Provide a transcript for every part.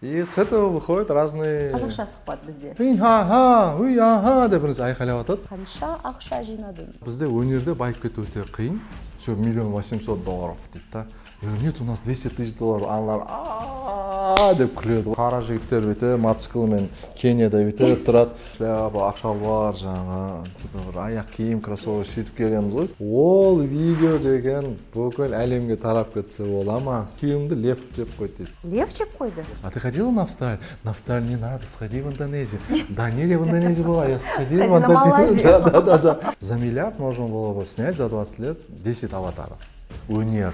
И с этого выходят разные... Қазақша сұхбат бізде. Уй, аха, деп бірінші айқайлап атады. Қанша ақша жинадың? Бізде өнерде байып кету өте қиын. Все, $1 800 дейді да. Нет, у нас $200 000. Аналар деп күледі. Қара жігіттер бүйте, мотоциклмен Кенияда бүйте тұрады. Шляпа, ақшалбар, жаңа аяқ киім, кроссовок сөйтіп келеміз ғой. Ол видео деген бүкіл әлемге тарап кетсе бола ма? Киімді лев жеп қойды дейді. Лев жеп қойды? А ты ходила на Австралию? На Австралию не надо, сходи в Индонезию. Да нет, я в Индонезии была, я сходила в Индонезию. Да. За миллиард можно было бы снять за 20 лет 10 аватаров. Өнер.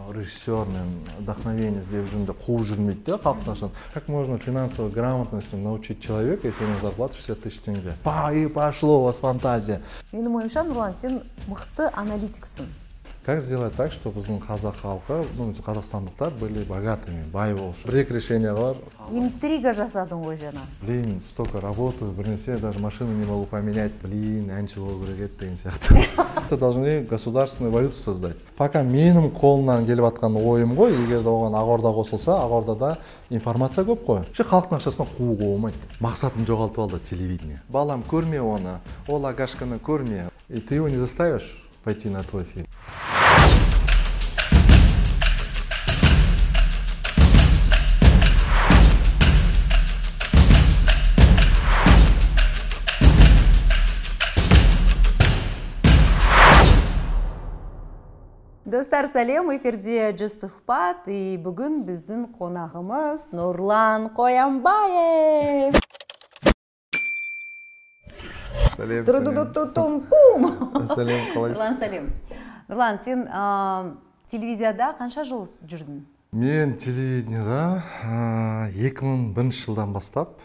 Режиссер мен вдохновение іздеп жүрмін де қуып жүрмейді де халықтың ақшасын. Как можно финансовой грамотности научить человека, если у него зарплата 60 000 тенге? И пошло у вас фантазия. Менің ойымша, Нұрлан, сен мықты аналитиксің. Как сделать так, чтобы біздің қазақ халқы, қазақстандықтар были богатыми, бай болсын? Бір-екі решение бар. Интрига жасадың ғой жаңа. Блин, столько работаю, бірнесе даже машину не могу поменять. Блин, әнші болу керек еді деген сияқты. Должны государственную валюту создать. Пока менің қолымнан келіп атқан ойым ғой, егер де оған Ақорда қосылса, Ақордада информация көп қой. Халықтың ақшасына қууға болмайды. Мақсатын жоғалтып алды телевидение. Балам, көрме оны, ол Агашканы көрме. И ты его не заставишь пойти на твой фильм. Достар, сәлем, эфирде жүз сұхбат, и бүгін біздің қонағымыз Нұрлан Қоянбаев. Сәлем, Сәлем, Нұрлан, сәлем. Нұрлан, сен телевизияда қанша жыл жүрдің? Мен телевидениеда 2001 жылдан бастап,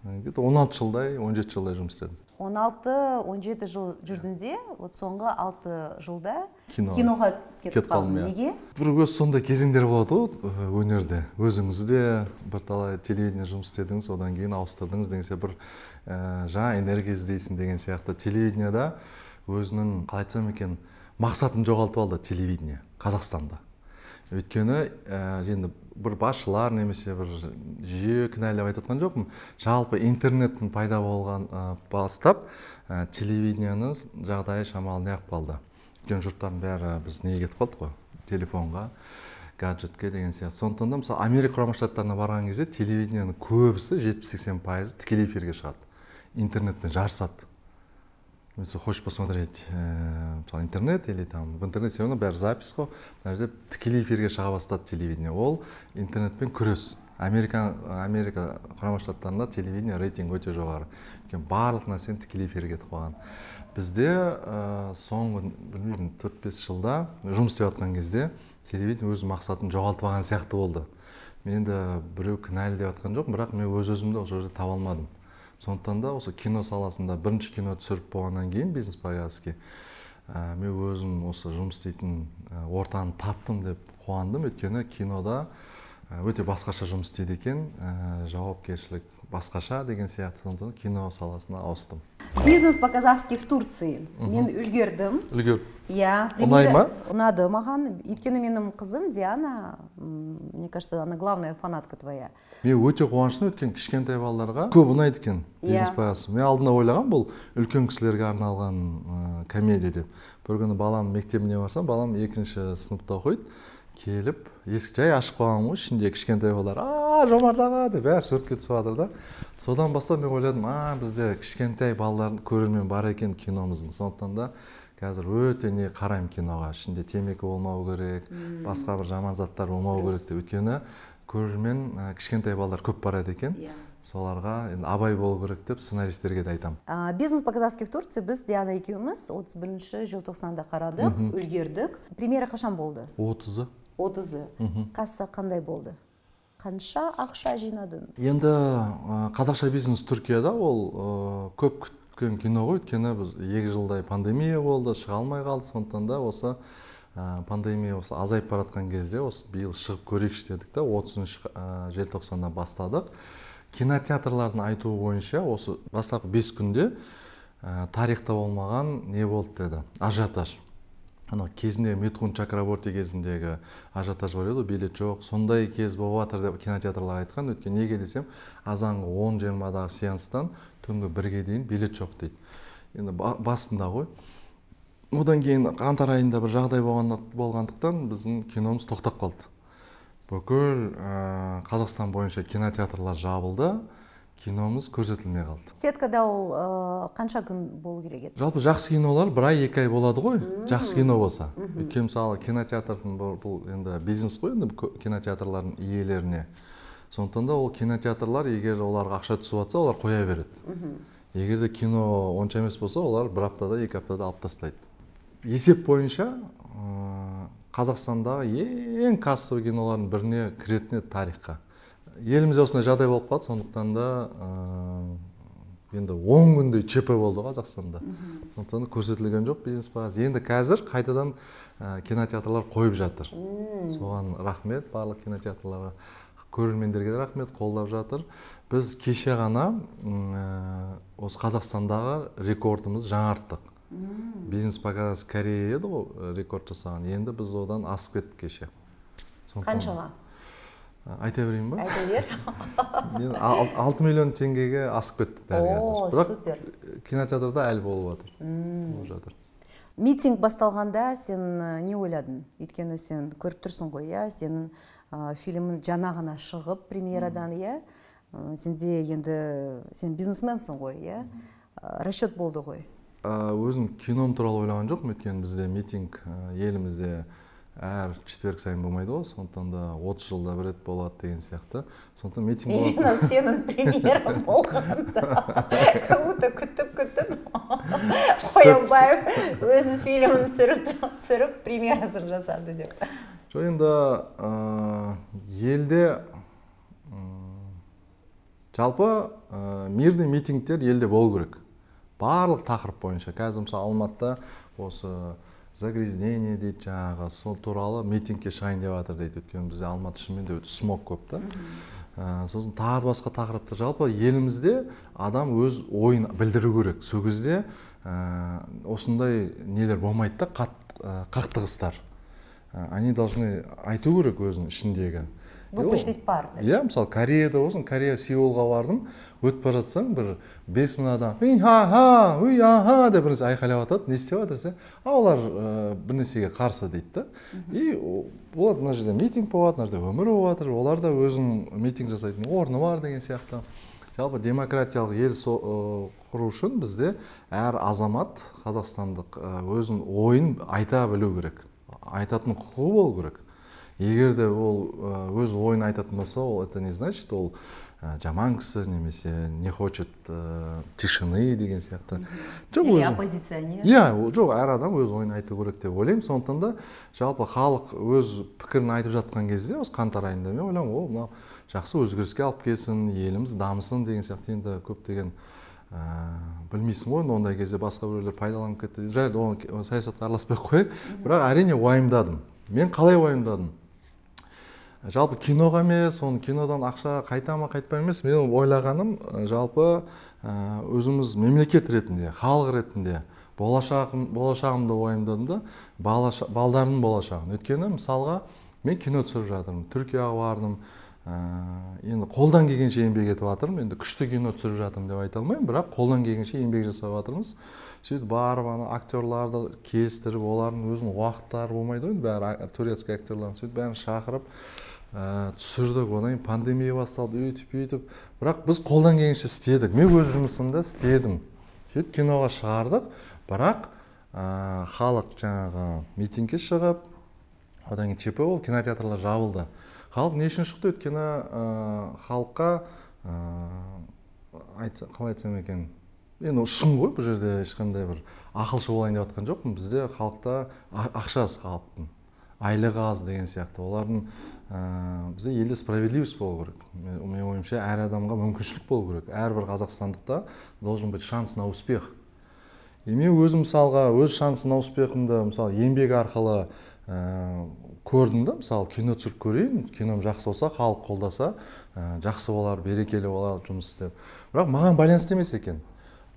16 жылдай, 17 жылдай жұмыс істедім. 16-17 жыл жүрдіңде, соңғы 6 жылда киноға кетіп қалдың. Неге? Бір өз сондай кезеңдер болады ғой өнерде. Өзіңізде бірталай телевидение жұмыс істедіңіз, одан кейін ауыстырдыңыз деген сияқты бір жаңа энергия іздейсің деген сияқты. Телевидениеда өзінің, қалай айтсам екен, мақсатын жоғалтып алды телевидение Қазақстанда. Өйткені енді бір басшылар немесе бір жүйе кінәлап айтатқан жоқпын. Жалпы интернеттің пайда болған бастап телевидениені жағдайы шамалы неғып қалды. Өйткені жұрттардың бәрі біз неге кетіп қалдық қой? Телефонға, гаджетке деген сияқты. Сондықтан да мысалы Америка Құрама Штаттарына барған кезде телевидениенің көбісі 70-80% тікелей эфирге шығады. Интернетпен жарысады. Если хочешь посмотреть интернет или там в интернете, все равно бәрі запись қой. Мына жерде тікелей эфирге шыға бастады телевидение. Ол интернетпен күрес. Америка Құрама Штаттарында телевидение рейтинг өте жоғары. Барлық нәрсені тікелей эфирге кетіп қалған. Бізде соңғы 4-5 жылда жұмыс істеп жатқан кезде телевидение өз мақсатын жоғалтып алған сияқты болды. Мен де біреу кінәлі деп жатқан жоқпын, бірақ мен өз-өзімді осы жерде таба алмадым. Сондықтан да осы кино саласында бірінші кино түсіріп болғаннан кейін бизнес повязки мен өзім осы жұмыс істейтін ортаны таптым деп қуандым. Өйткені кинода өте басқаша жұмыс істейді екен, жауапкершілік басқаша деген сияқты. Сондықтан кино саласына ауыстым. Бизнес по-казахски в Турции. Мен үлгердім. Ұнай ма? Ұнады маған. Өйткені менің қызым Диана, мне кажется, она главная фанатка твоя. Мен өте қуаныштымын, өткен кішкентай балаларға көп ұнайды екен бизнес повязки. Мен алдына ойлаған бұл үлкен кісілерге арналған комедия деп. Бір күні балам мектебіне барсам, балам 2-ші сыныпта оқиды. Келіп, есік жай ашып қойған ғой, ішінде кішкентай балалар, Жомарт аға деп бәрі суретке түсіп жатыр да. Содан бастап мен ойладым, бізде кішкентай балалардың көрермен бар екен киномыздың. Сондықтан да қазір өте не қараймын киноға. Ішінде темекі болмау керек, басқа бір жаман заттар болмау керек деп. Өйткені көрермен кішкентай балалар көп барады екен. Соларға абай болу керек деп сценаристерге де айтам. Бизнес по-казахски в Турции біз Диана екеуміз 31 желтоқсанда қарадық, үлгердік. Премьера қашан болды? 30-ы. Касса қандай болды? Қанша ақша жинадың? Енді қазақша бизнес Түркияда ол көп күткен кино ғой. Өйткені біз 2 жылдай пандемия болды, шыға алмай қалды. Сондықтан да осы пандемия осы азайып баратқан кезде осы биыл шығып көрейікші дедік та 30 желтоқсанда бастадық. Кинотеатрлардың айтуы бойынша осы бастапқы 5 күнде тарихта болмаған не болды деді, ажиотаж. ана кезінде Митхун Чакраборти кезіндегі ажиотаж бар еді, билет жоқ, сондай кез болып жатыр деп кинотеатрлар айтқан. Өйткені неге десем, азанғы 10-20-дағы сеанстан түнгі 1-ге дейін билет жоқ дейді. Енді басында ғой. Одан кейін қаңтар айында бір жағдай болғандықтан біздің киномыз тоқтап қалды. Бүкіл Қазақстан бойынша кинотеатрлар жабылды, киномыз көрсетілмей қалды. Сеткада ол қанша күн болу керек еді? Жалпы жақсы кинолар 1 ай 2 ай болады ғой, жақсы кино болса. Өйткені мысалы кинотеатрдың бұл енді бизнес қой, енді кинотеатрлардың иелеріне. Сондықтан да ол кинотеатрлар, егер оларға ақша түсіп жатса, олар қоя береді. Егер де кино онша емес болса, олар 1 аптада 2 аптада алып тастайды. Есеп бойынша Қазақстандағы ең кассовый кинолардың біріне кіретіне тарихқа. Елімізде осындай жағдай болып қалды, сондықтан да енді 10 күндей ЧП болды Қазақстанда. Сондықтан көрсетілген жоқ бизнес бағасы. Енді қазір қайтадан кинотеатрлар қойып жатыр. Соған рахмет, барлық кинотеатрларға, көрермендерге де рахмет, қолдап жатыр. Біз кеше ғана осы Қазақстандағы рекордымыз жаңарттық. Бизнес бағасы Корея еді ғой рекорд жасаған. Енді біз одан асып кеттік кеше. Қаншаға? Айта берейін ба? Айта бер. 6 миллион теңгеге асып кетті дәл қазір. Бірақ супер. Кинотеатрда әлі болып жатыр. Митинг басталғанда сен не ойладың? Өйткені сен көріп тұрсың ғой, иә? Сенің фильмің жаңа ғана шығып премьерадан, иә? Сенде енді сен бизнесменсің ғой, иә? Расчет болды ғой. Өзім кином туралы ойлаған жоқпын, өйткені бізде митинг елімізде әр четверг сайын болмайды ғой, сондықтан да 30 жылда бір рет болады деген сияқты. Сондықтан митинг болады. Именно сенің премьерам болғанда, как-будто күтіп Қоянбаев өзі фильмін түсіріп премьерасын жасады деп. Жоқ, енді елде жалпы мирный митингтер елде болу керек. Барлық тақырып бойынша. Қазір мысалы Алматыда осы загрязнение дейді, жаңағы сол туралы митингке шығайын деп жатыр дейді. Өйткені бізде Алматы шынымен де смог көп та. Сосын тағы басқа тақырыпта жалпы елімізде адам өз ойын білдіру керек. Сол кезде осындай нелер болмайды да, қақтығыстар. Они должны айту керек өзінің ішіндегі. Выпустить пар. Иә, мысалы Кореяда болсын, Корея Сеулға бардым, өтіп бара жатсаң, бір 5000 адам ха-ха, уй-аха деп бірнәрсе айқайлап жатады, не істеп жатыр десе, олар бірнәрсеге қарсы дейді да. И олар мына жерде митинг болады, мына жерде өмір болып жатыр, олар да өзінің митинг жасайтын орны бар деген сияқты. Жалпы демократиялық ел құру үшін бізде әр азамат қазақстандық өзінің ойын айта білу керек. Айтатын құқығы болу керек. Егер де ол өз ойын айтатын болса, это не значит, ол жаман кісі, немесе не хочет тишины деген сияқты. Или оппозиционер. Иә, жоқ, әр адам өз ойын айту керек деп ойлаймын. Сондықтан да жалпы халық өз пікірін айтып жатқан кезде, осы қаңтар айында мен ойлаймын, о, мынау жақсы өзгеріске алып келсін, еліміз дамысын деген сияқты. Енді көптеген білмейсің ғой, ондай кезде басқа біреулер пайдаланып кетті. Жайлы оны саясатқа араласпай қояйық. Бірақ әрине уайымдадым. Мен қалай уайымдадым? Жалпы киноға емес, оны кинодан ақша қайта ма қайтпай емес, мен ойлағаным жалпы өзіміз мемлекет ретінде, халық ретінде болашағымды уайымдадым да, балдарымның болашағын. Өйткені мысалға мен кино түсіріп жатырмын, Түркияға бардым, енді қолдан келгенше еңбек етіп жатырмын, енді күшті кино түсіріп жатырмын деп айта алмаймын, бірақ қолдан келгенше еңбек жасап жатырмыз. Сөйтіп барып актерларды келістіріп, олардың өзінің уақыттары болмайды ғой, бәрі турецкий актерларын сөйтіп бәрін шақырып түсірдік. Одан пандемия басталды, өйтіп. Бірақ біз қолдан келгенше істедік. Мен өз жұмысымды істедім. Сөйтіп киноға шығардық, бірақ халық жаңағы митингке шығып, одан кейін ЧП болып, кинотеатрлар жабылды. Халық не үшін шықты? Өйткені халыққа қалай айтсам екен, енді шын ғой, бұл жерде ешқандай бір ақылшы болайын деп жатқан жоқпын. Бізде халықта ақша аз, халықтың айлығы аз деген сияқты. Олардың бізде елде справедливость болу керек. Менің ойымша, әр адамға мүмкіншілік болу керек. Әрбір қазақстандықта должен быть шанс на успех. Мен өзім мысалға өз шансы на успехымды мысалы еңбек арқылы көрдім да, мысалы кино түсіріп көрейін, кином жақсы болса, халық қолдаса, жақсы болар, берекелі болар жұмыс істеп. Бірақ маған байланысты емес екен.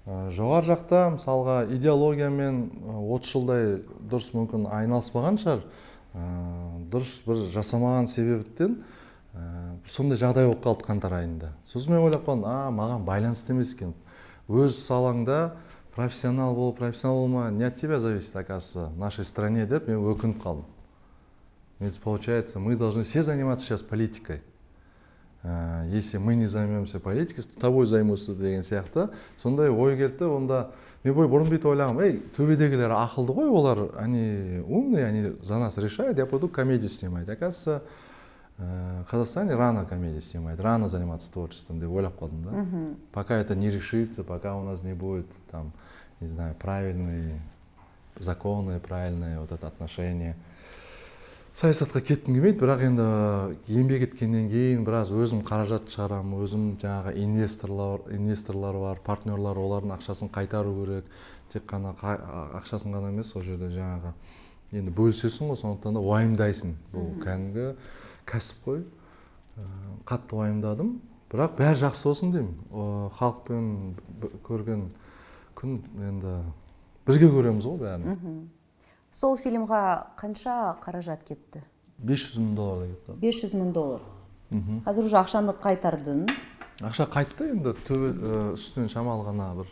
Жоғар жақта мысалға идеологиямен 30 жылдай дұрыс мүмкін айналыспаған шығар, дұрыс бір жасамаған себептен сондай жағдай болып қалды қаңтар айында. Сосын мен ойлап қалдым, маған байланысты емес екен. Өз салаңда профессионал болма, не от тебя зависит, оказывается, в нашей стране, деп мен өкініп қалдым. Ведь получается, мы должны все заниматься сейчас политикой. Если мы не займемся политикой, с тобой займутся деген сияқты. Сондай ой келді, онда мен бұрын бүйтіп ойлағам, төбедегілер ақылды ғой, олар, они умные, они за нас решают, я пойду комедию снимать. Оказывается, в Казахстане рано комедию снимать, рано заниматься творчеством, деп ойлап қалдым, да. Пока это не решится, пока у нас не будет, там, не знаю, правильные законы, правильные вот это отношение. Саясатқа кеттім келмейді, бірақ енді еңбек еткеннен кейін біраз өзім қаражат шығарамын, өзім жаңағы инвесторлар бар, партнерлар, олардың ақшасын қайтару керек. Тек қана ақшасын ғана емес, сол жерде жаңағы енді бөлісесің ғой, сондықтан да уайымдайсың. Бұл кәдімгі кәсіп қой. Қатты уайымдадым, бірақ бәрі жақсы болсын деймін. Халықпен көрген күн енді бірге көреміз ғой бәрін. Сол фильмға қанша қаражат кетті? $500,000 кетті. $500,000. Қазір уже ақшаны қайтардың? Ақша қайтты, енді үстінен шамалы ғана бір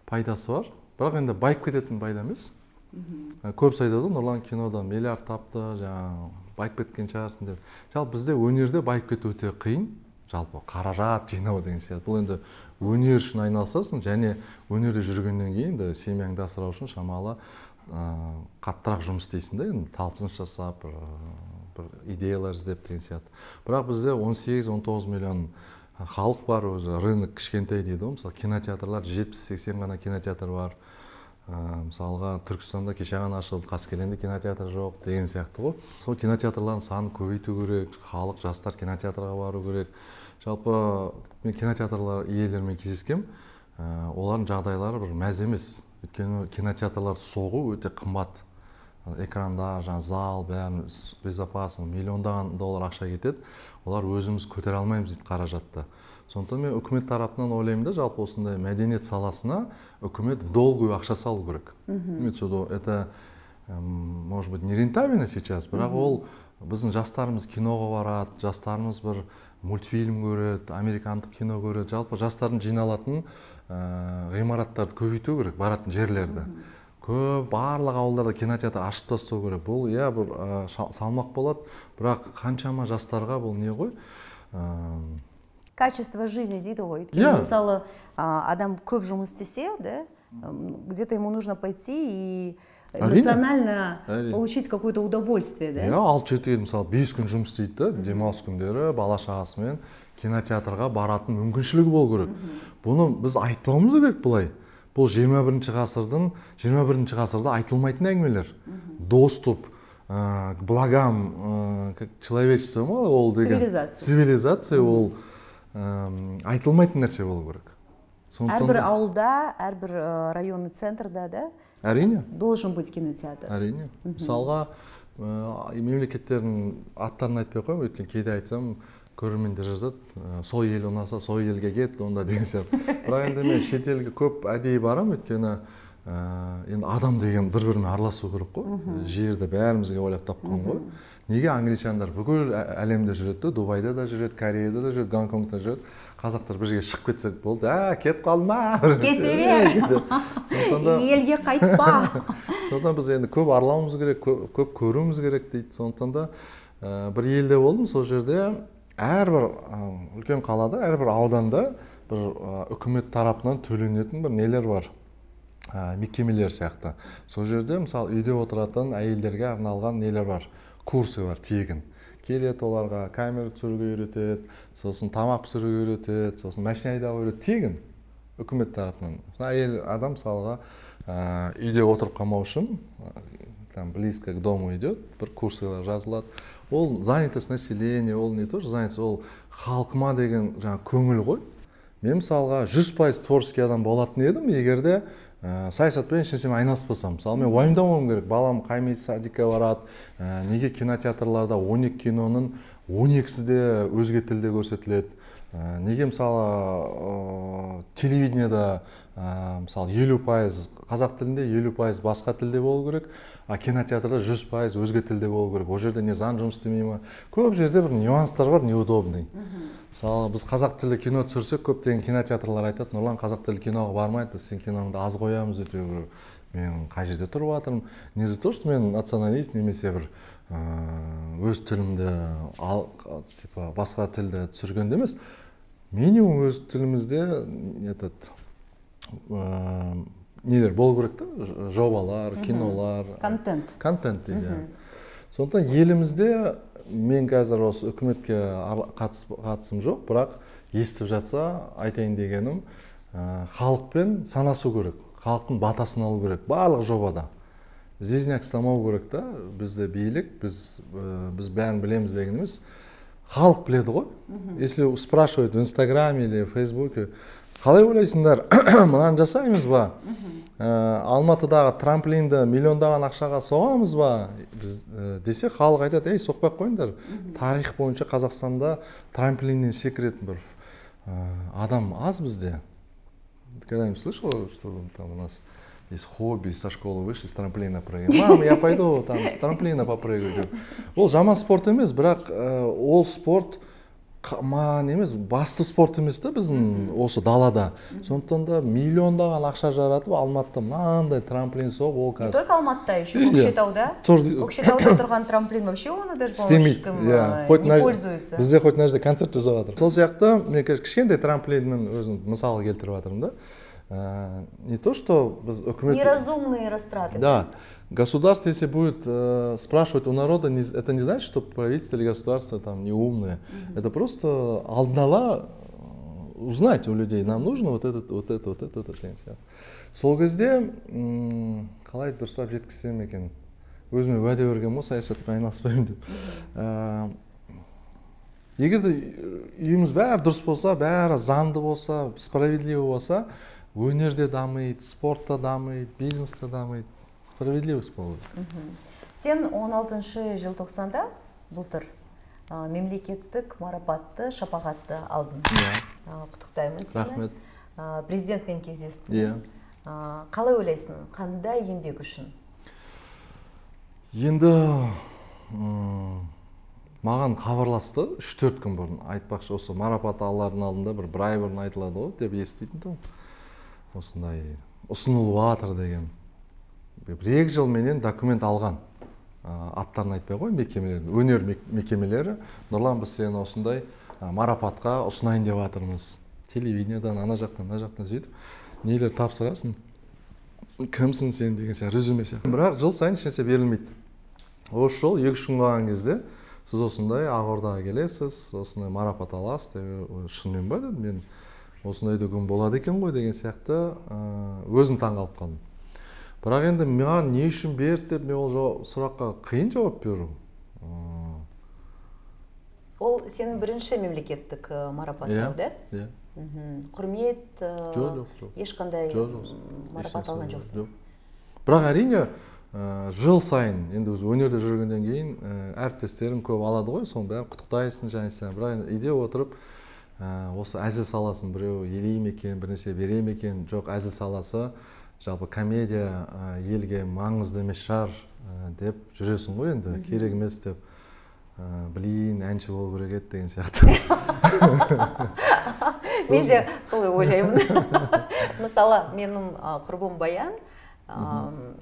пайдасы бар. Бірақ енді байып кететін пайда емес. Көбісі айтады, Нұрлан кинода миллиард тапты, жаңағы байып кеткен шығарсың деп. Жалпы бізде өнерде байып кету өте қиын. Жалпы қаражат жинау деген сияқты. Бұл енді өнер үшін айналысасың, және өнерде жүргеннен кейін семьяңды асырау үшін шамалы қаттырақ жұмыс істейсің да, енді талпыныс жасап, бір идеялар іздеп деген сияқты. Бірақ бізде 18-19 миллион халық бар, өзі рынок кішкентай дейді ғой. Мысалы, кинотеатрлар 70-80 ғана кинотеатр бар. Мысалға, Түркістанда кеше ғана ашылды, Қаскелеңде кинотеатр жоқ деген сияқты ғой. Сол кинотеатрлардың санын көбейту керек, халық, жастар кинотеатрға бару керек. Жалпы мен кинотеатрлар иелерімен кездескем, олардың жағдайлары бір мәз емес. Өйткені кинотеатрлар соғу өте қымбат. Экрандар, зал, бәрін безопасно, $миллиондаған ақша кетеді. Олар өзіміз көтере алмаймыз дейді қаражатты. Сондықтан мен үкімет тарапынан ойлаймын да, жалпы осындай мәдениет саласына үкімет в долгую ақша салу керек. Это, может быть, не рентабельно сейчас, бірақ ол біздің жастарымыз киноға барады, жастарымыз бір мультфильм көреді, американдық кино көреді. Жалпы жастардың жиналатын ғимараттарды көбейту керек, баратын жерлерді. Көп барлық ауылдарда кинотеатр ашып тастау керек. Бұл бір салмақ болады, бірақ қаншама жастарға бұл не ғой? Качество жизни дейді ғой. Мысалы, адам көп жұмыс істесе, где-то ему нужно пойти и эмоционально получить какое-то удовольствие, да? Ал шетел, мысалы, 5 күн жұмыс істейді, демалыс күндері бала шағасымен кинотеатрға баратын мүмкіншілігі болу керек. Бұны біз айтпауымыз керек бұлай. Бұл 21 ғасырда айтылмайтын әңгімелер. Доступ к благам человечества, ол деген цивилизация, ол айтылмайтын нәрсе болу керек. Әрбір ауылда, әрбір районный центрда, да? Әрине. Должен быть кинотеатр. Әрине. Мысалға, мемлекеттердің аттарын айтпай қойым, өйткені кейде айтсам, көрермендер жазады, сол ел ұнаса, сол елге кет, онда деген сияқты. Бірақ енді мен шетелге көп әдейі барам, өйткені енді адам деген бір-бірімен араласу керек қой. Жерді бәрімізге ойлап тапқан ғой. Неге англичандар бүкіл әлемде жүреді, Дубайда да жүреді, Кореяда да жүреді, Гонконгта жүреді. Қазақтар бір жерге шығып кетсек болды, кет қалма. Кете бер. Елге қайтпа. Сондықтан біз енді көп аралауымыз керек, көп көруіміз керек дейді. Сондықтан да бір елде болдым, сол жерде әрбір үлкен қалада, әрбір ауданда бір үкімет тарапынан төленетін бір нелер бар, мекемелер сияқты. Сол жерде, мысалы, үйде отыратын әйелдерге арналған нелер бар, курсы бар, тегін. Келеді оларға камера түсіруге үйретеді, сосын тамақ пісіруге үйретеді, сосын машина айдауға үйретеді, тегін үкімет тарапынан. Әйел адам, мысалға, үйде отырып қалмау үшін, близко к дому идет, бір курсылар жазылады. Ол занятость населения, ол не тоже занятость, ол халқыма деген көңіл ғой. Мен мысалға 100% творческий адам болатын едім, егерде саясатпен ешнәрсемен айналыспасам. Мысалы, мен уайымдамауым керек. Балам қай садикке барады, неге кинотеатрларда 12 киноның 12-сі де өзге тілде көрсетіледі. неге мысалы телевидениеда мысалы 50% қазақ тілінде 50% басқа тілде болу керек, а кинотеатрда 100% өзге тілде болу керек. Ол жерде не заң жұмыс істемей ма? Көп жерде бір нюанстар бар, неудобный. Мысалы біз қазақ тілді кино түсірсек, көптеген кинотеатрлар айтады, Нұрлан қазақ тілді киноға бармайды, біз сен киноңды аз қоямыз деп. Мен қай жерде тұрып жатырмын? Не за то, что мен националист немесе бір өз тілімді басқа тілді түсіргенде емес, минимум өз тілімізде нелер болу керек та, жобалар, кинолар, контент дейді. Сондықтан елімізде мен қазір осы үкіметке қатысым жоқ, бірақ естіп жатса айтайын дегенім, халықпен санасу керек, халықтың батасын алу керек барлық жобада. Звездняк ұстамау керек та, бізде билік, біз бәрін білеміз деген емес, халық біледі ғой. Если спрашивают в Инстаграме или в Фейсбуке, қалай ойлайсыңдар, мынаны жасаймыз ба? Алматыдағы трамплинді миллиондаған ақшаға соғамыз ба? Десе халық айтады, ей, соқпай қойыңдар. Тарих бойынша Қазақстанда трамплиннен секіретін бір адам аз бізде. Когда-нибудь слышал, что там у нас есть хобби, со школы вышли, с трамплина прыгаем. Мам, я пойду там с трамплина попрыгаю. Ол жаман спорт емес, бірақ ол спорт емес, басты спорт емес та біздің осы далада. Сондықтан да миллиондаған ақша жаратып, Алматыда мынандай трамплин соғып, ол қазір. Не только Алматыда, еще Көкшетауда. Көкшетауда тұрған трамплин вообще оны даже ешкім не пользуется. Бізде хоть нәрсе концерт жасап жатыр. Сол сияқты мен кішкентай трамплиннің өзін мысалы келтіріп жатырмын да. Не то, что үкімет... Неразумные растраты. Да. Государство, если будет спрашивать у народа, это не значит, что правительство или государство там неумное. Это просто алдын-ала узнать у людей, нам нужно вот это. Сол кезде, қалай дұрыстап жеткізсем екен, өзіме уәде берген ғой, саясатпен айналыспаймын деп. Егер де үйіміз бәрі дұрыс болса, бәрі заңды болса, справедливо болса, өнерде дамиды, спортта дамиды, бизнесте дамиды. Справедливость болу. Сен 16 желтоқсанда былтыр мемлекеттік марапатты, шапағатты алдың. Құттықтаймын сені. Рахмет. Президентпен кездестің. Қалай ойлайсың, қандай еңбек үшін? Енді маған хабарласты 3-4 күн бұрын. Айтпақшы, осы марапат алардың алдында бір ай бұрын айтылады ғой деп еститін. Осындай ұсынылып жатыр деген. 1-2 жыл менен документ алған. Аттарын айтпай қой, мекемелер, өнер мекемелері. Нұрлан, біз сені осындай марапатқа ұсынайын деп жатырмыз. Телевидениедан, ана жақтан сөйтіп, нелер тапсырасың. Кімсің сен деген сияқты резюме сияқты. Бірақ жыл сайын ешнәрсе берілмейді. Осы жол 2-3 күн қалған кезде сіз осындай Ақордаға келесіз, осындай марапат аласыз деп шынымен ба дедім. Мен осындай күн болады екен ғой деген сияқты өзім таңғалып қалдым. Бірақ енді маған не үшін берді деп, мен ол сұраққа қиын жауап беру. Ол сенің бірінші мемлекеттік марапаттау, да? Иә. Құрмет, жоқ. ешқандай марапат алған жоқсың. Бірақ әрине, жыл сайын, енді өз өнерде жүргеннен кейін әріптестерім көп алады ғой, соның бәрін құттықтайсың, және сен. Бірақ үйде отырып, осы әзіл саласын біреу елейм екен, бірнәрсе берем екен, жоқ, әзіл саласы жалпы комедия елге маңызды емес шығар деп жүресің ғой енді, керек емес деп, білейін, әнші болу керек еді деген сияқты. Мен де солай ойлаймын. Мысалы, менің құрбым Баян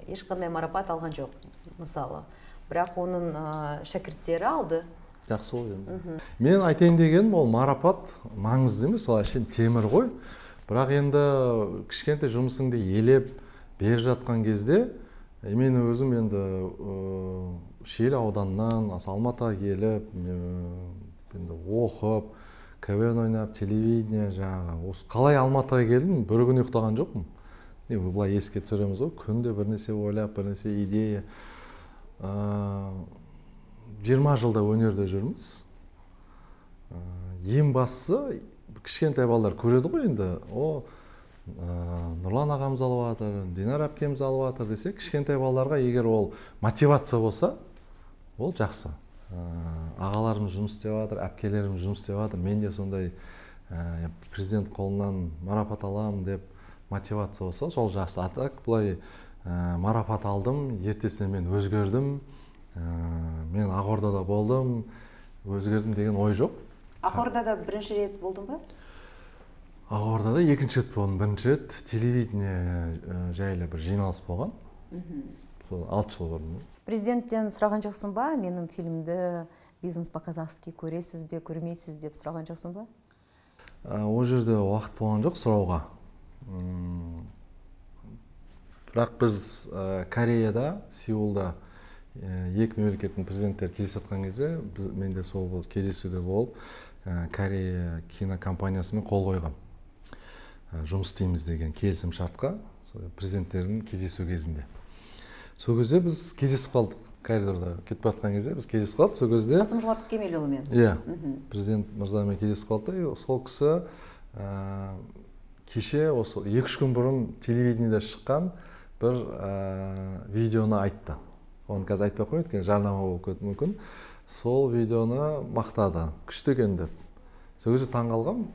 ешқандай марапат алған жоқ, мысалы. Бірақ оның шәкірттері алды. Жақсы ғой енді. Мен айтайын дегенім, ол марапат маңызды емес, ол әшейін темір ғой. Бірақ енді кішкентай жұмысыңды елеп беріп жатқан кезде, мен өзім енді Шиелі ауданынан Алматыға келіп, оқып, КВН ойнап, телевидение жаңағы. Қалай Алматыға келдім, бір күн ұйықтаған жоқпын. Бұлай еске түсіреміз ғой, күнде бірнәрсе ойлап, бірнәрсе идея. 20 жылда өнерде жүрміз. Ең бастысы, кішкентай балалар көреді ғой енді, Нұрлан ағамыз алып жатыр, Динар әпкеміз алып жатыр десе, кішкентай балаларға егер ол мотивация болса, ол жақсы. Ағаларымыз жұмыс істеп жатыр, әпкелеріміз жұмыс істеп жатыр, мен де сондай президент қолынан марапат алам деп мотивация болса, сол жақсы. А так былай марапат алдым, ертесіне мен өзгердім, мен Ақордада болдым, өзгердім деген ой жоқ. Ақордада бірінші рет болдың ба? Ақордада екінші рет болдым. Бірінші рет телевидение жайлы бір жиналыс болған. Сол 6 жыл бұрын. Президенттен сұраған жоқсың ба? Менің фильмді «Бизнес по-казахски» көресіз бе, көрмейсіз деп сұраған жоқсың ба? Ол жерде уақыт болған жоқ сұрауға. Бірақ біз Кореяда, Сеулда екі мемлекеттің президенттері кездесіп жатқан кезде, менде сол кездесуде болып, Корея кинокомпаниясымен қол қойған. Жұмыс істейміз деген келісім шартқа президенттердің кездесу кезінде. Сол кезде біз кездесіп қалдық. Коридорда кетіп жатқан кезде біз кездесіп қалдық. Сол кезде Қасым-Жомарт Кемелұлымен. Иә, президент мырзамен кездесіп қалдық. Сол кісі кеше осы 2-3 күн бұрын телевидениеде шыққан бір видеоны айтты. Оны қазір айтпай қойып, өйткені жарнама болып кетуі мүмкін. Сол видеоны мақтады, күшті екен деп. Сол кезде таңғалғам,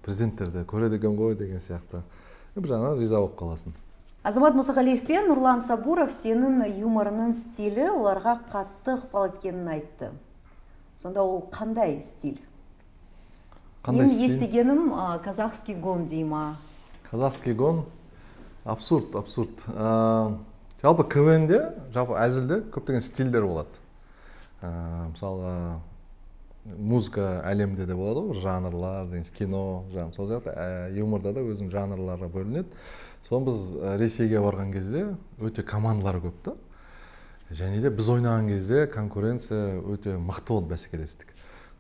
президенттерді көреді екен ғой деген сияқты. Бір жағынан риза болып қаласың. Азамат Мұсағалиев пен Нұрлан Сабуров сенің юморының стилі оларға қатты ықпал еткенін айтты. Сонда ол қандай стиль? Қандай стиль? Мен естігенім казахский гон дейма. Казахский гон абсурд. Жалпы КВН-де, жалпы әзілде көптеген стильдер болады. Мысалы, музыка әлемде де болады ғой, жанрлар, кино, сол сияқты юморда да өзінің жанрларға бөлінеді. Соны біз Ресейге барған кезде өте командалар көп та. Және де біз ойнаған кезде конкуренция өте мықты болды, бәсекелестік.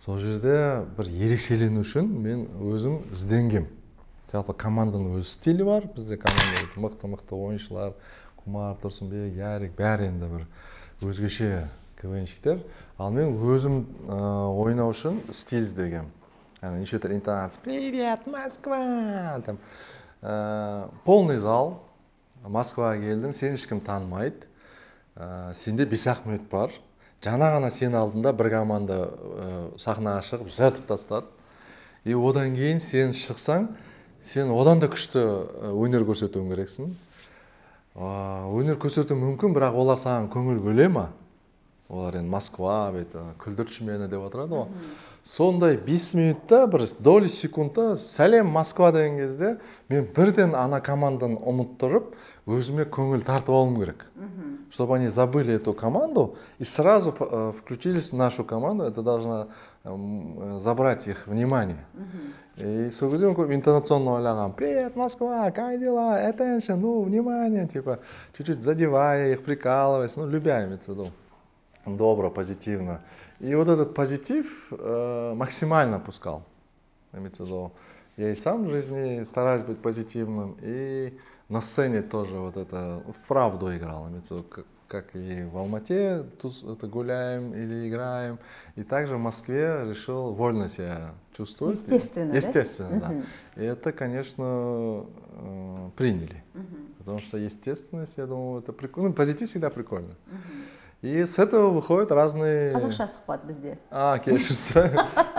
Сол жерде бір ерекшелену үшін мен өзім ізденгем. Жалпы команданың өз стилі бар. Бізде команда мықты ойыншылар, Құмар, Тұрсынбек, Ярик, бәрі енді бір өзгеше КВНщиктер. Ал мен өзім ойнау үшін стиль іздегем. Неше түрлі интонация. Привет, Москва! Полный зал. Москваға келдің, сен ешкім танымайды. Сенде Бесахмет бар. Жаңа ғана сен алдында бір команда сахнаға шығып жыртып тастады. И одан кейін сен шықсаң, сен одан да күшті өнер көрсетуің керексің. Өнер көрсету мүмкін, бірақ олар саған көңіл бөле ма? Олар енді Москва, күлдірші мені деп отырады ғой. Сондай 5 минутта, бір доли секундта сәлем Москва деген кезде мен бірден ана команданы ұмыттырып, өзіме көңіл тартып алуым керек. Чтобы они забыли эту команду и сразу включились в нашу команду, это должно забрать их внимание. И сол кезде мен интонационно ойлағам: привет, Москва, как дела, attention, ну, внимание, типа, чуть-чуть задевая их, прикалываясь, ну, любя, имеется в виду. Добро, позитивно. И вот этот позитив максимально пускал. Имеется в виду, я и сам в жизни стараюсь быть позитивным, и на сцене тоже вот это вправду играл. Имеется в виду, как и в Алмате тут гуляем или играем. И также в Москве решил вольно себя чувствовать. Естественно, естественно, да? И это, конечно, приняли. Потому что естественность, я думаю, это прикольно. Ну, позитив всегда прикольно. И с этого выходят разные... Қазақша сұхбат бізде. Кешірсі.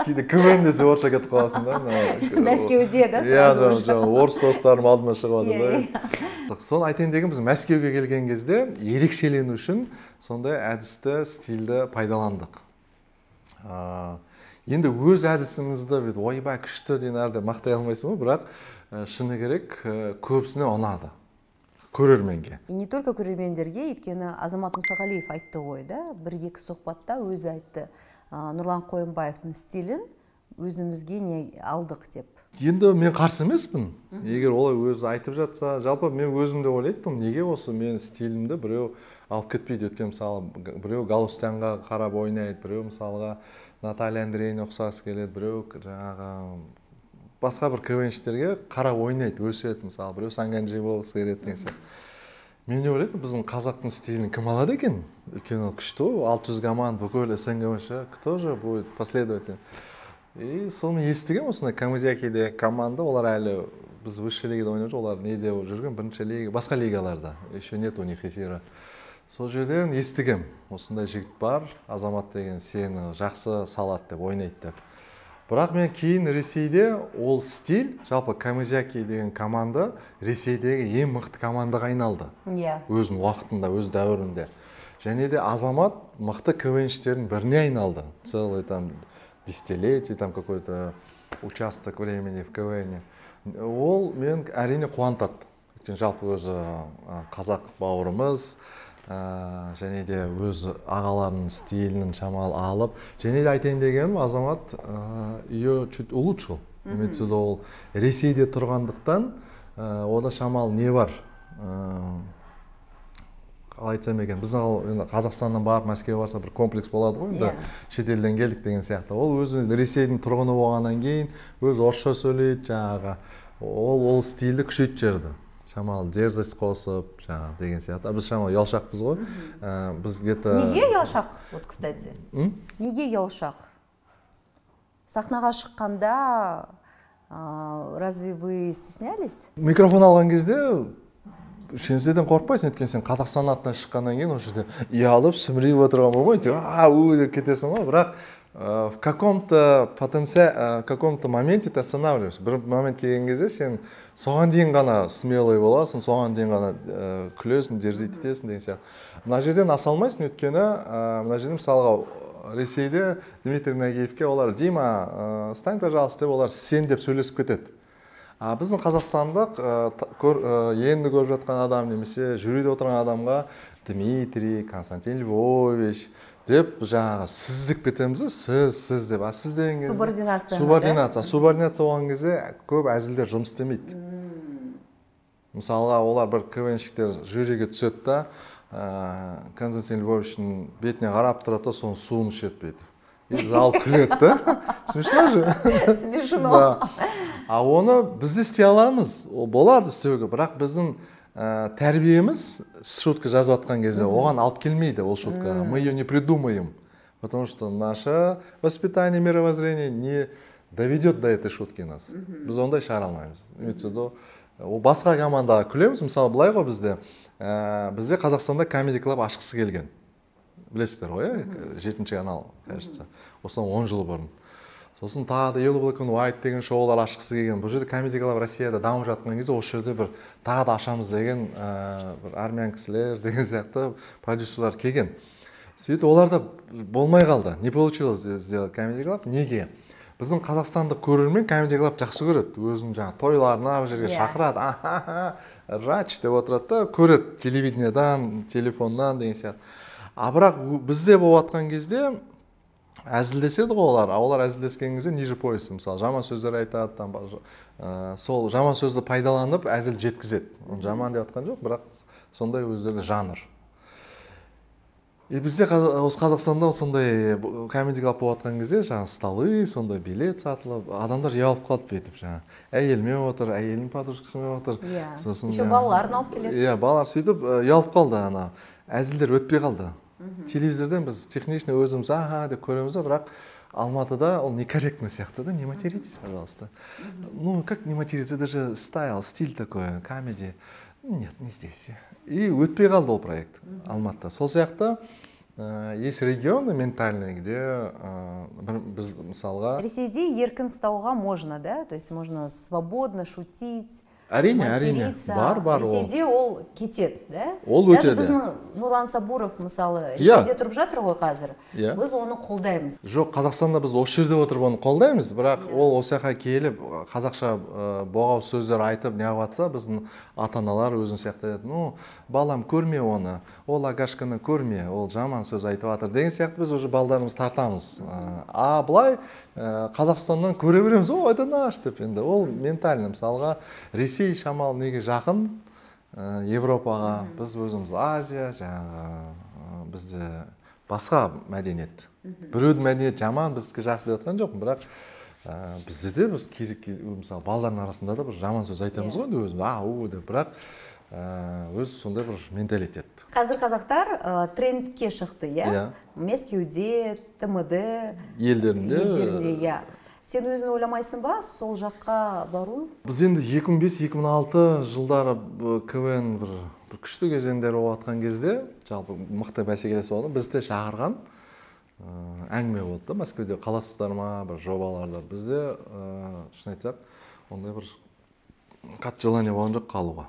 Кейде КВН десе орысша кетіп қаласың да. Мәскеуде, да? Иә, орыс достарым алдыма шығып жатыр да. Соны айтайын деген, біз Мәскеуге келген кезде ерекшелену үшін сондай әдісті, стильді пайдаландық. Енді өз әдісімізді ойбай күшті деген әрде мақтай алмайсың, бірақ шыны керек көбісіне ұнады. Көрерменге. И не только көрермендерге, өйткені Азамат Мұсағалиев айтты ғой, да, бір-екі сұхбатта өзі айтты. Нұрлан Қойынбаевтың стилін өзімізге не алдық деп. Енді мен қарсы емеспін. Егер олай өзі айтып жатса, жалпы мен өзімде ойлайтпын, неге осы мен стилімді біреу алып кетпейді. Өткен мысалы, біреу Галустянға қарап ойнайды, біреу мысалға Наталья Андреевна ұқсас келеді, біреу жаңағы басқа бір КВНщиктерге қарап ойнайды, өседі, мысалы, біреу Санганджи болғысы келеді деген сияқты. Мен не ойлаймын, біздің қазақтың стилін кім алады екен? Өйткені ол күшті ғой, 600 команда бүкіл СНГ бойынша, кто же будет последователь? И соны естігем, осындай Камызякиде команда, олар әлі біз высший лигада ойнап жүр, олар неде жүрген, бірінші лига, басқа лигаларда, еще нет у них эфира. Сол жерден естігем, осындай жігіт бар, Азамат деген сені жақсы салады деп, ойнайды деп. Бірақ мен кейін Ресейде ол стиль, жалпы Камызяки деген команда Ресейдегі ең мықты командаға айналды. Өзінің уақытында, өз дәуірінде. Және де Азамат мықты КВНштердің біріне айналды. Целый там десятилетие, там какой-то участок времени в КВНе. Ол мен әрине қуантады. Өйткені жалпы өзі қазақ бауырымыз, және де өз ағаларының стилін шамалы алып, және де айтайын дегенім, Азамат ее чуть улучшил. Имеется в виду, ол Ресейде тұрғандықтан, ода шамалы не бар? Қалай айтсам екен, біз Қазақстаннан барып Мәскеуге барса бір комплекс болады ғой, енді шетелден келдік деген сияқты. Ол өзі Ресейдің тұрғыны болғаннан кейін өз орысша сөйлейді, жаңағы ол стильді күшейтіп жіберді. Шамалы дерзость қосып, жаңағы деген сияқты. Біз шамалы ұялшақпыз ғой. Біз где-то... Неге ұялшақ, вот, кстати? Неге ұялшақ? Сахнаға шыққанда, разве вы стеснялись? Микрофон алған кезде шенседен қорқпайсың, өйткені сен Қазақстан атынан шыққаннан кейін осы жерде ұялып, сүмірейіп отырған болмайды, деп кетесің ғой, бірақ в каком-то моменте ты останавливаешься. Бір момент келген кезде сен соған дейін ғана смелый боласың, соған дейін ғана күлесің, дерзить етесің деген сияқты. Мына жерден аса алмайсың, өйткені мына жерде мысалға Ресейде Дмитрий Нагиевке олар Дима, стань, пожалуйста, олар сен деп сөйлесіп кетеді. Біздің Қазақстандық енді көріп жатқан адам немесе жюриде отырған адамға Дмитрий, Константин Львович деп жаңағы сіз деп кетеміз, сіз деп. Сіз деген кезде субординация болған кезде көп әзілдер жұмыс істемейді. Мысалға олар бір КВНщиктер жюриге түседі да, Константин Львовичтің бетіне қарап тұрады, соның суын ішеді бүйтіп. Зал күледі да. Смешно же? Смешно. Оны біз де істей аламыз, болады істеуге, бірақ біздің тәрбиеміз шутка жазып жатқан кезде оған алып келмейді ол шутка. Мы ее не придумаем, потому что наше воспитание, мировоззрение не доведет до этой шутки нас. Біз ондай шығара алмаймыз. Ол басқа командаға күлеміз, мысалы былай ғой бізде Қазақстанда Comedy Club ашқысы келген. Білесіздер ғой, 7-ші канал, кажется. Осыдан 10 жыл бұрын. Сосын тағы да Yellow Black and White деген шоулар ашқысы келген. Бұл жерде Comedy Club Россияда дамып жатқан кезде осы жерде бір тағы да ашамыз деген бір армян кісілер деген сияқты продюсерлар келген. Сөйтіп оларда болмай қалды. Не получилось сделать Comedy Club? Неге? Біздің қазақстандық көрермен Comedy Club жақсы көреді. Өзінің жаңағы тойларына бір жерге шақырады. Рач деп отырады да, көреді телевидениедан, телефоннан деген сияқты. Бірақ бізде болып жатқан кезде әзілдеседі ғой олар әзілдескен кезде ниже пояса, мысалы жаман сөздер айтады, сол жаман сөзді пайдаланып әзіл жеткізеді. Жаман деп жатқан жоқ, бірақ сондай өздерінде жанр. Бізде осы Қазақстанда сондай Comedy Club болып жатқан кезде жаңағы столы, сондай билет сатылып, адамдар ұялып қалып бүйтіп жаңағы әйелімен отыр, әйелінің подружкасымен отыр. Еще балаларын алып келеді. Иә, балалар сөйтіп ұялып қалды, әзілдер өтпей қалды. Телевизордан біз технично өзіміз деп көреміз, бірақ Алматыда ол некорректно сияқты да, не материтесь, пожалуйста. Ну, как не материться, это же стиль такой, комедия. Нет, не здесь. И өтпей қалды ол проект Алматыда. Сол сияқты есть регионы ментальные, где біз мысалға... Ресейде еркін ұстауға можно, да? То есть можно свободно шутить. Әрине, бар ол. Ресейде ол кетеді, да? Ол өтеді. Даже біздің Нұрлан Сабуров, мысалы, Ресейде тұрып жатыр ғой қазір. Біз оны қолдаймыз. Жоқ, Қазақстанда біз осы жерде отырып оны қолдаймыз, бірақ ол осы жаққа келіп, қазақша боғау сөздер айтып, не жатса, біздің ата-аналар өзін сияқты еді. Ну, балам, көрме оны, ол Агашканы көрме, ол жаман сөз айтып жатыр деген сияқты біз уже балдарымыз тартамыз. Былай Қазақстаннан көре береміз, это наш деп енді. Ол ментально, мысалға, Ресей шамал неге жақын, Европаға, біз өзіміз Азия, жаңағы бізде басқа мәдениет. Біреудің мәдениет жаман, біздікі жақсы деп жатқан жоқ, бірақ бізде де біз мысалы балдардың арасында да бір жаман сөз айтамыз ғой өзіміз, деп, бірақ өз сондай бір менталитет. Қазір қазақтар трендке шықты, иә? Мәскеуде, ТМД елдерінде, Сен өзін ойламайсың ба, сол жаққа бару? Біз енді 2005-2006 жылдары КВН бір күшті кезеңдер болып жатқан кезде, жалпы мықты бәсекелес болды, бізді шақырған әңгіме болды да, Мәскеуде қаласыздар ма, бір жобаларда. Бізде шын айтсақ, ондай бір қатты желание болған жоқ қалуға.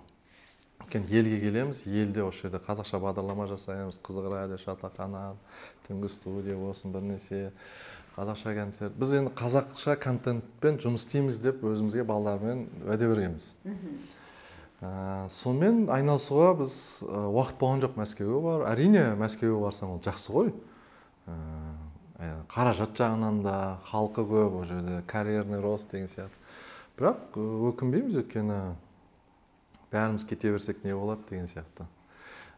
Елге келеміз, елде осы жерде қазақша бағдарлама жасаймыз, Қызық радио, Шатақанат, түнгі студия болсын, бірнәрсе қазақша концерт. Біз енді қазақша контентпен жұмыс істейміз деп өзімізге балалармен уәде бергенбіз. Сонымен айналысуға біз уақыт болған жоқ. Мәскеуге бар. Әрине, Мәскеуге барсаң ол жақсы ғой. Қаражат жағынан да, халқы көп, ол жерде карьерный рост деген сияқты. Бірақ өкінбейміз, өйткені бәріміз кете берсек не болады деген сияқты.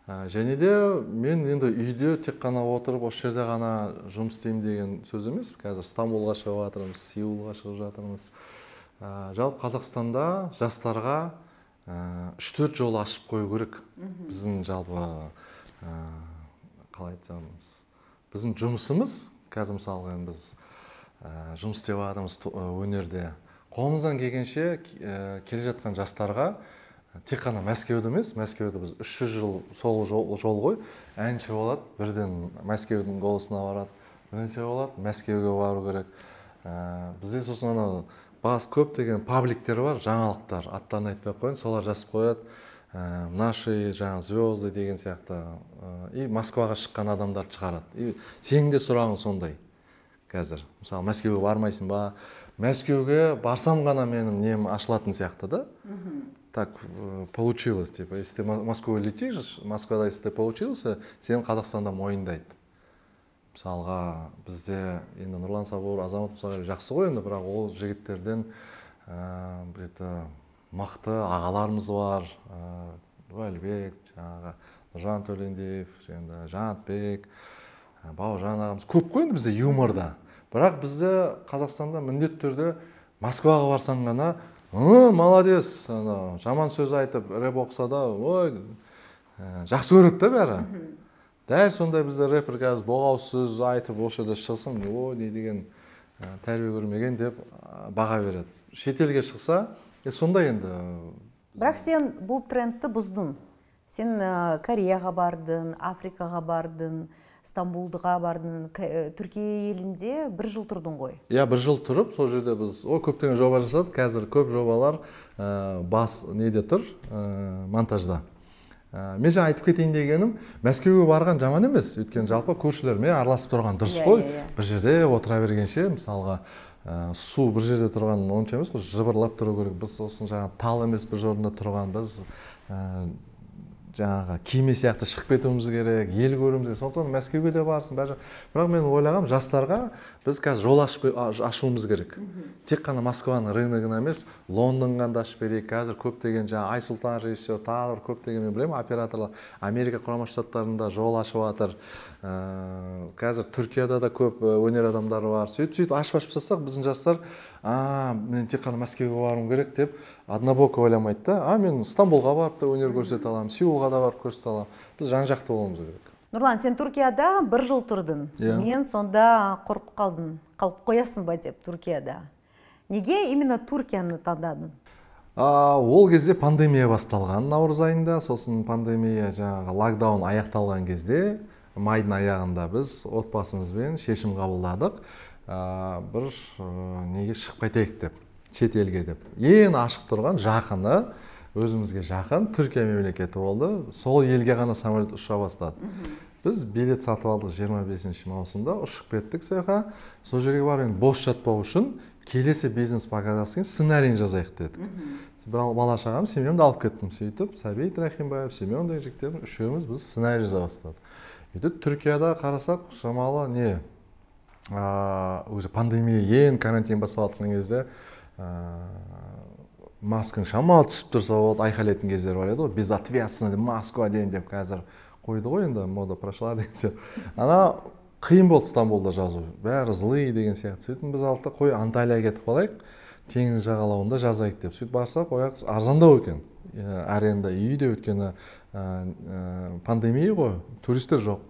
Және де мен енді үйде тек қана отырып, осы жерде ғана жұмыс істеймін деген сөз емес. Қазір Стамбулға шығып жатырмыз, Сеулға шығып жатырмыз. Жалпы Қазақстанда жастарға 3-4 жол ашып қою керек. Біздің жалпы қалай айтсамыз, біздің жұмысымыз, қазір мысалы біз жұмыс істеп жатырмыз өнерде. Қолымыздан келгенше келе жатқан жастарға тек қана Мәскеуді емес, Мәскеуді біз 300 жыл сол жол ғой, әнші болады, бірден Мәскеудің голосына барады, бірнәрсе болады, Мәскеуге бару керек. Бізде сосын бас көптеген пабликтер бар, жаңалықтар, аттарын айтпай қойын, солар жазып қояды. Наши жаңа звезды деген сияқты. И Москваға шыққан адамдар шығарады. И сенің де сұрағың сондай. Қазір, мысалы, Мәскеуге бармайсың ба? Мәскеуге барсам ғана менің нем ашылатын сияқты да. Так получилось, типа, если ты в Москву летишь, Москвада, если ты получился, сен Қазақстанда мойындайды. Мысалға, бізде енді Нұрлан Сабур, Азамат Мұсағали жақсы ғой енді, бірақ ол жігіттерден мықты ағаларымыз бар, Әлбек, Нұржан Төлендиев, Жанатбек, Бауыржан ағамыз көп қой енді бізде юморда. Бірақ бізде Қазақстанда міндетті түрде Москваға барсаң ғана молодец, жаман сөз айтып, рэп оқса да, ой, жақсы көреді да бәрі. Дәл сондай бізде рэпер қазір боғауыз сөз айтып, осы жерде шықсын, ой, не деген тәрбие көрмеген деп баға береді. Шетелге шықса, сондай енді. Бірақ сен бұл трендті бұздың. Сен Кореяға бардың, Африкаға бардың, Стамбулдыға бардың, Түркия елінде 1 жыл тұрдың ғой. Иә, 1 жыл тұрып, сол жерде біз көптеген жоба жасадық. Қазір көп жобалар бас неде тұр, монтажда. Мен жаңа айтып кетейін дегенім, Мәскеуге барған жаман емес. Өйткені жалпы көршілермен араласып тұрған дұрыс қой. Бір жерде отыра бергенше, мысалға, су бір жерде тұрған онша емес қой, жыбырлап тұру керек. Біз сосын жаңа тал емес бір орында тұрған, біз жаңағы кеме сияқты шығып кетуіміз керек, ел көруіміз керек. Сондықтан Мәскеуге де барсын, бәрі. Бірақ мен ойлағам, жастарға біз қазір жол ашуымыз керек. Тек қана Москваның рыногына емес, Лондонға да ашып берейік. Қазір көптеген жаңа Айсұлтан режиссер, тағы көптеген мен білемін, операторлар Америка Құрама Штаттарында жол ашып жатыр. Қазір Түркияда да көп өнер адамдары бар. Сөйтіп ашып тастасақ, біздің жастар, мен тек қана Мәскеуге баруым керек деп однобоко ойламайды да. Мен Стамбулға барып та өнер көрсете аламын, Сеулға да барып көрсете аламын. Біз жан-жақты болуымыз керек. Нұрлан, сен Түркияда 1 жыл тұрдың. Мен сонда қорқып қалдым. Қалып қоясың ба деп Түркияда. Неге именно Түркияны таңдадың? Ол кезде пандемия басталған наурыз айында, сосын пандемия жаңағы локдаун аяқталған кезде, майдың аяғында біз отбасымызбен шешім қабылдадық. Бір неге шығып қайтайық деп, шет елге деп. Ең ашық тұрған жақыны, өзімізге жақын Түркия мемлекеті болды. Сол елге ғана самолет ұша бастады. Біз билет сатып алдық 25 маусымда, ұшып кеттік сояққа. Сол жерге барып бос жатпау үшін келесі бизнес показасын сценарийін жазайық дедік. Бала шағам, семьямды алып кеттім. Сөйтіп, Сәбит Рахимбаев, Семен деген жігіттердің үшеуміз біз сценарий жаза бастадық. Түркияда қарасақ, шамалы не? Уже пандемия ең карантин басталатын кезде маскаң шамалы түсіп тұрса болды, айқайлайтын кездер бар еді ғой. Безответственно Москва дейін деп қазір қойды ғой, енді мода прошла деген сияқты. Ана қиын болды Стамбулда жазу. Бәрі злый деген сияқты. Сөйтіп біз алдық, қой Анталияға кетіп қалайық, теңіз жағалауында жазайық деп. Сөйтіп барсақ, ояқ арзандау екен. Аренда үйде өткені пандемия ғой, туристер жоқ.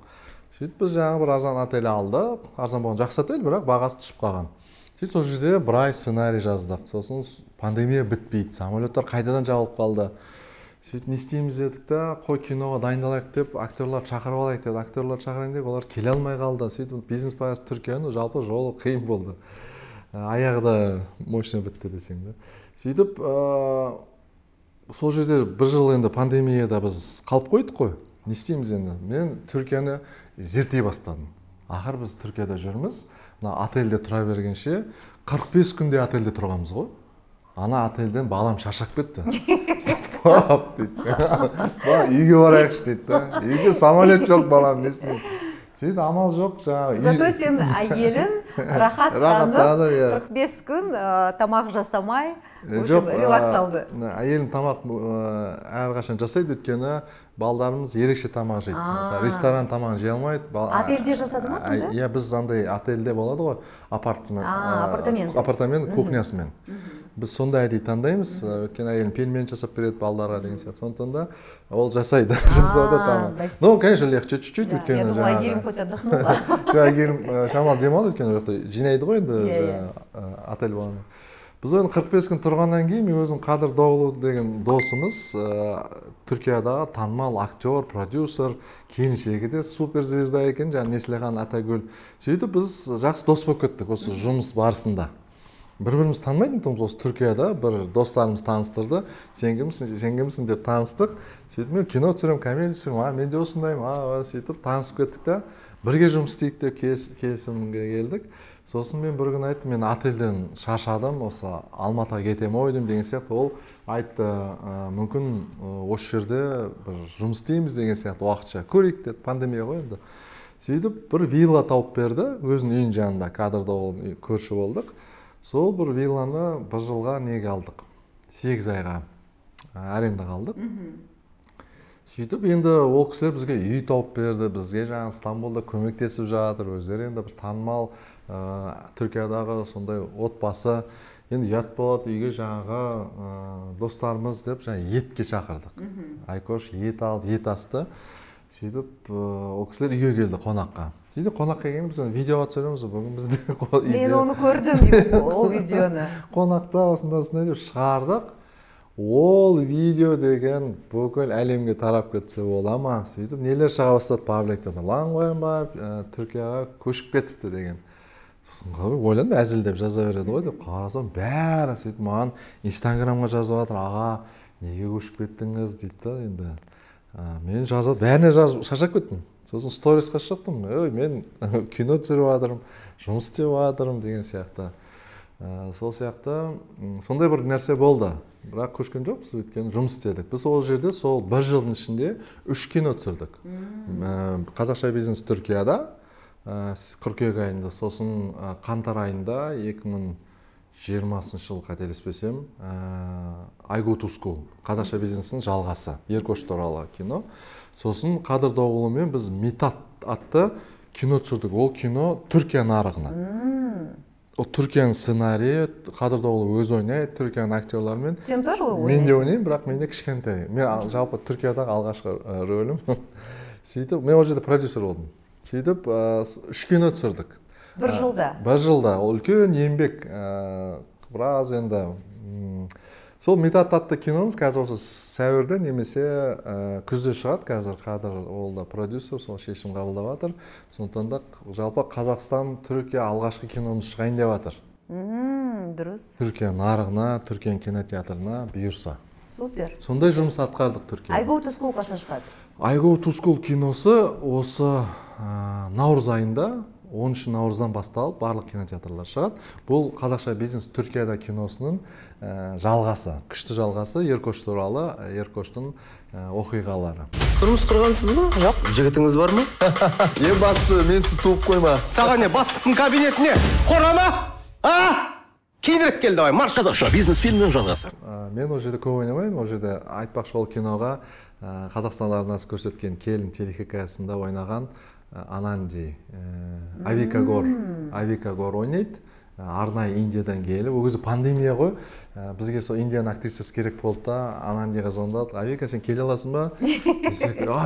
Сөйтіп біз жаңа бір арзан отель алдық. Арзан болған жақсы отель, бірақ бағасы түсіп қалған. Сөйтіп сол жерде бір ай сценарий жаздық. Сосын пандемия бітпейді, самолеттар қайтадан жабылып қалды. сөйтіп не істейміз дедік та, қой киноға дайындалайық деп актерлар шақырып алайық деді. Актерлар шақырайын деп, олар келе алмай қалды. Сөйтіп бизнес поездка Түркияның жалпы жолы қиын болды. Аяғы да мощно бітті десең да. Сөйтіп сол жерде бір жыл енді пандемияда біз қалып қойдық қой. Не істейміз енді? Мен Түркияны зерттей бастадым. Ақыр біз Түркияда жүрміз. Мына отельде тұра бергенше 45 күнде отельде тұрғанбыз ғой. Ана отельден балам шаршап кетті. Пап дейді. Үйге барайықшы дейді. Үйге самолет жоқ балам, не істеймін? Сөйтіп амал жоқ жаңағы. Зато сен әйелін рахаттанып 45 күн тамақ жасамай, релакс алды. Әйелім тамақ әрқашан жасайды, өйткені балдарымыз ерекше тамақ жейді. Mesela ресторан тамағын жей алмайды. Отельде жасады ма сонда? Иә, біз андай отельде болады ғой, апартамент кухнясымен. Біз сондай әдейі таңдаймыз, өйткені әйелім пельмен жасап береді балдарға деген сияқты. Сондықтан да ол жасайды, жасады тамақ. Ну, конечно, легче чуть-чуть, өйткені жаңағы. Я думала, әйгерім хоть отдохнула. Әйгерім шамалы демалды, өйткені жинайды ғой енді отель болғаннан. Біз оны 45 күн тұрғаннан кейін, мен өзім Қадыр Доғлу деген досымыз, Түркиядағы танымал актер, продюсер, келіншегі де суперзвезда екен, жаңағы Неслихан Атагүл. Сөйтіп біз жақсы дос болып кеттік осы жұмыс барысында. Бір-біріміз танымайтын тұғымыз, осы Түркияда бір достарымыз таныстырды. Сен кімсің деп таныстық. Сөйтіп мен кино түсірем, комедия түсірем, мен де осындаймын, сөйтіп танысып кеттік та, бірге жұмыс істейік деп келісімге келдік. Сосын мен бір күн айттым, мен отельден шаршадым, осы Алматыға кетем ойдым деген сияқты. Ол айтты, мүмкін осы жерде бір жұмыс істейміз деген сияқты, уақытша көрейік деді, пандемия ғой енді. Сөйтіп бір вилла тауып берді, өзінің үйінің жанында, Кадрда көрші болдық. Сол бір вилланы бір жылға неге алдық, 8 айға арендаға алдық. Сөйтіп енді ол кісілер бізге үй тауып берді, бізге жаңағы Стамбулда көмектесіп жатыр, өздері енді бір танымал Түркиядағы сондай отбасы. Енді ұят болады, үйге жаңағы достарымыз деп етке шақырдық. Айкош ет алып, ет асты. Сөйтіп ол кісілер үйге келді қонаққа. Сөйтіп қонаққа келген біз видеоға түсіреміз, бүгін бізде мен оны көрдім, ол видеоны. Қонақта осындай деп шығардық. Ол видео деген бүкіл әлемге тарап кетсе бола ма? Сөйтіп нелер шыға бастады пабликтен. Лаңғойынбай Түркияға көшіп кетіпті деген. Ойландым, әзілдеп жаза береді ғой деп қарасам, бәрі сөйтіп маған Инстаграмға жазып жатыр, аға, неге көшіп кеттіңіз дейді. Енді мен жазып, бәріне жазып шаршап кеттім. Сосын сторисқа шықтым, мен кино түсіріп жатырмын, жұмыс істеп жатырмын деген сияқты. Сол сияқты сондай бір нәрсе болды. Бірақ көшкен жоқпыз, өйткені жұмыс істедік. Біз ол жерде сол бір жылдың ішінде 3 кино түсірдік. Қазақша бизнес Түркияда қыркүйек айында, сосын қаңтар айында 2020 жыл қателеспесем, I Go to School, қазақша бизнестің жалғасы, Еркош туралы кино. Сосын Қадыр Доғлумен біз Митат атты кино түсірдік. Ол кино Түркия нарығына. Ол Түркияның сценарийі, Қадыр Доғлу өз ойнайды, Түркияның актерларымен. Сен тоже ойнайсың? Мен де ойнаймын, бірақ мен де кішкентай. Мен жалпы Түркиядағы алғашқы рөлім. Сөйтіп, мен ол жерде продюсер болдым. Сөйтіп, 3 кино түсірдік. Бір жылда? Бір жылда. Ол үлкен еңбек. Біраз енді. Сол Митат атты киномыз қазір осы сәуірде немесе күзде шығады. Қазір Қадыр ол да продюсер, сол шешім қабылдап жатыр. Сондықтан да жалпы Қазақстан, Түркия алғашқы киномыз шығайын деп жатыр. Дұрыс. Түркия нарығына, Түркия кинотеатрына бұйырса. Супер. Сондай жұмыс атқардық Түркия. I Go to School қашан шығады? I Go to School киносы осы наурыз айында, 10 наурыздан басталып барлық кинотеатрлар шығады. Бұл қазақша бизнес Түркияда киносының жалғасы, күшті жалғасы, Еркош туралы, Еркоштың оқиғалары. Тұрмыс құрғансыз ба? Жоқ. Жігітіңіз бар ма? Ең бастысы, мен сіз туып қойма. Саған не, бастықтың кабинетіне қорама? Кейінірек келді ой, марш. Қазақша бизнес фильмнің жалғасы. Мен ол жерде көп ойнамаймын, ол жерде айтпақшы ол киноға Қазақстан арнасы көрсеткен келін телехикаясында ойнаған Ананди, Авика Гор ойнайды. Арнайы Индиядан келіп, ол кезде пандемия ғой, бізге сол Индияның актрисасы керек болды да, Анандиға звондады. Авика, сен келе аласың ба?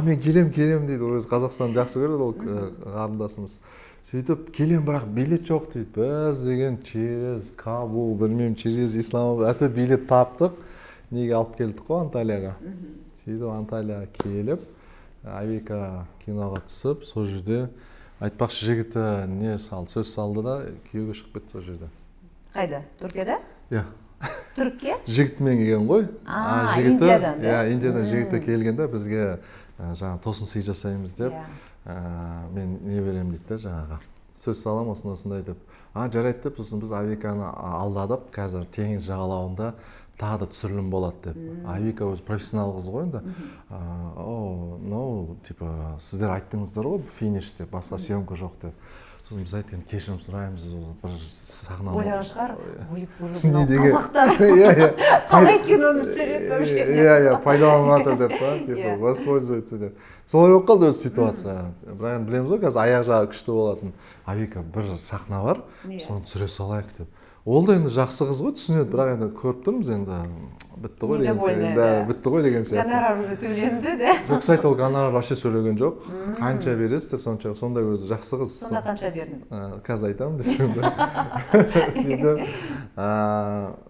Мен келем дейді, өзі Қазақстанды жақсы көреді, ол қарындасымыз. Сөйтіп, келем, бірақ билет жоқ дейді. Біз деген через Кабул, білмеймін, через Исламабад, әртүрлі билет таптық. Неге алып келдік қой Анталияға. сөйтіп Анталияға келіп Авика киноға түсіп, сол жерде айтпақшы жігіті не салды, сөз салды да күйеуге шығып кетті сол жерде. Қайда? Түркияда? Иә. Түркия? Жігітімен келген ғой. Индиядан. Иә, Индиядан жігіті келгенде бізге жаңа тосын сый жасаймыз деп, мен не беремін дейді да жаңағы. Сөз салам осындай деп. Жарайды деп, сосын біз Авиканы алдадық, қазір теңіз жағалауында тағы да түсірілім болады деп. Авика өзі профессионал қыз ғой енді. Типа, сіздер айттыңыздар ғой, финиш деп, басқа съемка жоқ деп. Сосын біз айттық, кешірім сұраймыз, бір сахна. Ойлаған шығар, қазақтар қалай киноны түсіреді вообще деп. Иә, пайдаланып жатыр деп, типа, воспользуется деп. Солай болып қалды өз ситуация. Бірақ енді білеміз ғой, қазір аяқ жағы күшті болатын. Авика бір сахна бар, соны түсіре салайық деп. Ол да енді жақсы қыз ғой, түсінеді, бірақ енді көріп тұрмыз енді бітті ғой деген сияқты. Гонорар уже төленді де. Жоқ, сайт ол гонорар вообще сөйлеген жоқ. Қанша бересіздер, сондай өзі жақсы қыз. Сонда қанша бердің? Қазір айтамын десем де.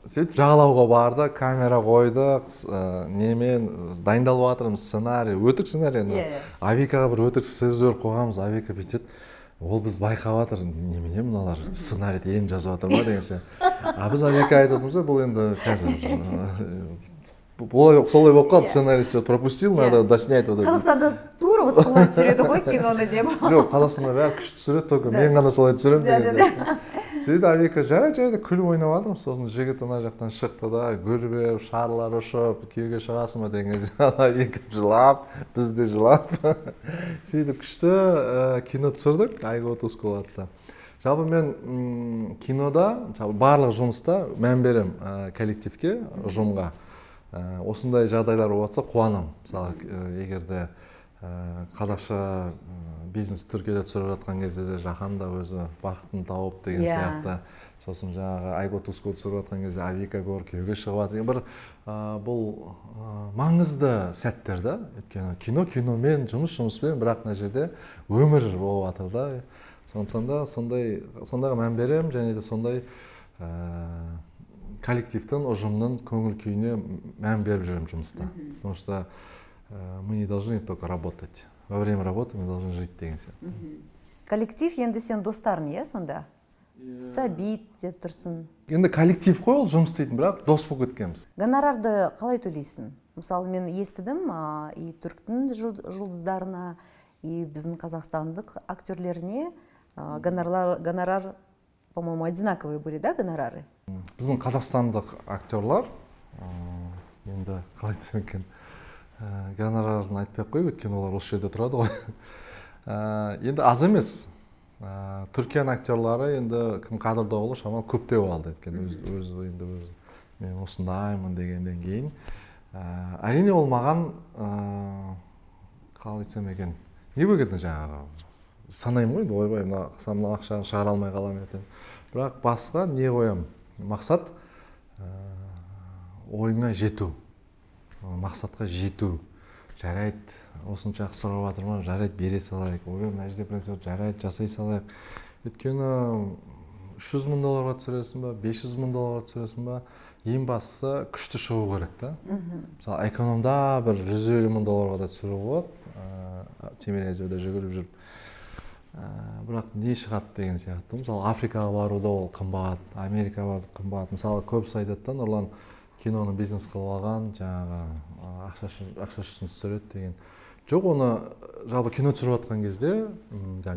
Сөйтіп жағалауға барды, камера қойдық, немен дайындалып жатырмыз, сценарий, өтірік сценарий енді. Авикаға бір өтірік сөздер қойғанбыз, Авика бүйтеді. Ол біз байқап жатыр, немене мыналар сценарийді енді жазып жатыр ма деген сияқты. Біз Авика айтып отырмыз, бұл енді қазір солай болып қалды, сценарийді пропустил, надо доснять. Қазақстанда тура вот солай түсіреді ғой киноны деп. Жоқ, Қазақстанда бәрі күшті түсіреді, только мен ғана солай түсіремін деген сияқты. Сөйтіп Авика жарайды күліп ойнап жатырмыз, сосын жігіт ана жақтан шықты да, гүл беріп, шарлар ұшып, күйеуге шығасың ба деген кезде Авика жылап, біз де жылап. Сөйтіп күшті кино түсірдік, Айго Туску атты. Жалпы мен кинода, барлық жұмыста мән берем коллективке, ұжымға. Осындай жағдайлар болып жатса қуанам. Мысалы, егерде қазақша бизнес Түркияда түсіріп жатқан кезде де жаһанда өзі бақытын тауып деген сияқты. Сосын жаңағы Айго Туску түсіріп жатқан кезде Авика көр, күйеуге шығып жатыр. Бір бұл маңызды сәттер да. Өйткені киномен, жұмыспен, бірақ мына жерде өмір болып жатыр да. Сондықтан да сондағы мән берем, және де сондай коллективтің, ұжымның көңіл күйіне мән беріп жүрем жұмыста. Потому что мы не должны только работать. Во время работы мы должны жить деген сияқты. Коллектив енді сен достарың, иә, сонда? Сәбит деп тұрсын. Енді коллектив қой ол жұмыс істейтін, бірақ дос болып кеткенбіз. Гонорарды қалай төлейсің? Мысалы, мен естідім, и түріктің жұлдыздарына, и біздің қазақстандық актерлеріне гонорар, по-моему, одинаковые были, да, гонорары? Біздің қазақстандық актерлар, енді қалай десем екен, гонорарын айтпай қой, өйткені олар осы жерде тұрады ғой. Енді аз емес. Түркияның актерлары енді кім қадырдаулы шамалы көптеу алды. Өзі мен осындаймын дегеннен кейін. Әрине ол маған қалай айтсам екен, не бөгетін жаңағы санаймын ғой, ойбай, мына ақшаны шығара алмай қалам ертең. Бірақ басқа не қоям? Мақсат ойыңа жету. Мақсатқа жету. Жарайды, осыншақ сұрап жатырмын, жарайды, бере салайық. Ойбай, мына жерде бір жарайды, жасай салайық. Өйткені $300,000 түсіресің ба, $500,000 түсіресің ба, ең бастысы күшті шығу керек та. Мысалы, экономда бір $150,000 да түсіру болады, Тимирязевда жүгіріп жүріп. Бірақ не шығады деген сияқты. Мысалы, Африкаға баруда ол қымбат, Америкаға баруда қымбат. Мысалы, көбісі айтады, Нұрлан киноны бизнес қылып алған, жаңағы ақша үшін түсіреді деген. Жоқ, оны жалпы кино түсіріп жатқан кезде,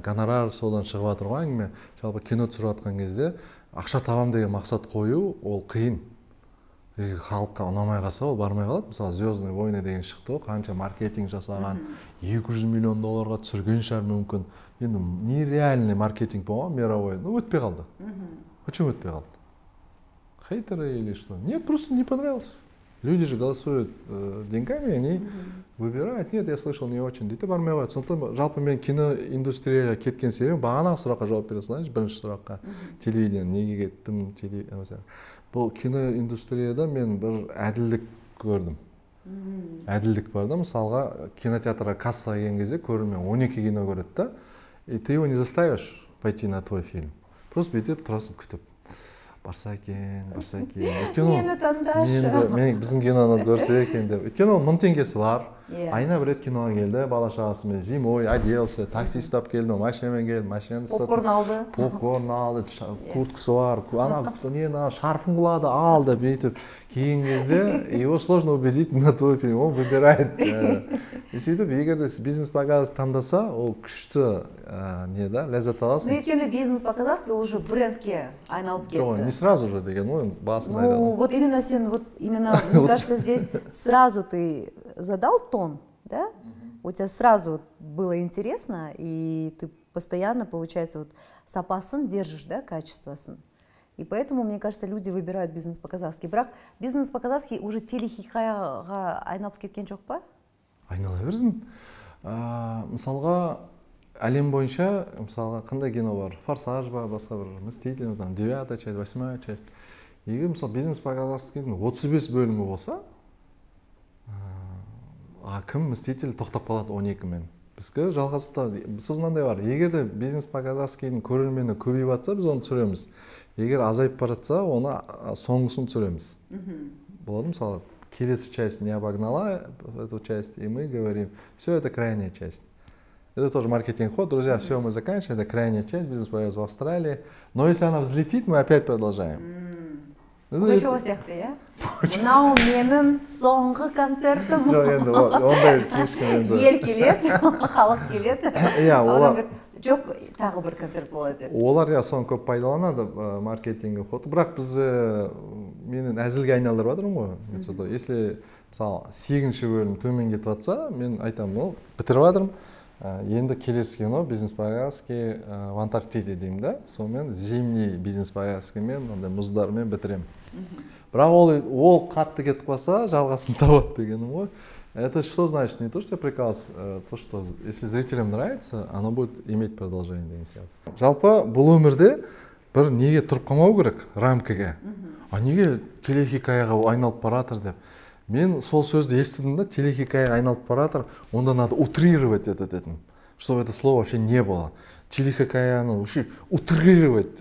гонорар содан шығып жатыр ғой әңгіме. Жалпы кино түсіріп жатқан кезде ақша табам деген мақсат қою ол қиын. Халыққа ұнамай қалса ол бармай қалады. Мысалы, «Звездные войны» деген шықты, қанша маркетинг жасаған, $200 миллион түсірген шығар мүмкін. Енді нереальный маркетинг болған, мировой, өтпей қалды. Почему өтпей қалды? Хейтеры или что? Нет, просто не понравился. Люди же голосуют деньгами, они выбирают. Нет, я слышал, не очень. Дейді бармай қояды. Сондықтан жалпы мен киноиндустрияға кеткен себебім бағанағы сұраққа жауап бере салайыншы, бірінші сұраққа. Телевидение, неге кеттім? Бұл киноиндустрияда мен бір әділдік көрдім. Әділдік бар да, мысалға кинотеатрға кассаға келген кезде көрермен 12 кино көреді да, и ты его не заставишь пойти на твой фильм. Просто бүйтіп тұрасың күтіп. барса екен. Өйткені Мені таңдашы. мен біздің киноны көрсе екен деп. Өйткені ол 1000 теңгесі бар. Иә. Айына бір рет киноға келді, бала шағасымен зимой оделся, такси ұстап келді, машинамен келді, машинаны Попкорн алды. Попкорн алды, курткасы бар, ана шарфын қылады, алды, бүйтіп. Кейін кезде его сложно убедить на твой фильм, он выбирает. И сөйтіп, егер де бизнес-показ таңдаса, ол күшті не да, ләззат аласың. Өйткені бизнес-показаски уже брендке айналып кетті. Не сразу же деген, басын Ну, айтады. вот именно, мне кажется, здесь сразу ты задал тон, да? У тебя сразу было интересно, и ты постоянно, получается, вот сапасын держишь, да, качествосын. И поэтому, мне кажется, люди выбирают бизнес-показаски. Бірақ бизнес-показаски уже телехикаяға айналып кеткен жоқ па? Айнала берсін. Мысалға, әлем бойынша, мысалға, қандай кино бар? Форсаж ба, басқа бір Мститель, 9-я часть, 8-я часть. Егер, мысалы, бизнес-показаскінің 35 бөлімі болса, кім Мститель тоқтап қалады 12-мен. Бізге жалғасыда, сөз мынандай бар, егер де бизнес-показаскінің көрермені көбейіп жатса, біз оны түсіреміз. Егер азайып бара жатса, оны соңғысын түсіреміз. Болады, мысалы, келесі часть не обогнала эту часть, и мы говорим, все, это крайняя часть. Это тоже маркетинг ход, друзья, все, мы заканчиваем, это крайняя часть, бизнес-показа в Австралии. Но если она взлетит, мы опять продолжаем. Пугачева сияқты, иә? Мынау менің соңғы концертім. Жоқ, енді ондай слишком енді. Ел келеді, халық келеді. Иә, олар жоқ, тағы бір концерт болады деп. Олар соны көп пайдаланады маркетинг ход. Бірақ біз менің әзілге айналдырып жатырмын ғой. Если мысалы 8-ші бөлім төмен кетіп жатса, мен айтамын, бітіріп жатырмын. Енді келесі кино бизнес-показаски в Антарктиде деймін да. Сонымен зимний бизнес-показаскімен, мұздармен бітіремін. Бірақ ол қатты кетіп қалса, жалғасын табады дегенім ғой. Это что значит? Не то, что я приказ, то, что если зрителям нравится, оно будет иметь продолжение деген сияқты. Жалпы бұл өмірде бір неге тұрып қалмау керек рамкаға. Неге телехикаяға айналып баратыр деп. Мен сол сөзді естідім да, телехикая айналып баратыр, онда надо утрировать это дедім, чтобы это слово вообще не было. Телехикаяны вообще утрировать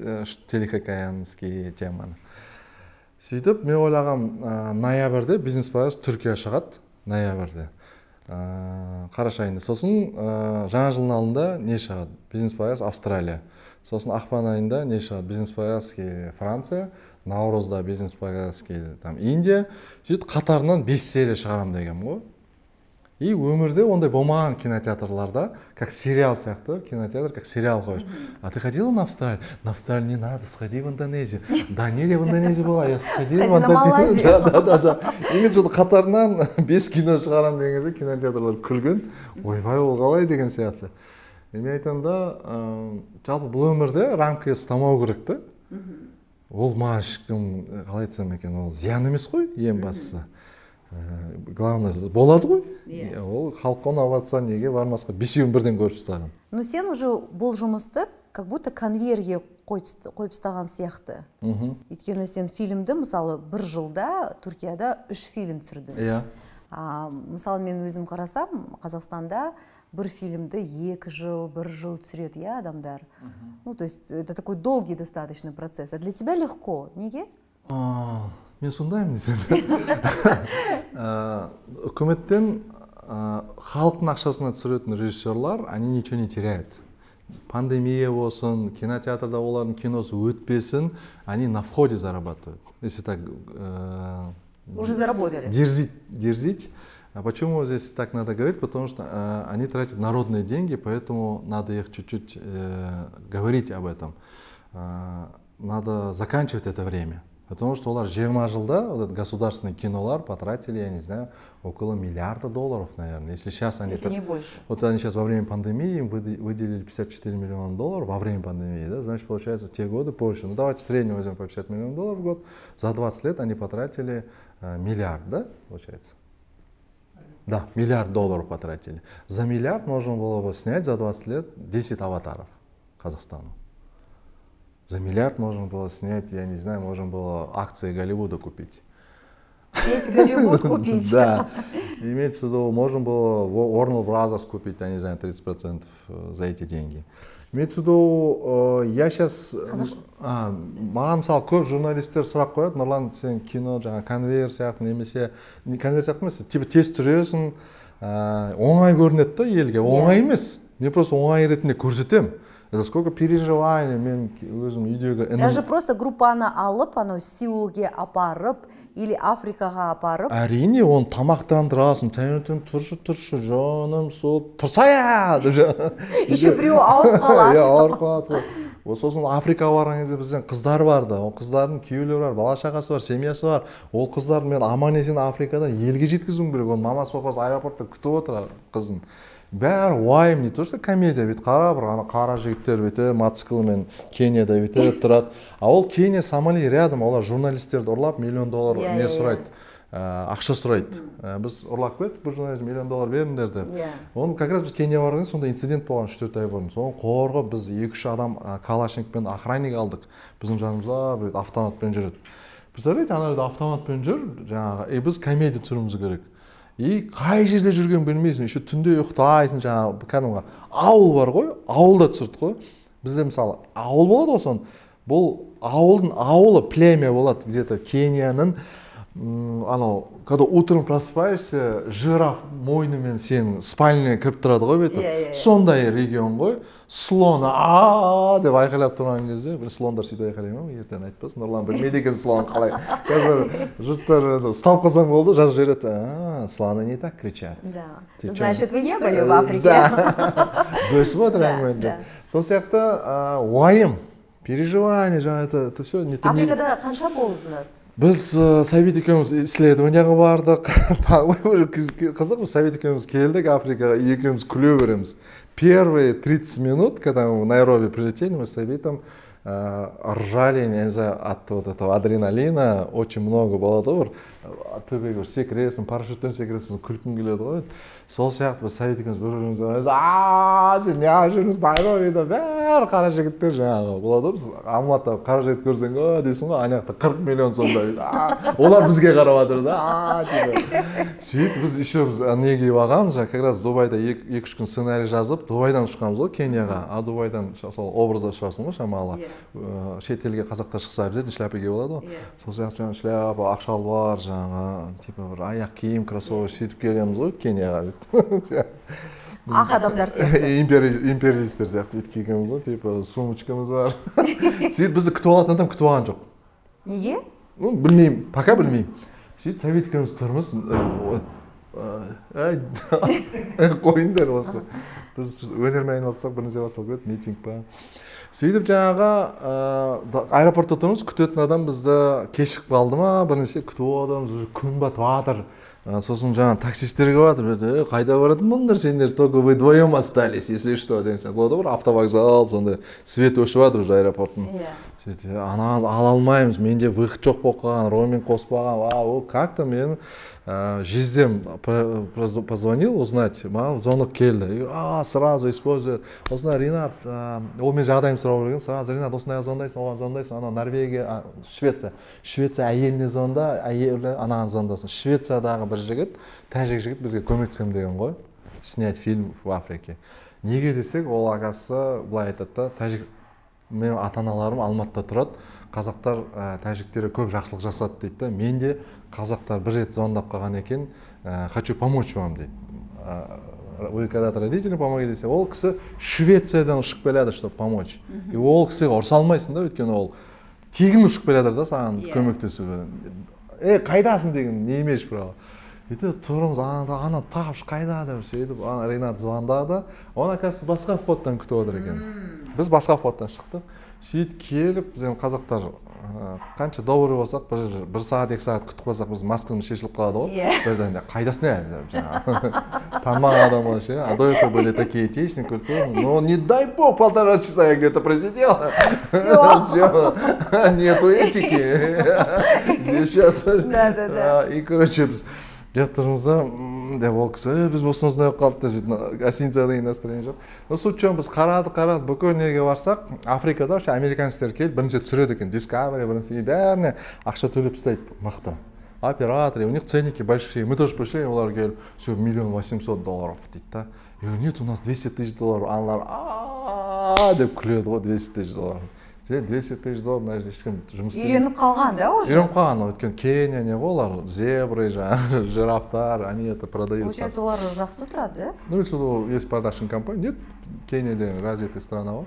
телехикаянский теманы. Сөйтіп, мен ойлағам, ноябрьде бизнес-показас Түркия шығады, ноябрьде. Қараша айында. Сосын жаңа жылдың алдында не шығады? Бизнес-показас Австралия. Сосын ақпан айында не шығады? Бизнес-показаски Франция. Наурызда бизнес-показаски Индия. Сөйтіп, қатарынан 5 серия шығарам деген ғой. И өмірде ондай болмаған кинотеатрларда, как сериал сияқты, кинотеатр как сериал қойыш. А ты ходила на Австралию? На Австралию не надо, сходи в Индонезию. Да не, я в Индонезии была, я сходила в Индонезию. Да. И мен сол қатарынан 5 кино шығарам деген кезде кинотеатрлар күлген. Ойбай, ол қалай деген сияқты. Мен айтам да, жалпы бұл өмірде рамкаға ұстамау керек та. Ол маған ешкім қалай айтсам екен, ол зиян емес қой, ең бастысы. Главное, болады ғой. Ол халыққа ұнап жатса неге бармасқа, бесеуін бірден көріп тастаған. Но сен уже бұл жұмысты как будто конвейерге қойып тастаған сияқты. Өйткені сен фильмді, мысалы, бір жылда Түркияда 3 фильм түсірдің. Иә. Мысалы, мен өзім қарасам, Қазақстанда бір фильмді 2 жыл, 1 жыл түсіреді, иә, адамдар. Ну, то есть, это такой долгий достаточно процесс. А для тебя легко, неге? Мен сондаймын десем. Үкіметтен халықтың ақшасына түсіретін режиссерлар, они ничего не теряют. Пандемия болсын, кинотеатрда олардың киносы өтпесін, они на входе зарабатывают. Если так... Уже заработали. Дерзить. Почему здесь так надо говорить? Потому что они тратят народные деньги, поэтому надо их чуть-чуть говорить об этом. Надо заканчивать это время. Потому что олар 20 жылда государственные кинолар потратили, я не знаю, около $1 миллиарда, наверное. Если сейчас они... Если не больше. Вот они сейчас во время пандемии им выделили $54 миллиона во время пандемии, да? Значит, получается, в те годы больше. Ну, давайте в среднем возьмем по $50 миллионов в год. За 20 лет они потратили миллиард, да, получается? Да, $1 миллиард потратили. За миллиард можно было бы снять за 20 лет 10 аватаров Казахстану. За миллиард можно было снять, я не знаю, можно было акции Голливуда купить. Весь Голливуд купить. Да. Имеется в виду, можно было Warner Brothers купить, я не знаю, 30% за эти деньги. я сейчас маған мысалы көп журналистер сұрақ қояды, Нұрлан, сен кино жаңа конвейер сияқты немесе конвейер сияқты емес, типа тез түсіресің, оңай көрінеді да елге. Оңай емес. Мен просто оңай ретінде көрсетемін. Это сколько переживаний, мен өзім үйдегі... Даже просто группаны алып, анау Сеулге апарып, или Африкаға апарып. Әрине, оны тамақтандырасың, таңертең тұршы, жаным, сол, тұрсая! Еще біреу ауырып қалады. Ауырып қалады. Сосын Африкаға барған кезде бізден қыздар барды. Ол қыздардың күйеулері бар, бала шағасы бар, семьясы бар. Ол қыздарды мен аман есен Африкадан елге жеткізуім керек. Оның мамасы папасы аэропортта күтіп отыр қызын. Бәрі уайым, не то что комедия, бет қара жігіттер беті мотоциклмен Кенияда бетіп тұрады. А ол Кения, Сомали рядом, олар журналистерді ұрлап $1 миллион не сұрайды, ақша сұрайды. Біз ұрлап кеттік, бір журналист $1 миллион беріңдер деп. Оны как раз біз Кения барған, сонда инцидент болған 3-4 ай бұрын. Соны қорғап біз 2-3 адам калашникпен охранник алдық. Біздің жанымызда бір автоматпен жүреді. Представляете, ана автоматпен жүр, жаңағы, біз комедия түсіруіміз керек. И қай жерде жүрген білмейсің, еще түнде ұйықтайсың, жаңағы кәдімгі ауыл бар ғой, ауылда түсірді ғой. Бізде мысалы ауыл болады ғой, сон. Бұл ауылдың ауылы племя болады, где-то Кенияның, анау, когда утром просыпаешься, жираф мойнымен сен спальняға кіріп тұрады ғой беті. Сондай регион ғой. Слон деп айқайлап тұрған кезде, бір слондар сөйтіп айқайлай ма, ертең айтпасын, Нұрлан білмейді екен слон қалай. Қазір жұрттар ұсталып қалсаң болды, жазып жібереді. Слоны не так кричат. Значит, вы не были в Африке. Бөсіп отыр әңгіме. Сол сияқты уайым, переживание, жаңа это все. Африкада қанша болдыңыз? Біз Сәбит екеуміз исследованияға бардық. Қызық, Сәбит екеуміз келдік Африкаға, екеуміз күле береміз. Первые 30 минут, когда мы в Найроби прилетели, мы с Сәбитом ржали, не знаю, от вот этого адреналина, очень много было добр. Төбеге секіресің, парашюттен секіресің, күлкің келеді ғой. Сол сияқты біз Сәбит екеуміз бір-бірімізге не жүрміз Найробида, бәрі қара жігіттер жаңағы болады. Біз Алматыда қара жігіт көрсең, дейсің ғой, ана жақта 40 миллион сондай. Олар бізге қарап жатыр да. Сөйтіп біз еще неге бағамыз, как раз Дубайда 2-3 күн сценарий жазып, Дубайдан ұшқанбыз ғой Кенияға. А Дубайдан сол образда ұшасың ғой шамалы. Шетелге қазақтар шықса обязательно шляпаге болады ғой. Сол сияқты жаңағы шляпа, ақшалбар, жаңағы типа бір аяқ киім, кроссовок сөйтіп келеміз ғой Кенияға. Ақ адамдар сияқты. Империалистер сияқты бүйтіп келгенбіз ғой, типа сумочкамыз бар. Сөйтіп бізді күтіп алатын адам күтіп алған жоқ. Неге? Білмеймін, пока білмеймін. Сөйтіп Сәбит екеуміз тұрмыз. Қойыңдар осы. Біз өнермен айналыссақ бір нәрсе басталып кетті, митинг па. Сөйтіп жаңағы аэропортта тұрмыз, күтетін адам бізді кешігіп қалды ма, бір нәрсе күтіп отырмыз, күн батып жатыр. Сосын жаңа таксистерге батыр, қайда баратын бұндар, сендер только вы вдвоем остались, если что, деген сияқты. Болды бір автовокзал, сонда свет өшіп жатыр уже аэропорттың. Сөйтіп, ана ала алмаймыз, менде выход жоқ болып қалған, роуминг қоспаған, как-то мен жездем позвонил узнать, маған звонок келді. Сразу использует. Осындай Ринат, ол мен жағдайым сұрау берген, сразу Ринат, осындай звондайсың, оған звондайсың, ана Норвегия, Швеция әйеліне звонда, әйелі анаған звондасын. Швециядағы бір жігіт, тәжік жігіт бізге көмектесем деген ғой, снять фильм в Африке. Неге десек, ол ағасы былай айтады да, мен ата-аналарым Алматыда тұрады, қазақтар тәжіктері көп жақсылық жасады дейді. Мен де қазақтар бір рет звондап қалған екен, хочу помочь вам дейді. Вы когда-то родителям помогли десе, ол кісі Швециядан ұшып келеді, чтобы помочь. И ол кісіге ұрса алмайсың да, өйткені ол тегін ұшып келеді да саған көмектесуге. Қайдасың деген, не имеешь права. Сөйтіп тұрмыз, ана тапшы қайда деп сөйтіп, Ринат звондады. Оны оказывается басқа входтан күтіп отыр екен. Біз басқа входтан шықтық. Сөйтіп келіп, біз қазақтар қанша добрый болсақ, бір сағат, 2 сағат күтіп қалсақ, біз маскамыз шешіліп қалады ғой. Бірден қайдасың деп жаңағы. Танымаған адам болған ше. А до этого были такие этичные, культурные. Но не дай бог, 1,5 часа я где-то просидел. Все. Нету этики. Сейчас. И короче, деп тұрмыз деп ол кісі, біз осыныздай қалды деп гостиницада деген настроение жоқ. Суть жоқ, біз қарадық, бүкіл неге барсақ, Африкада американецтер келіп бірінші түсіреді екен, Discovery, бірінші бәріне ақша төлеп тастайды, мықты. Операторы, у них ценники большие. Мы тоже пришли, олар келіп, все, $1 800 000 дейді да. Нет, у нас $200 000. Аналар, деп күледі ғой, $200 000. $200 000 мына жерде ешкім жұмыс істемейді. Үйреніп қалған да уже? Үйреніп қалған, өйткені Кения не ғой, олар зебры, жаңағы жирафтар, они это продаются. Получается, олар жақсы тұрады, да? Ну, если есть продакшн компания, нет, Кения деген развитая страна ғой.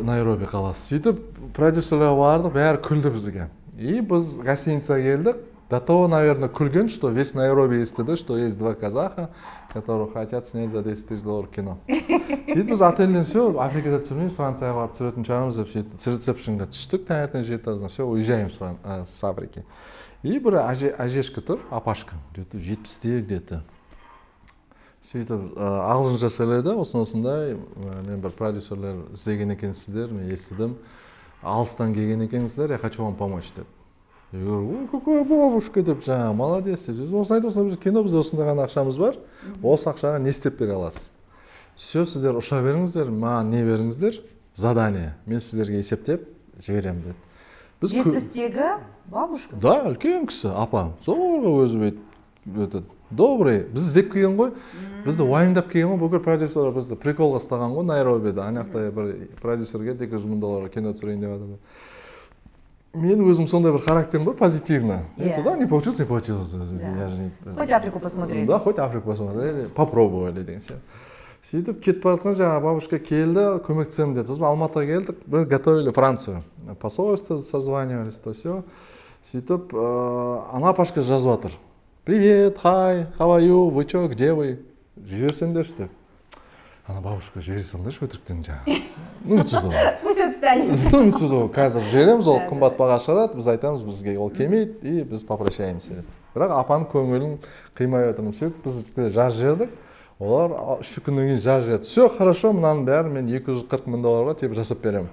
Найроби қаласы. Сөйтіп, продюсерлер барды, бәрі күлді бізге. И біз гостиницаға келдік. До того, наверное, күлген, что весь Найроби естіді, что есть два казаха, которые хотят снять за $10 000 кино. Сөйтіп біз отельден все, Африкада түсірмейміз, Францияға барып түсіретін шығармыз деп сөйтіп ресепшнға түстік, таңертең 7:00-да, все, уезжаем с Африки. И бір әжешкі тұр, апашка, где-то 70-те где-то. Сөйтіп ағылшынша сөйледі, осындай, мен бір продюсерлер іздеген екенсіздер, мен естідім, алыстан келген екенсіздер, я хочу вам помочь деп. Я говорю, какая бабушка деп, жаңа, молодец деп. Осындай біз кино, бізде осындай ғана ақшамыз бар, осы ақшаға не істеп бере аласыз? Все, сіздер ұша беріңіздер, маған не беріңіздер? Задание. Мен сіздерге есептеп жіберем деді. 70-тегі бабушка? Да, үлкен кісі, апам. Зорға өзі өтеді. Добрый. Біз іздеп келген ғой. Бізді уайымдап келген ғой. Бүкіл продюсерлер бізді приколға ұстаған ғой Найробида. Анақта бір продюсерге $200 000 кино түсірейін деп жатыр. Мен өзім сондай бір характерім бар, позитивно. Да, не получилось, не получилось. Хоть Африку посмотрели. Да, хоть Африку посмотрели, попробовали деген сияқты. Сөйтіп кетіп бара жатқан жаңағы бабушка келді, көмектесемін деді. Сосын Алматыға келдік, біз готовили Францию. Посольство созванивались, то все. Сөйтіп, ана апашка жазып жатыр. Привет, хай, how are you, вы чё, где вы? Жіберсеңдерші деп. Ана бабушка жібере салыңдаршы өтіріктен жаңағы. Пусть отстанет. Қазір жібереміз, ол қымбат баға шығарады, біз айтамыз, бізге ол келмейді, и біз попрощаемся. Бірақ апаның көңілін қимай отырмыз. Сөйтіп біз жаз жібердік. Олар 3 күннен кейін жаз жіберді. Все хорошо, мынаның бәрін мен $240 000 типа жасап беремін.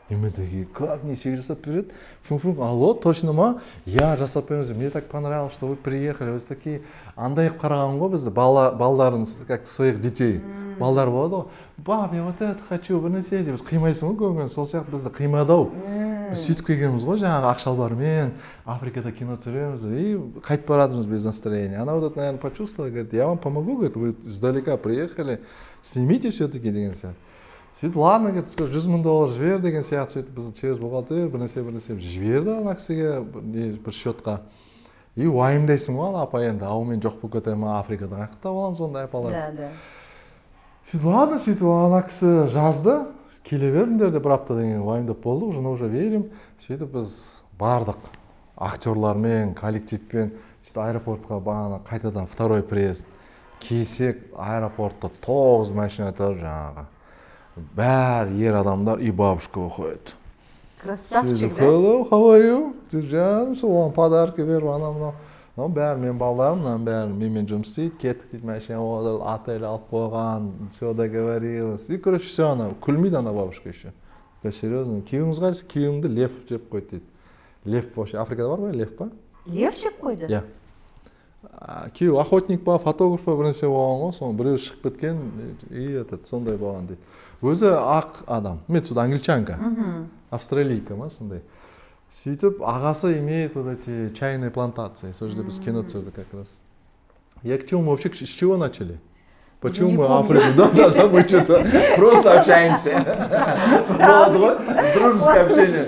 И мы такие, как несек жасап береді? Фу-фу, алло, точно ма? Я жасап береміз. Мне так понравилось, что вы приехали. Вы такие, андай қараған ғой бізді, балдарын, как своих детей. Балдар болады ғой. Баб, я вот это хочу, бір нәрсе деп. Біз қимайсың ғой көңілін, сол сияқты бізді қимадау. Біз сөйтіп келгенбіз ғой, жаңағы ақшалбармен Африкада кино түсіреміз. И қайтып баратырмыз без настроения. Она вот это, наверное, почувствовала, говорит, я вам помогу, говорит, вы издалека приехали, снимите все-таки деген сияқты. Сөйтіп, ладно, говорит, $100 000 жібер деген сияқты, сөйтіп біз через бухгалтер бір нәрсе жіберді ана кісіге бір счетқа. И уайымдайсың ғой, апа енді, ау мен жоқ болып кетемін Африкадан, қаяқтап аламыз ондай апалар. Да. Сөйтіп, ладно, сөйтіп ана кісі жазды, келе беріңдер деп бір апта деген уайымдап болдық, уже верим. Сөйтіп біз бардық актерлармен, коллективпен, аэропортқа бағана қайтадан второй приезд. Келсек аэропортта 9 машина тұр жаңағы. Бәрі ер адамдар и бабушка выходит. Красавчик, да? Hello, how are you? Жаным, соған подарки беріп, анау-мынау. Бәрі мен балаларым, бәрі менімен жұмыс істейді, кеттік дейді, машина отырды, отель алып қойған, все договорилось. И, короче, все ана, күлмейді ана бабушка еще. Серьезно, күйеуіңіз қайсы? Күйеуімді лев жеп қойды дейді. Лев вообще, Африкада бар ғой, лев па? Лев жеп қойды? Иә. Күйеу охотник па, фотограф па, бір нәрсе болған ғой, соны біреу шығып кеткен, и сондай болған дейді. Өзі ақ адам, мен сюда англичанка, австралийка ма, сондай. Сөйтіп, ағасы имеет вот эти чайные плантации, сол жерде біз кино түсірді как раз. Я к чему, вообще, с чего начали? Почему мы Африку? Да, мы что-то просто общаемся. Болды ғой, дружеское общение.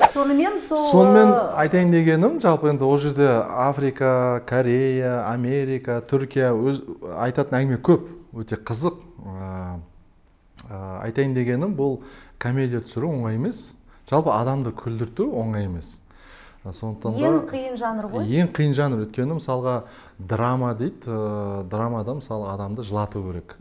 Сонымен айтайын дегенім, жалпы енді ол жерде Африка, Корея, Америка, Түркия айтатын әңгіме көп, өте қызық. Айтайын дегенім, бұл комедия түсіру оңай емес, жалпы адамды күлдірту оңай емес. Ең қиын жанр ғой? Ең қиын жанр, өткені мысалға драма дейді, драмада мысалы адамды жылату керек.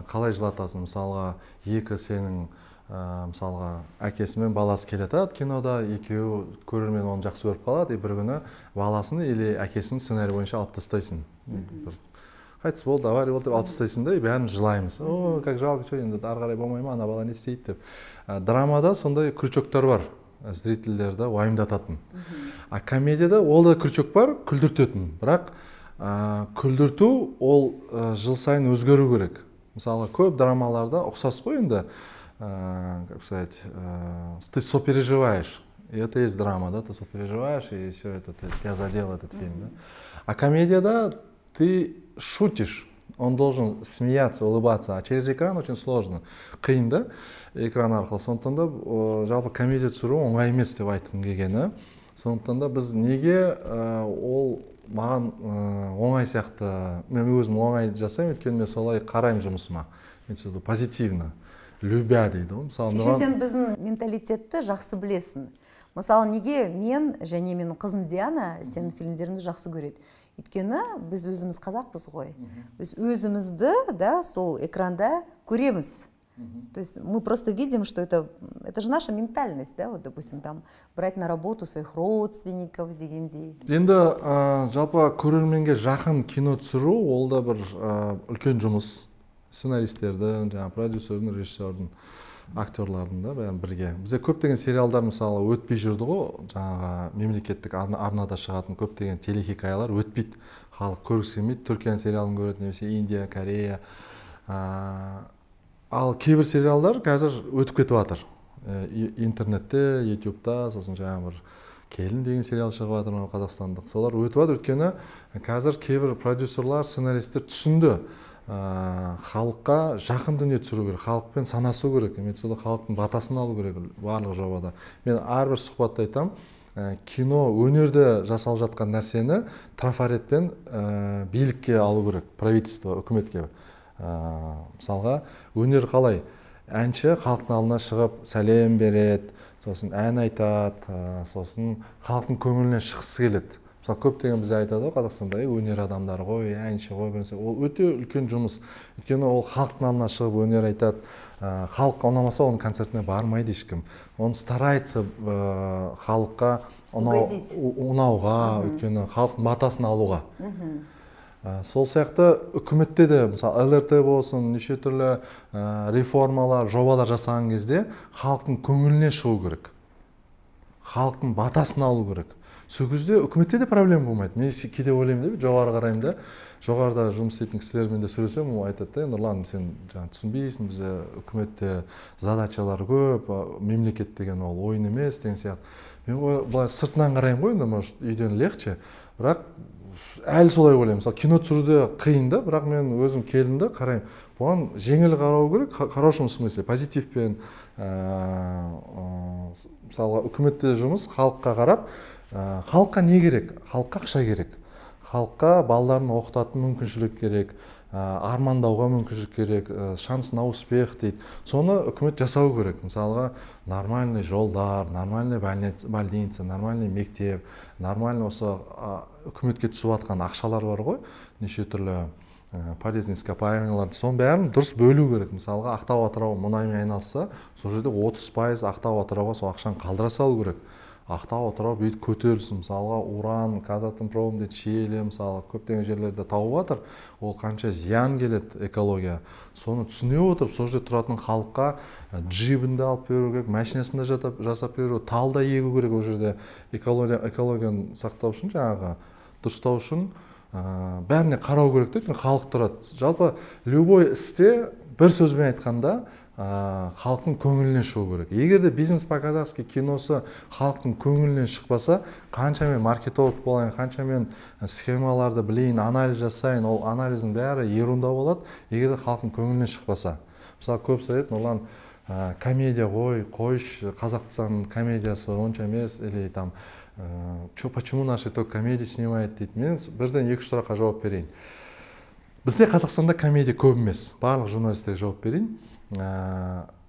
Қалай жылатасың? Мысалға екі сенің мысалға әкесі мен баласы келеді кинода, екеуі көрермен оны жақсы көріп қалады, бір күні баласын или әкесінің сценарий бойынша алып тастайсың. Қайтыс болды, авария болды деп алып тастайсың да, бәріміз жылаймыз. О, как жалко, что енді ары қарай болмай ма, ана бала не істейді деп. Драмада сондай крючоктар бар. Зрительдерді уайымдататын. А комедияда ол да крючок бар, күлдіртетін. Бірақ күлдірту ол жыл сайын өзгеру керек. Мысалы, көп драмаларда ұқсас қой енді, как сказать, ты сопереживаешь. И это есть драма, да, ты сопереживаешь, и все это, тебя задел этот фильм. Да? А комедияда ты шутишь. Он должен смеяться, улыбаться, а через экран очень сложно. Қиын да, экран арқылы. Сондықтан да жалпы комедия түсіру оңай емес деп айтқым келгені. Сондықтан да біз неге ол маған оңай сияқты, мен өзім оңай жасаймын, өйткені мен солай қараймын жұмысыма. Мен позитивно, любя дейді ғой. Кеше сен біздің менталитетті жақсы білесің. Мысалы, неге мен және менің қызым Диана сенің фильмдеріңді жақсы көреді? Өйткені біз өзіміз қазақпыз ғой. Біз өзімізді сол экранда көреміз. То есть мы просто видим, что это же наша ментальность, да, вот, допустим, там брать на работу своих родственников дегендей. Енді жалпы көрерменге жақын кино түсіру, ол да бір үлкен жұмыс. Сценаристердің, продюсердің, режиссердің, актерлардың да бәрін бірге. Бізде көптеген сериалдар мысалы өтпей жүрді ғой, жаңағы мемлекеттік арнада шығатын көптеген телехикаялар өтпейді. Халық көргісі келмейді, Түркияның сериалын көреді, немесе Индия, Корея. Ал кейбір сериалдар қазір өтіп кетіп жатыр. Интернетте, ютубта, сосын жаңағы бір Келін деген сериал шығып жатыр қазақстандық. Солар өтіп жатыр, өйткені қазір кейбір продюсерлар, сценаристер түсінді. Халыққа жақын дүние түсіру керек, халықпен санасу керек, халықтың батасын алу керек барлық жобада. Мен әрбір сұхбатта айтам, кино өнерде жасалып жатқан нәрсені трафаретпен билікке алу керек, правительство, үкіметке. Мысалға, өнер қалай? Әнші халықтың алдына шығып сәлем береді, сосын ән айтады, сосын халықтың көңілінен шыққысы келеді. Мысалы, көптеген бізде айтады ғой, Қазақстанда өнер адамдары ғой, әнші ғой, ол өте үлкен жұмыс. Өйткені ол халықтың алдына шығып өнер айтады. Халыққа ұнамаса, оның концертіне бармайды ешкім. Оны старается халыққа ұнауға, өйткені халықтың батасын алуға. Сол сияқты үкіметте де, мысалы, ЛРТ болсын, неше түрлі реформалар, жобалар жасаған кезде халықтың көңілінен шығу керек. Халықтың батасын алу керек. Сол кезде үкіметте де проблема болмайды. Мен кейде ойлаймын деп, жоғары қараймын да, жоғарыда жұмыс істейтін кісілермен де сөйлесем, ол айтады, Нұрлан, сен түсінбейсің, бізде үкіметте задачалар көп, мемлекет деген ол ойын емес деген сияқты. Мен былай сыртынан қараймын ғой, может, үйден легче, бірақ әлі солай ойлаймын. Мысалы, кино түсіруде қиын да, бірақ мен өзім келдім де қараймын. Бұған жеңіл қарау керек, хорошем смысле, позитивпен. Мысалы, үкіметте жұмыс халыққа қарап, халыққа не керек? Халыққа ақша керек. Халыққа балаларын оқытатын мүмкіншілік керек, армандауға мүмкіншілік керек, шанс на успех дейді. Соны үкімет жасау керек. Мысалға, нормальный жолдар, нормальный больница, нормальный мектеп, нормальный осы үкіметке түсіп жатқан ақшалар бар ғой, неше түрлі полезный ископаемыйлар, соның бәрін дұрыс бөлу керек. Мысалға, Ақтау Атырау мұнаймен айналысса, сол жерде 30% Ақтау Атырауға сол ақшаны қалдыра салу керек. Ақтау Атырау бүйтіп көтерілсін. Мысалға, уран, Казатомпром дейді, Шиелі, мысалы, көптеген жерлерде тауып жатыр. Ол қанша зиян келеді экология. Соны түсіне отырып, сол жерде тұратын халыққа джибінде алып беру керек, машинасында жасап беру, талда егу керек ол жерде экологияны сақтау үшін, жаңағы дұрыстау үшін бәріне қарау керек дейді, халық тұрады. Жалпы любой істе бір сөзбен айтқанда халықтың көңілінен шығу керек. Егер де бизнес по-казахски киносы халықтың көңілінен шықпаса, қанша мен маркетолог болайын, қанша мен схемаларды білейін, анализ жасайын, ол анализдің бәрі ерунда болады, егер де халықтың көңілінен шықпаса. Мысалы, көп sayет, Нұрлан, комедия қойшы, Қазақстан комедиясы онша емес, или там почему наши только комедии снимает дейді. Мен бірден 2-3 сұраққа жауап берейін. Бізде Қазақстанда комедия көп емес. Барлық журналистерге жауап берейін.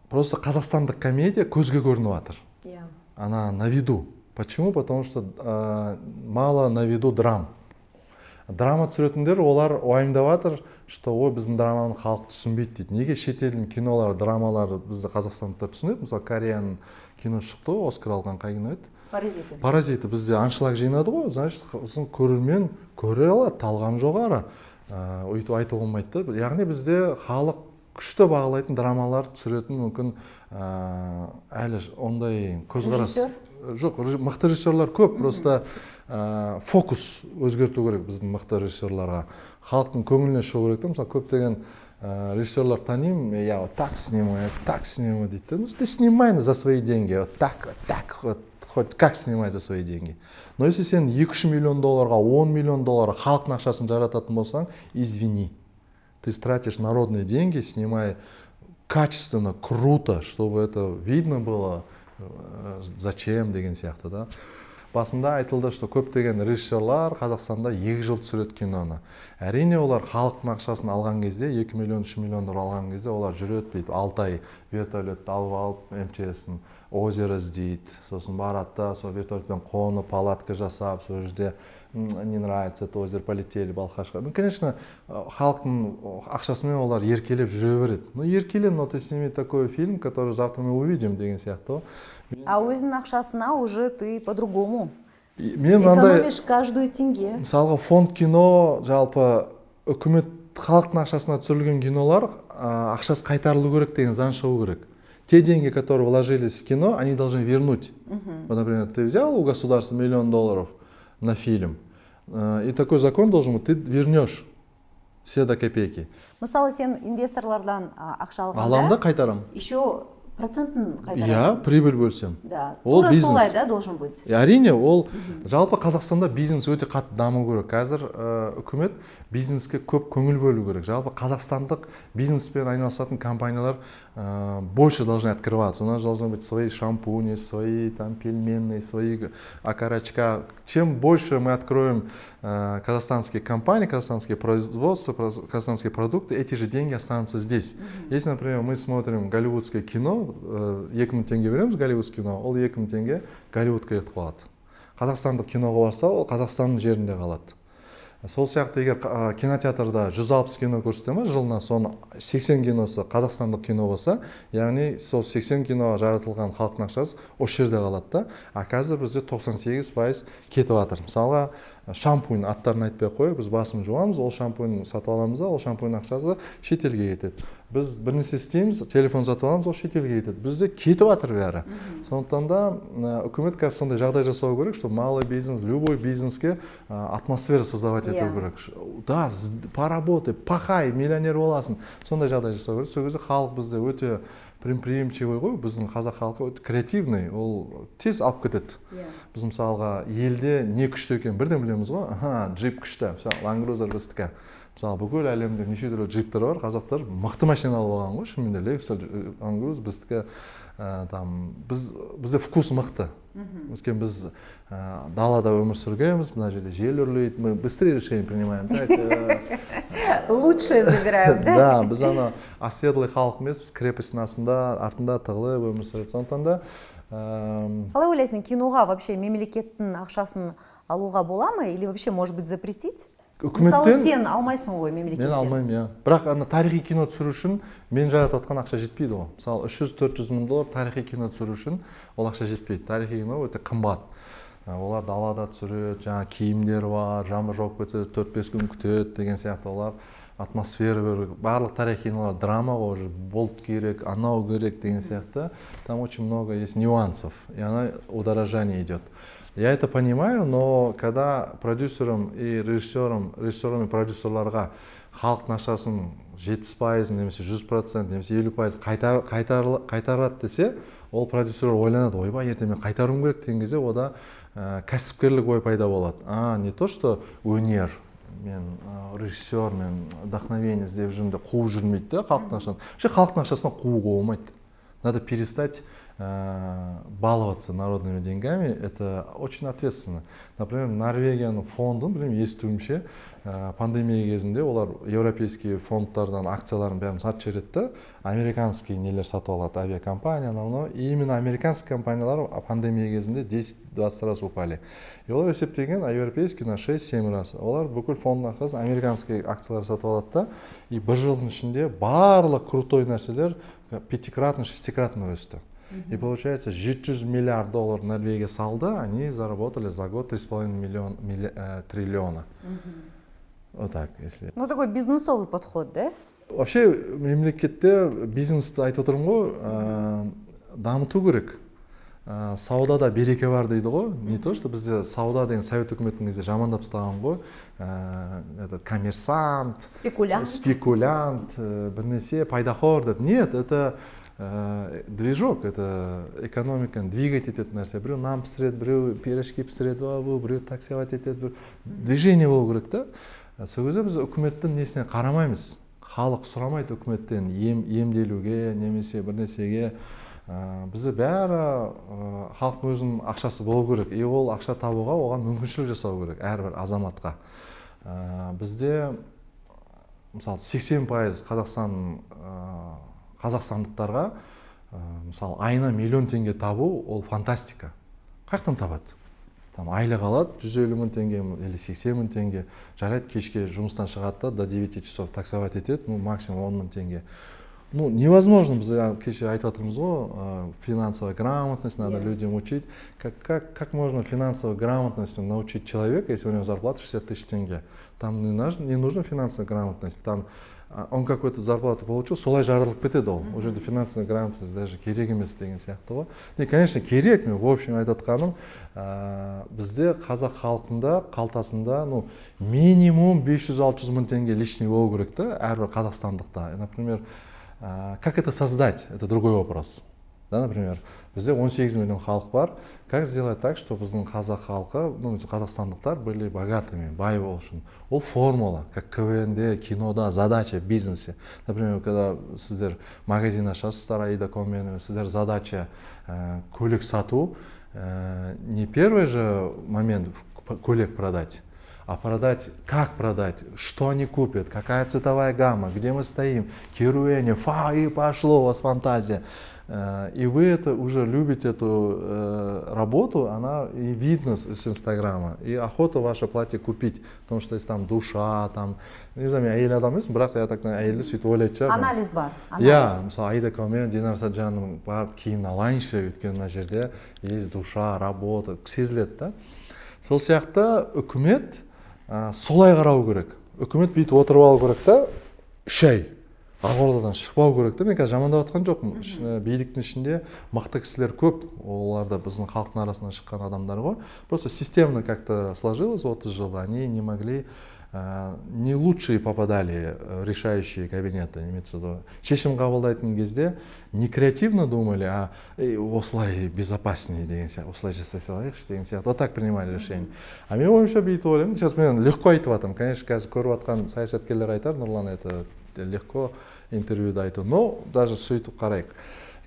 Просто қазақстандық комедия көзге көрініп жатыр. Она на виду. Почему? Потому что мало на виду драм. Драма түсіретіндер, олар уайымдап жатыр, что ой, біздің драманы халық түсінбейді дейді. Неге шетелдің кинолар, драмалар бізді қазақстандықтар түсінеді? Мысалы, Кореяның кино шықты, Оскар алған қай кино еді? Паразиты. Паразиты бізде аншлаг жинады ғой, значит, көрермен көре алады, талғам жоғары. Өйтіп айтуға болмайды да. Яғни бізде халық күшті бағалайтын драмалар түсіретін мүмкін әлі ондай көзқарас жоқ, мықты режиссерлар көп, просто фокус өзгерту керек біздің мықты режиссерларға. Халықтың көңіліне шығу керек. Мысалы, көптеген режиссерлар танимын, я вот так снимаю дейді. Ну, ты снимай за свои деньги, вот так, хоть как снимай за свои деньги. Но если сен 2-3 миллион долларға, 10 миллион долларға халықтың ақшасын жарататын болсаң, извини. ты тратишь народные деньги, снимай качественно, круто, чтобы это видно было, зачем деген сияқты да. Басында айтылды, что көптеген режиссерлар Қазақстанда 2 жыл түсіреді киноны. Әрине олар халықтың ақшасын алған кезде, 2 миллион, 3 миллион алған кезде олар жүреді дейді, 6 ай вертолетті алып МЧС-ін озеро іздейді, сосын барады да, сол вертолетпен қонып, палатка жасап, сол жерде не нравится это озеро, полетели Балқашқа. Ну, конечно, халықтың ақшасымен олар еркелеп жүре береді. Ну, еркеле, но ты сними такой фильм, который завтра мы увидим деген сияқты. А өзінің ақшасына уже ты по-другому. Мен мынандай экономишь каждую тенге. Мысалға фонд кино, жалпы үкімет халықтың ақшасына түсірілген кинолар ақшасы қайтарылу керек деген заң шығу керек. Те деньги, которые вложились в кино, они должны вернуть. Вот, например, ты взял у государства $1 миллион на фильм, и такой закон должен быть, ты вернешь все до копейки. Мысалы, сен инвесторлардан ақша алғанда, Аламда қайтарам. Еще процентін қайтарасың. Я прибыль бөлсем. Да. Ол бизнес. Солай, да, должен быть. Әрине, ол жалпы Қазақстанда бизнес өте қатты даму керек. Қазір үкімет бизнеске көп көңіл бөлу керек. Жалпы қазақстандық бизнеспен айналысатын компаниялар больше должны открываться. У нас должны быть свои шампуни, свои там пельменные, свои окорочка. Чем больше мы откроем казахстанские компании, казахстанские производства, казахстанские продукты, эти же деньги останутся здесь. Если, например, мы смотрим голливудское кино, 2000 теңге береміз голливудское кино, ол 2000 теңге Голливудқа кетіп қалады. Қазақстандық киноға барса, ол Қазақстанның жерінде қалады. Сол сияқты егер кинотеатрда 160 кино көрсете ме жылына, соның 80 киносы қазақстандық кино болса, яғни сол 80 киноға жаратылған халықтың ақшасы осы жерде қалады да. А қазір бізде 98% кетіп жатыр. Мысалға шампунь аттарын айтпай қойып, біз басын жуамыз, ол шампунь сатып аламыз да, ол шампунь ақшасы шетелге кетеді. Біз бір нәрсе істейміз, телефон сатып аламыз, ол шетелге кетеді. Бізде кетіп жатыр бәрі. Сондықтан да үкімет қазір сондай жағдай жасау керек, что малый бизнес, любой бизнеске атмосфера создавать ету керек. Да, поработай, пахай, миллионер боласың. Сондай жағдай жасау керек. Сол кезде халық бізде өте предприимчивый ғой, біздің қазақ халқы өте креативный, ол тез алып кетеді. Біз мысалға елде не күшті екен бірден білеміз ғой, джип күшті, Land Cruiser біздікі. Мысалы, бүкіл әлемде неше түрлі джиптер бар, қазақтар мықты машина алып алған ғой, шынымен де Lexus, Land Cruiser біздікі бізде вкус мықты. Өйткені біз далада өмір сүргенбіз, мына жерде жел үрлейді, мы быстрее решение принимаем. Лучше забираем, да? Да, біз ана оседлый халық емес, біз крепостьтің артында тығылып өмір сүреді. Сондықтан да қалай ойлайсың, киноға вообще мемлекеттің ақшасын алуға бола ма или вообще может быть запретить? Мысалы, сен алмайсың ғой мемлекеттен. Мен алмаймын, иә. Бірақ тарихи кино түсіру үшін мен жаратып отқан ақша жетпейді ғой. Мысалы, $300-400 мың тарихи кино түсіру үшін ол ақша жетпейді. Тарихи кино өте қымбат. Олар далада түсіреді, жаңа киімдер бар, жаңбыр жауып кетсе 4-5 күн күтеді деген сияқты. Олар атмосфера беру, барлық тарихи кинолар драма ғой, уже болт керек, анау керек деген сияқты. Там очень много есть нюансов, и она удорожание идет. Я это понимаю, но когда продюсерам и режиссерам и продюсерларға халықтың ақшасын 70%, немесе 100%, немесе 50% қайтарады десе, ол продюсерлер ойланады, ойбай, ертең мен қайтаруым керек деген кезде ода кәсіпкерлік ой пайда болады. Не то, что өнер, мен режиссер, мен вдохновение іздеп жүрмін деп қуып жүрмейді да халықтың ақшасын. Халықтың ақшасына қууға болмайды. Надо перестать баловаться народными деньгами, это очень ответственно. Например, Норвегияның фондын, білмеймін, естуімше, пандемия кезінде олар европейский фондтардан акцияларын бәрін сатып жібереді, американский нелер сатып алады, авиакомпания, но именно американский компаниялар пандемия кезінде 10-20 раз упали. И олар есептеген, а европейский на 6-7 раз. Олар бүкіл фондың ақшасын американский акциялар сатып алады да, и бір жылдың ішінде барлық крутой нәрселер 5-кратно, 6-кратно өсті. И получается, $700 миллиард Норвегия салды, они заработали за год 3,5 триллиона. Вот так, если. Ну, такой бизнесовый подход, да? Вообще, мемлекетте бизнесті айтып отырмын ғой, дамыту керек. Саудада береке бар дейді ғой. Не то, что бізде сауда деген совет үкіметінің кезде жамандап тастаған ғой. Коммерсант, спекулянт, бірнәрсе пайдахор деп. Нет, это движок, это экономиканы двигать ететін нәрсе. Біреу нан пісіреді, біреу пирожки пісіреді, біреу таксовать етеді, движение болу керек та. Сол кезде біз үкіметтің несіне қарамаймыз. халық сұрамайды үкіметтен емделуге немесе бір нәрсеге. Бізде бәрі халықтың өзінің ақшасы болу керек, ол ақша табуға оған мүмкіншілік жасау керек әрбір азаматқа. Бізде мысалы 80% қазақстандықтарға мысалы айына миллион теңге табу ол фантастика. Қаяқтан табады? Айлық алады 150 мың теңге или 80 мың теңге, жарайды кешке жұмыстан шығады до 9 часов таксовать етеді, максимум 10 мың теңге. Невозможно, біз кеше айтып отырмыз ғой, финансовая грамотность надо людям учить. Как можно финансовой грамотностью научить человека, если у него зарплата 60 тысяч тенге? Там не нужна финансовая грамотность, там он какую-то зарплату получил, солай жарылып кетеді ол. Уже финансовая грамотность даже керек емес деген сияқты ғой. И, конечно, керек, мен в общем айтып отқаным, бізде қазақ халқында қалтасында минимум 500-600 мың теңге лишний болу керек та әрбір қазақстандықта. Например, как это создать? Это другой вопрос. Да, например, бізде 18 миллион халық бар. Как сделать так, чтобы біздің қазақ халқы, қазақстандықтар были богатыми, бай болсын? Ол формула, как КВНде, кинода, задача в бизнесе. Например, когда сіздер магазин ашасыздар, Аида.коммен, сіздер задача көлік сату, не первый же момент көлік продать, а продать, как продать, что они купят, какая цветовая гамма, где мы стоим, керуэне, и пошло у вас фантазия. И вы это уже любите, эту работу, она и видно с Инстаграма, и охота ваше платье купить, потому что есть там душа, там, не знаю, әйел адам емес, бірақ я так әйелді сөйтіп ойлайтын шығармын. Анализ бар. Иә, мысалы Аида.коммен, Динар Саджанның барып киімін алайыншы, өйткені мына жерде есть душа, работа, сезіледі да. Сол сияқты үкімет солай қарау керек. Үкімет бүйтіп отырып алу керек та, шай. Ақордадан шықпау керек та. Мен қазір жамандап жатқан жоқпын. Биліктің ішінде мықты кісілер көп. Олар да біздің халықтың арасынан шыққан адамдар ғой. Просто системно как-то сложилось 30 жыл. Они не могли, не лучшие попадали в решающие кабинеты. Имеется в виду. Шешім қабылдайтын кезде не креативно думали, а осылай безопаснее деген сияқты, осылай жасай салайықшы деген сияқты. Вот так принимали решение. А мен ойымша бүйтіп ойлаймын. Сейчас мен легко айтып жатырмын. Конечно, қазір көріп жатқан саясаткерлер айтар, Нұрлан, это легко интервьюда айту, но даже сөйтіп қарайық.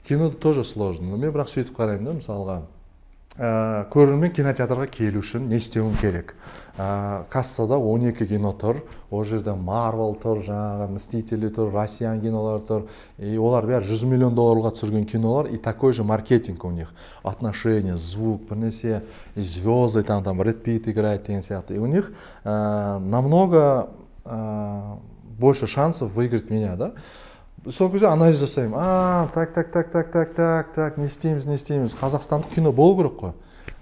Кино тоже сложно, но мен бірақ сөйтіп қараймын да, мысалға. Көрермен кинотеатрға келу үшін не істеуім керек? Кассада 12 кино тұр, ол жерде Marvel тұр, жаңағы Мстители тұр, Россиян кинолар тұр, и олар бәрі 100 миллион долларға түсірген кинолар, и такой же маркетинг у них, отношения, звук, бір нәрсе, и звезды, там Брэд Питт играет деген сияқты. И у них намного больше шансов выиграть меня, да? Сол кезде анализ жасаймын. Так, не істейміз. Қазақстандық кино болу керек қой.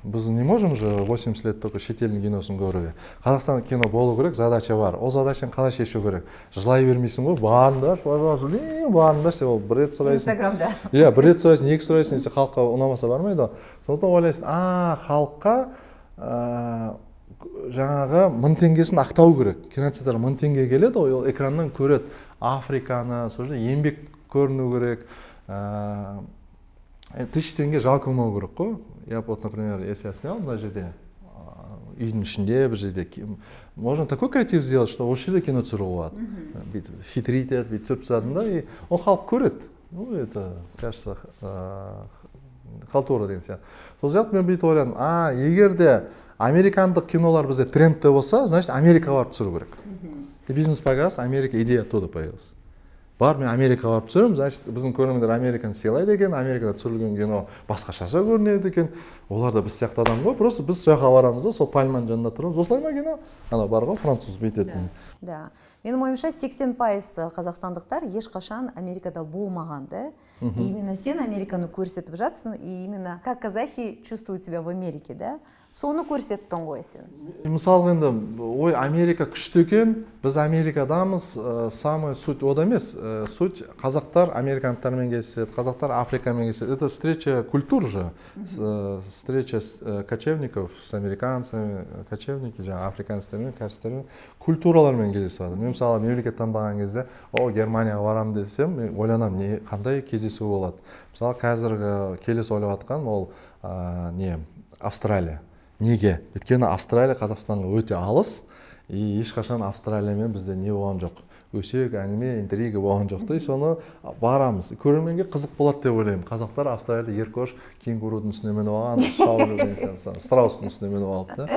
Біз не можем же 80 лет только шетелдің киносын көруге. Қазақстандық кино болу керек, задача бар. Ол задачаны қалай шешу керек? Жылай бермейсің ғой, барындаш, барындаш деп ол бір рет сұрайсың. Инстаграмда. Иә, бір рет сұрайсың, екі сұрайсың, десе халыққа ұнамаса бармайды. Сондықтан ойлайсың, халыққа жаңағы 1000 теңгесін ақтау керек. Кинотеатр 1000 теңге келеді, ол экраннан көреді. Африканы, сол жерде еңбек көріну керек. 1000 теңге жалқылмау керек қой. Я вот, например, если я снял мына жерде, үйдің ішінде бір жерде, можно такой креатив сделать, что осы жерде кино түсіруге болады. Бүйтіп хитрить етіп, бүйтіп түсіріп тастадым да, и ол халық көреді. Ну, это, кажется, халтура деген сияқты. Сол сияқты мен бүйтіп ойладым, егер де американдық кинолар бізде трендте болса, значит, Америкаға барып түсіру керек. И бизнес погас, Америка, идея оттуда появилась. Бар, мен Америкаға барып түсіремін, значит, біздің көрермендер Американы сыйлайды екен, Америкада түсірілген кино басқашаша көрінеді екен. Олар да біз сияқты адам ғой, просто біз сояққа барамыз да, сол пальманың жанында тұрамыз. Осылай ма кино? Ана бар ғой, француз бүйтетін. Да. Менің ойымша 80% қазақстандықтар ешқашан Америкада болмаған, да? Именно сен Американы көрсетіп жатсың, и именно как казахи чувствуют себя в Америке, да? Соны көрсеттің ғой сен. Мысалы енді, ой, Америка күшті екен, біз Америкадамыз, самый суть ода емес, суть қазақтар американдықтармен келіседі, қазақтар Африкамен келіседі. Это встреча культур же, встреча кочевников с американцами, кочевники, жаңа африканецтермен, кәрістермен, культуралармен кездеседі. Мен мысалы мемлекет таңдаған кезде, Германияға барам десем, мен ойланам, қандай кездесу болады. Мысалы қазіргі келесі ойлап жатқан ол Австралия. Неге? Өйткені Австралия Қазақстанға өте алыс, и ешқашан Австралиямен бізде не болған жоқ, өсек әңгіме интрига болған жоқ та, соны барамыз, көрерменге қызық болады деп ойлаймын. Қазақтар Австралияда еркош кенгурудың үстіне мініп алған, шауып жүрген сияқты, страустың үстіне мініп алып та.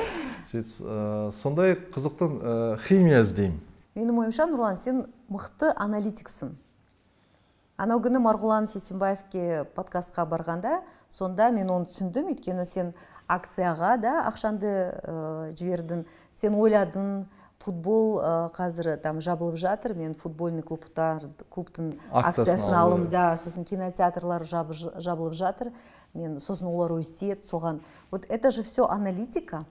Сондай қызықтың химия іздеймін. Менің ойымша, Нұрлан, сен мықты аналитиксің. Анау күні Марғұлан Сейсенбаевке подкастқа барғанда, сонда мен оны түсіндім, өйткені сен акцияға да ақшанды жібердің, сен ойладың, футбол қазір там жабылып жатыр, мен футбольный клубтың акциясын алымда, сосын кинотеатрлар жабылып жатыр, мен сосын олар өсет, соған. Вот это же все аналитика.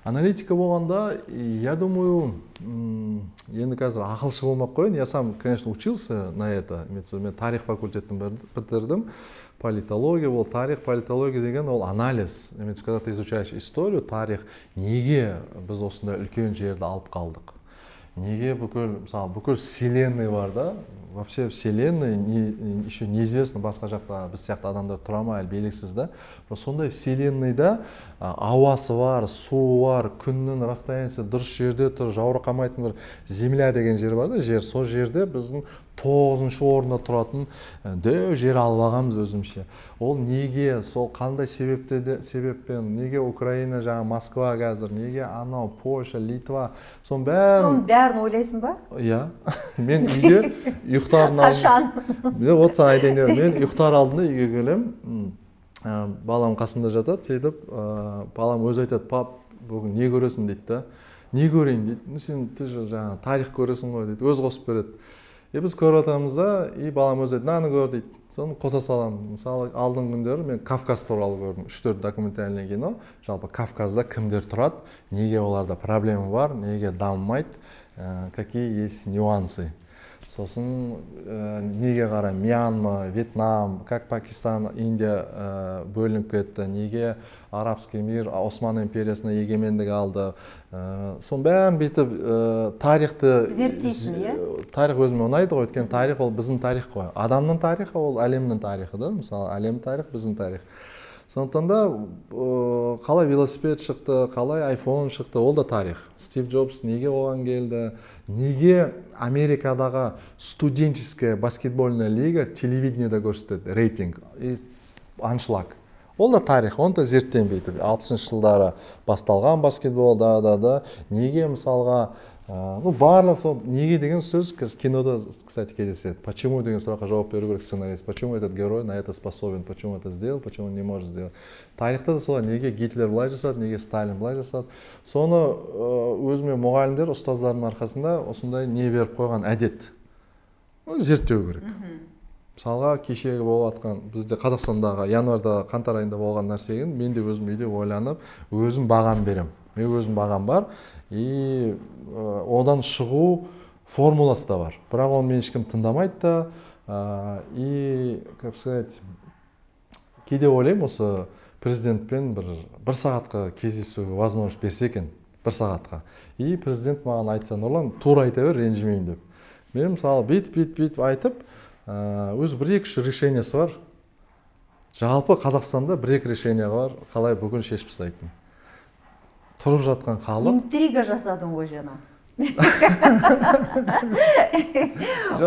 Аналитика болғанда, я думаю, енді қазір ақылшы болмақ қойын. Я сам, конечно, учился на это. Мен тарих факультетін бітірдім. Политология бол, тарих, политология деген ол анализ. Когда ты изучаешь историю, тарих, неге біз осында үлкен жерді алып қалдық? Неге бүкіл вселенной бар да? Во всей вселенной еще неизвестно басқа жақта біз сияқты адамдар тұра ма, әлі белгісіз да. Сондай вселенныйда ауасы бар, суы бар, күннің расстояниясы дұрыс жерде тұр, жаурықамайтын бір земля деген жер бар да, жер. Сол жерде біздің 9-шы орында тұратын дөу жер алып алғанбыз өзімше. Ол неге, сол қандай себеппен, неге Украина, жаңа Москва қазір, неге анау Польша, Литва, соның бәрін ойлайсың ба? Иә. Мен үйде ұйықтардың Қашан? Вот саған айтайын деп, мен ұйықтар алдында үйге келем, балам қасымда жатады, сөйтіп, балам өзі айтады, пап, бүгін не көресің дейді да. Не көрейін дейді. Сен жаңа тарих көресің ғой дейді, өз қосып береді. Біз көріп атамыз да, балам өзі дейді, наны көр дейді. Соны қоса саламын. Мысалы, алдың күндері мен Кавказ туралы көрдім. 3-4 документальный кино. Жалпы Кавказда кімдер тұрады, неге оларда проблема бар, неге дамымайды, какие есть нюансы. Сосын неге қарай Мьянма, Вьетнам, как Пакистан, Индия бөлініп кетті, неге арабский мир Осман империясына егемендік алды. Сон бәрін бүйтіп тарихты зерттейсің, иә? Тарих өзіме ұнайды ғой, өйткені тарих ол біздің тарих қой. Адамның тарихы ол әлемнің тарихы да, мысалы әлем тарих біздің тарих. Сондықтан да қалай велосипед шықты, қалай iPhone шықты, ол да тарих. Стив Джобс неге оған келді, неге Америкадағы студенческая баскетбольная лига телевидениеда көрсетеді, рейтинг, аншлаг. Ол да тарих, оны да зерттенбейді. 60-шы жылдары басталған баскетбол, неге мысалға, барлық сол неге деген сөз кинода, кстати, кездеседі. Почему деген сұраққа жауап беру керек сценарист. Почему этот герой на это способен, почему это сделал, почему не может сделать. Тарихта да солай, неге Гитлер былай жасады, неге Сталин былай жасады. Соны өзіме мұғалімдер, ұстаздардың арқасында осындай не беріп қойған әдет. Зерттеу керек. Мысалға, кешегі болып атқан, бізде Қазақстандағы январда, қаңтар айында болған нәрсеген, мен де өзім үйде ойланып, өзім баған берем. Мен өзім баған бар, и одан шығу формуласы да бар. Бірақ оны мен ешкім тыңдамайды да, и, как сказать, кейде ойлаймын, осы президентпен бір сағатқа кездесуге возможность берсе екен, бір сағатқа. И президент маған айтса, Нұрлан, тура айта бер, ренжімеймін деп. Мен мысалы бүйтіп айтып, өз бір-екі решениесі бар. Жалпы Қазақстанда бір-екі решение бар, қалай бүгін шешіп тастайтын. Тұрып жатқан халық. Интрига жасадың ғой жаңа.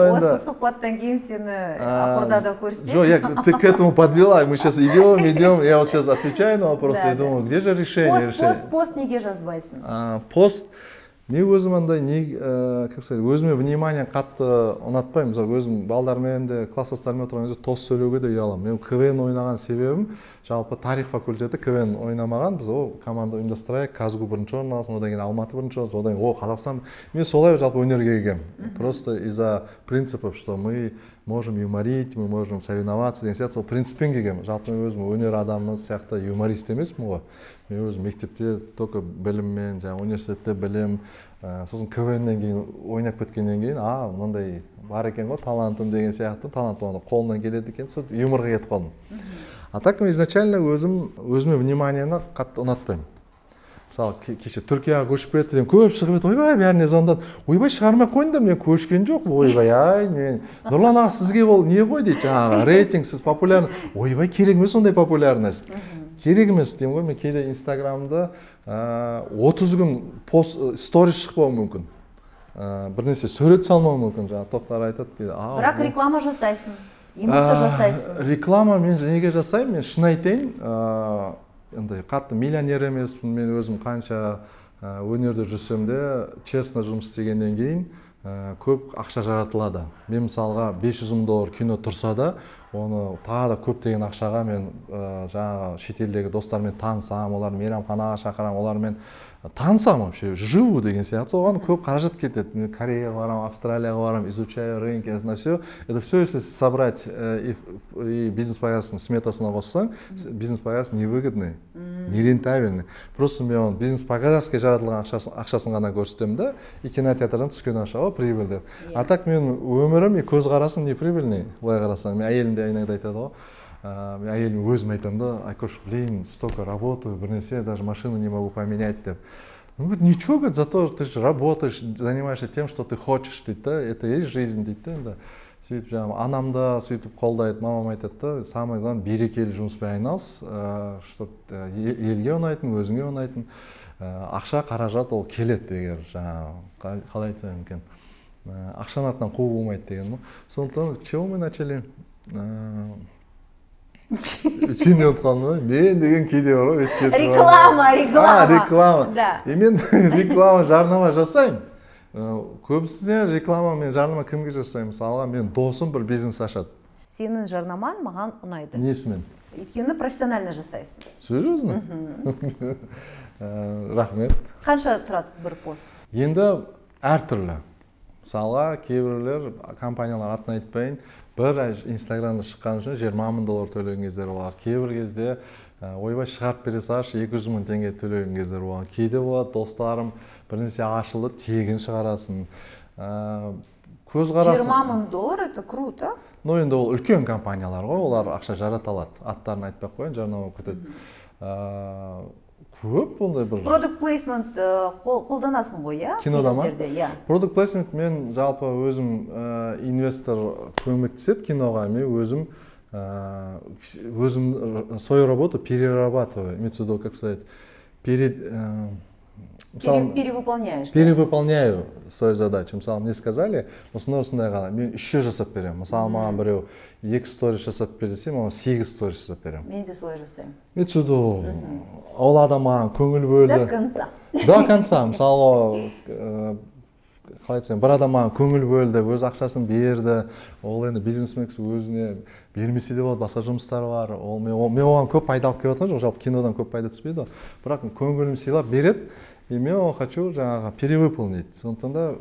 Осы сұхбаттан кейін сені ақырда көрсем. Жоқ, ты к этому подвела, мы сейчас идем, я вот сейчас отвечаю на вопросы и думаю, где же решение? Пост неге жазбайсың? Пост. Мен өзім андай, өзіме внимание қатты ұнатпаймын. Мысалы, өзім балдармен де, класстастармен отырған кезде тос сөйлеуге де ұяламын. Мен КВН ойнаған себебім, жалпы тарих факультеті КВН ойнамаған. Біз команда ұйымдастырайық, Казгу бірінші орын алсын, одан кейін Алматы бірінші орын, одан кейін Қазақстан. Мен солай жалпы өнерге келгенмін. Просто из-за принципов, что мы можем юморить, мы можем соревноваться деген сияқты, сол принциппен келгенмін. Жалпы мен өзім өнер адамы сияқты юморист емеспін ғой. Мен өзім мектепте только біліммен, жаңа университетте білім, сосын КВНнен кейін ойнап кеткеннен кейін, мынандай бар екен ғой, талантым деген сияқты, талант оны қолынан келеді екен, сол юморға кетіп қалдым. А так мен изначально өзіме вниманиені қатты ұнатпаймын. Мысалы, кеше Түркияға көшіп кетті деген көп шығып еді, ойбай, бәріне звондады. Ойбай, шығармай қойыңдар, мен көшкен жоқ, ойбай, мен Нұрлан аға, сізге ол не ғой дейді, жаңағы рейтинг, сіз популярны. Ойбай, керек емес ондай популярность. керек емес деймін ғой. Мен кейде инстаграмда 30 күн сторис шықпауы мүмкін, бір нәрсе сурет салмауы мүмкін. Жаңа Тоқтар айтады кейде, бірақ реклама жасайсың, имидті жасайсың. Реклама мен неге жасаймын? Мен шын айтайын, андай қатты миллионер емеспін. Мен өзім қанша өнерде жүрсем де, честно жұмыс істегеннен кейін көп ақша жаратылады. Мен мысалға $500,000 кино тұрса да, оны тағы да көптеген ақшаға мен жаңағы шетелдегі достармен танысам, олар мейрамханаға шақырам, олармен танысам вообще, живу деген сияқты. Оған көп қаражат кетеді. Мен Кореяға барам, Австралияға барам, изучаю рынок, это все. Это все, если собрать и бизнес-повязкасын сметасына қоссаң, бизнес-повязка невыгодный, не рентабельный. Просто мен бизнес-повязкаға жаратылған ақшасын ғана көрсетемін да, и кинотеатрдан түскен ақша прибыль деп. А так мен өмірім и көзқарасым не прибыльный, былай қарасаң. Мен әйелім де иногда айтады ғой. Мен әйелім өзім айтамын да, Айкош, блин, столько работаю, бір нәрсе, даже машину не могу поменять деп. Он говорит, ничего, говорит, зато ты же работаешь, занимаешься тем, что ты хочешь, дейді да, это и есть жизнь, дейді да. Сөйтіп жаңағы анам да сөйтіп қолдайды, мамам айтады да, самое главное берекелі жұмыспен айналыс, чтобы елге ұнайтын, өзіңе ұнайтын, ақша қаражат ол келеді егер жаңағы қалай айтсам екен, ақшаның артынан қуу болмайды деген. Сондықтан чего мы начали? Сен ұмытып қалдың ба? Мен деген кейде бар ғой. Реклама. И мен реклама, жарнама жасаймын. Көбісіне реклама, мен жарнама кімге жасаймын? Мысалға мен досым бір бизнес ашады. Сенің жарнамаң маған ұнайды. Несімен? Өйткені профессионально жасайсың. Серьезно? Рахмет. Қанша тұрады бір пост? Енді әртүрлі. Мысалға кейбіреулер компаниялар атын айтпайын, бір инстаграмда шыққан үшін $20,000 төлеген кездер болады. Кейбір кезде ойбай шығарып бере салшы, $200,000 төлеген кездер болады. Кейде болады, достарым бір нәрсе ашылды, тегін шығарасын. Көзқарасы $20,000 это круто. Ну енді ол үлкен компаниялар ғой, олар ақша жарата алады. Аттарын айтпай қойын, жарнама кетеді. Көп ондай бір Product placement қолданасың ғой, иә? Кинода ма? Product placement мен жалпы өзім инвестор көмектеседі киноға, мен өзім свою работу перерабатываю, имеется в виду, как сказать, перевыполняешь. Перевыполняю свою задачу. Мысалы, мне сказали, осындай ғана, мен 3 жасап беремін. Мысалы, маған біреу 2 сторис жасап бер десе, маған 8 сторис жасап беремін. Мен де солай жасаймын. Имеется в виду, ол адам маған көңіл бөлді. До конца. До конца. Мысалы, қалай айтсам, бір адам маған көңіл бөлді, өз ақшасын берді. Ол енді бизнесмен өзіне бермесе де болады, басқа жұмыстары бар. Мен оған көп пайда алып келіп жатқан жоқ, жалпы кинодан көп пайда түспейді. Бірақ көңілім сыйлап береді. И мен хочу жаңағы перевыполнить. Сондықтан да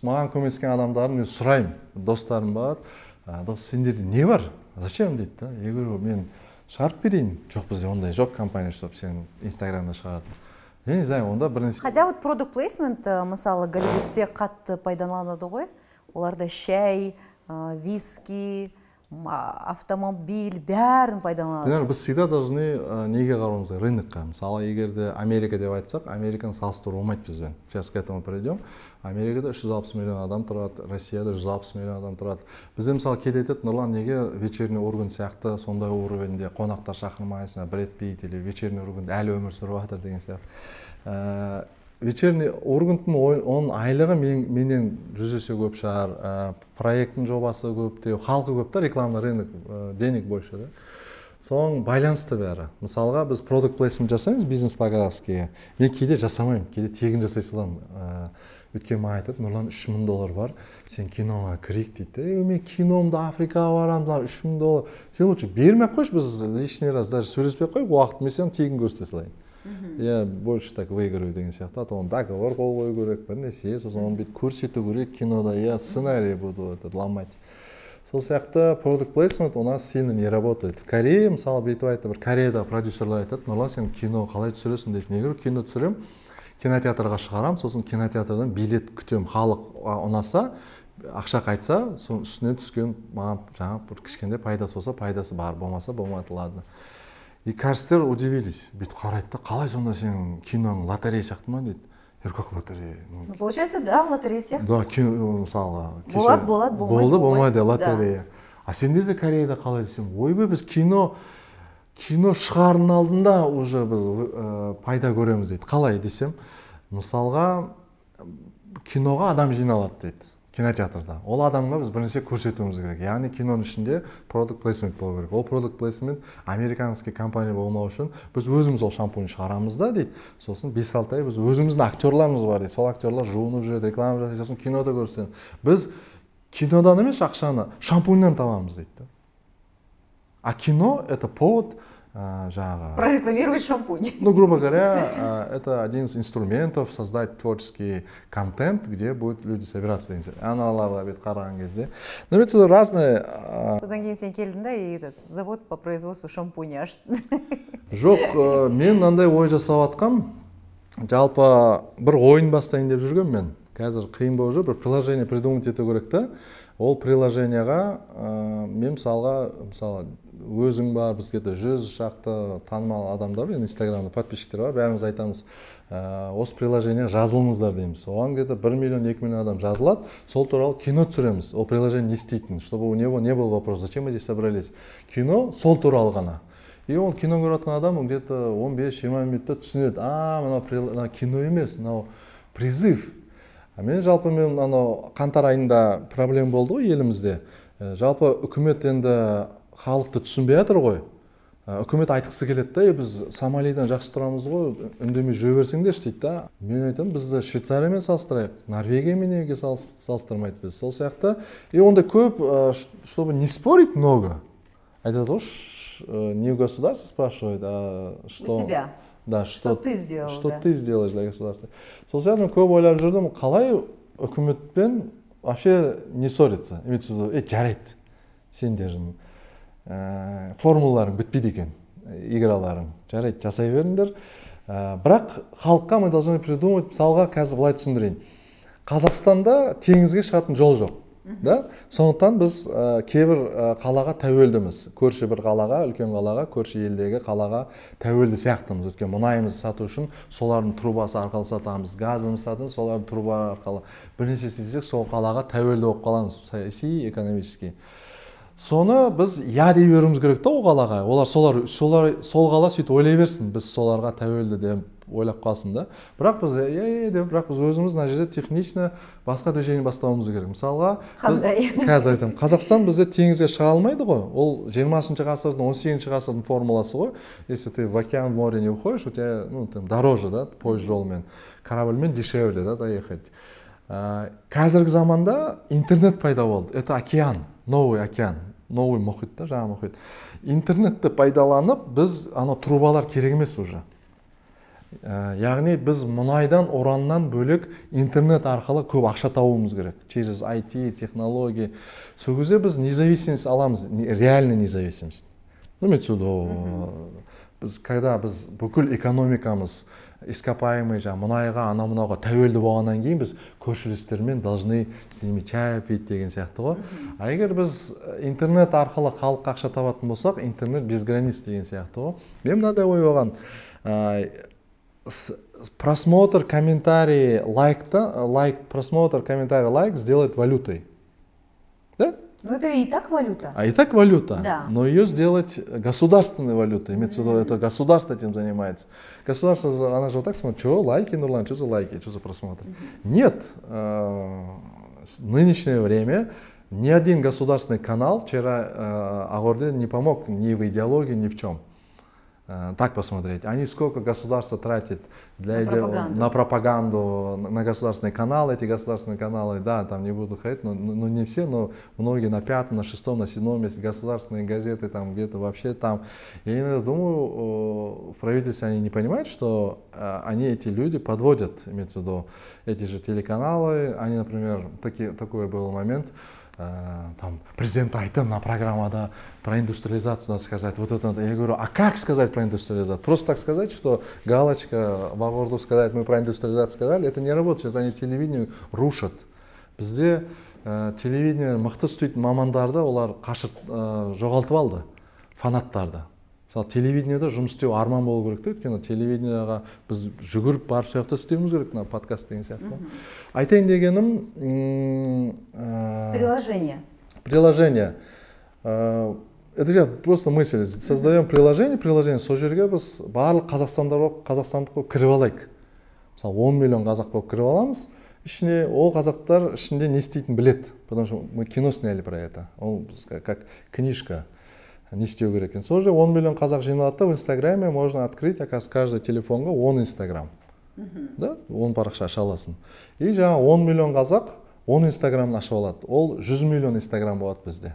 маған көмектескен адамдарын мен сұраймын. Достарым бар. Дос, сендерде не бар? Зачем дейді да? Я говорю, мен шығарып берейін. Жоқ, бізде ондай жоқ компания, чтобы сен инстаграмда шығарады. Я не знаю, онда бір нәрсе. Хотя вот product placement, мысалы, Голливудте қатты пайдаланады ғой. Оларда шай, виски, автомобиль, бәрін пайдаланады. Біз всегда должны неге қарауымыз керек? Рынокқа. Мысалы, егерде Америка деп айтсақ, Американы салыстыру болмайды бізбен. Сейчас к этому придем. Америкада 360 миллион адам тұрады, Россияда 160 миллион адам тұрады. Бізде мысалы кейде айтады, Нұрлан, неге вечерний Ургант сияқты сондай уровеньде қонақтар шақырмайсың, Брэд Питт или вечерний Ургант әлі өмір сүріп жатыр деген сияқты. Вечерний Урганттың оның айлығы менен 100 есе көп шығар, проекттің жобасы көп, халқы көп та, рекламный рынок, денег больше да. Соң байланысты бәрі. Мысалға біз product placement жасаймыз бизнес-повязкаға. Мен кейде жасамаймын, кейде тегін жасай саламын. Өткен маған айтады, Нұрлан, $3,000 бар, сен киноға кірейік дейді. Мен киномды Африкаға барамын, $3,000. Сен лучше бермей-ақ қойшы, біз лишний раз даже сөйлеспей қойып, уақыт мен сен тегін көрсете салайын. Я больше так выиграю деген сияқты. А то он договор қол қою керек, бір нәрсе, сосын оны бүйтіп көрсету керек кинода, я сценарий буду ломать. Сол сияқты product placement у нас сильно не работает. В Корее, мысалы, бүйтіп айтты, бір Кореяда продюсерлар айтады, Нұрлан, сен кино қалай түсіресің дейді. Мен говорю, кино түсірем, кинотеатрға шығарам, сосын кинотеатрдан билет күтем, халық ұнаса, ақша қайтса, соның үстіне түскен маған жаңа бір кішкентай пайдасы болса, пайдасы бар, болмаса болмайды, ладно. И кәрістер удивились. Бүйтіп қарайды да, қалай сонда сен киноның лотерея сияқты ма дейді. Я говорю, как лотерея? Получается, да, лотерея сияқты. Да, кино, мысалға. Болады, болмайды, лотерея. А сендер де Кореяда қалай десем, ойбай, біз кино кино шығардың алдында уже біз пайда көреміз дейді. Қалай десем, мысалға киноға адам жиналады дейді, кинотеатрда. Ол адамға біз бірнәрсе көрсетуіміз керек. Яғни киноның ішінде продукт плейсмент болу керек. Ол продукт плейсмент американский компания болмау үшін біз өзіміз ол шампунь шығарамыз да дейді. Сосын 5-6 ай біз өзіміздің актерларымыз бар дейді. Сол актерлар жуынып жүреді, реклама жасайды, сосын кинода көрсетеді. Біз кинодан емес ақшаны шампуньнан табамыз дейді. А кино это повод прорекламировать шампунь. Ну, грубо говоря, это один из инструментов создать творческий контент, где будут люди собираться. Аналарға бет қараған кезде. Но ведь это разные. Содан кейін сен келдің да, и этот завод по производству шампуня аштың. Жоқ, мен мынандай ой жасап жатқам. Жалпы бір ойын бастайын деп жүргем мен. Қазір қиын болып жүр, бір приложение придумать ету керек та. Ол приложенияға мен мысалы өзің бар, бізге 100 шақты танымал адамдар бар, инстаграмда подписчиктер бар, бәріміз айтамыз, осы приложение жазылыңыздар дейміз. Оған где-то 1 миллион, 2 миллион адам жазылады, сол туралы кино түсіреміз. Ол приложение не істейтін, чтобы у него не был вопрос, зачем мы здесь собрались. Кино сол туралы ғана. И ол кино көріп жатқан адам где-то 15-20 минутта түсінеді. Мынау кино емес, мынау призыв. Мен жалпы қаңтар айында проблема болды ғой елімізде. Жалпы үкімет енді халықты түсінбей жатыр ғой. Үкімет айтқысы келеді да, біз Сомалидан жақсы тұрамыз ғой, үндемей жүре берсеңдерші дейді да. Мен айтамын, бізді Швейцариямен салыстырайық, Норвегиямен неге салыстырмайды біз. Сол сияқты. И онда көп, чтобы не спорить много. Айтады ғой, не у государства спрашивает, а что... У себя. Да, что ты сделал, что ты сделаешь для государства. Сол сияқты көп ойлап жүрдім, қалай үкіметпен вообще не ссориться. Имеется в виду, жарайды, сендердің формулаларың бітпейді екен, играларың. Жарайды, жасай беріңдер. Бірақ халыққа мы должны придумать, мысалға қазір былай түсіндірейін. Қазақстанда теңізге шығатын жол жоқ. Да? Сондықтан біз кейбір қалаға тәуелдіміз. Көрші бір қалаға, үлкен қалаға, көрші елдегі қалаға тәуелді сияқтымыз. Өткен мұнайымызды сату үшін солардың трубасы арқылы сатамыз, газымыз сатамыз, солардың труба арқылы. Бірнеше істесек, сол қалаға тәуелді болып қаламыз, саяси, экономически. Соны біз дей беруіміз керек та ол қалаға. Олар сол қала сөйтіп ойлай берсін, біз соларға тәуелді деп ойлап қалсын да. Бірақ біз өзіміз мына жерде технично басқа движение бастауымыз керек. Мысалға, қазір айтамын, Қазақстан бізде теңізге шыға алмайды ғой. Ол 20-шы ғасырдың, 18-ші ғасырдың формуласы ғой. Если ты в океан, в море не уходишь, у тебя, дороже, да, поезд жолмен, корабльмен дешевле, да, доехать. Қазіргі заманда интернет пайда болды. Это океан, новый океан, новый мұхит та, жаңа мұхит. Интернетті пайдаланып, біз трубалар керек емес уже. Яғни біз мұнайдан, ураннан бөлек интернет арқылы көп ақша табуымыз керек. Через IT, технология. Сол кезде біз независимость аламыз, реальный независимость. Когда біз бүкіл экономикамыз ископаемый мұнайға, мұнайға тәуелді болғаннан кейін біз көршілестермен должны с ними чай пить деген сияқты ғой. А егер біз интернет арқылы халыққа ақша табатын болсақ, интернет без границ деген сияқты ғой. Мен мынадай ой болған, просмотр, комментарий, просмотр, комментарий, лайк сделать валютой. Да? Ну это и так валюта. А и так валюта, да. Но ее сделать государственной валютой. Имеется в виду, это государство этим занимается. Государство, она же вот так смотрит, что лайки, Нурлан, что за лайки, что за просмотры. Нет, в нынешнее время ни один государственный канал вчера Агорде не помог ни в идеологии, ни в чем. Так посмотреть. Они сколько государство тратит на пропаганду, на государственные каналы. Эти государственные каналы, да, там не буду ходить, но не все, но многие на 5-м, на 6-м, на 7-м месте. Государственные газеты там где-то вообще там. Я иногда думаю, в правительстве они не понимают, что они, эти люди, подводят, имеется в виду, эти же телеканалы. Они, например, такой был момент, там президент айтты на программада про индустриализацию надо сказать, вот это надо. Я говорю, а как сказать про индустриализацию? Просто так сказать, что галочка в Агорду сказать, мы про индустриализацию сказали, это не работает. Сейчас они телевидение рушат. Бізде телевидение мықты істейтін мамандарды олар қашып жоғалтып алды, фанаттарды. Мысалы телевидениеде жұмыс істеу арман болу керек те, өйткені телевидениеға біз жүгіріп барып сол жақта істеуіміз керек, мына подкаст деген сияқты. Айтайын дегенім приложение. Приложение. Это же просто мысль. Создаем приложение сол жерге біз барлық қазақстандық болып кіріп алайық. Мысалы 10 миллион қазақ болып кіріп аламыз, ішіне ол қазақтар ішінде не істейтін білет, потому что мы кино сняли про это. Он как книжка. Не істеу керек екен. Сол жерде 10 миллион қазақ жиналады, в Инстаграме можно открыть, оказывается, каждый телефонға 10 Инстаграм. Да? 10 парақша аша аласың. И жаңа 10 миллион қазақ 10 Инстаграмын ашып алады. Ол 100 миллион Инстаграм болады бізде.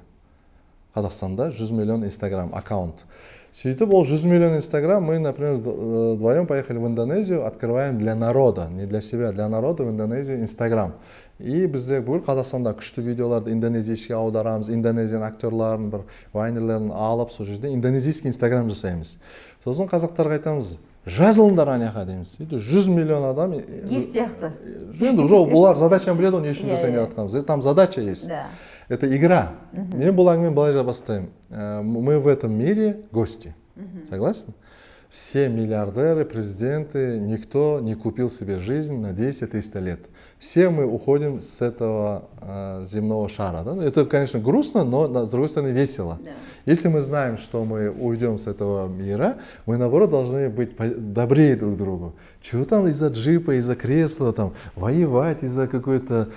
Қазақстанда 100 миллион Инстаграм аккаунт. Сөйтіп, ол 100 миллион Инстаграм, мы, например, вдвоем поехали в Индонезию, открываем для народа, не для себя, для народа в Индонезию Инстаграм. И бізде бұл Қазақстанда күшті видеоларды индонезийский аударамыз, индонезиян актерларын, бір вайнерлерін алып, сол жерде индонезийский Инстаграм жасаймыз. Сосын қазақтарға айтамыз, жазылыңдар аняға дейміз. 100 миллион адам. Гиф сияқты. Енді жоқ, бұлар задачаны біледі, оны ешін жасайын деп жатқанбыз. Там задача есть. Это игра. Мен бұл әңгімені былай бастаймын. Мы в этом мире гости. Согласен? Все миллиардеры, президенты, никто не купил себе жизнь на 200-300 лет. Все мы уходим с этого земного шара. Да? Это, конечно, грустно, но, с другой стороны, весело. Да. Если мы знаем, что мы уйдем с этого мира, мы, наоборот, должны быть добрее друг к другу. Чего там из-за джипа, из-за кресла, там, воевать из-за какой-то...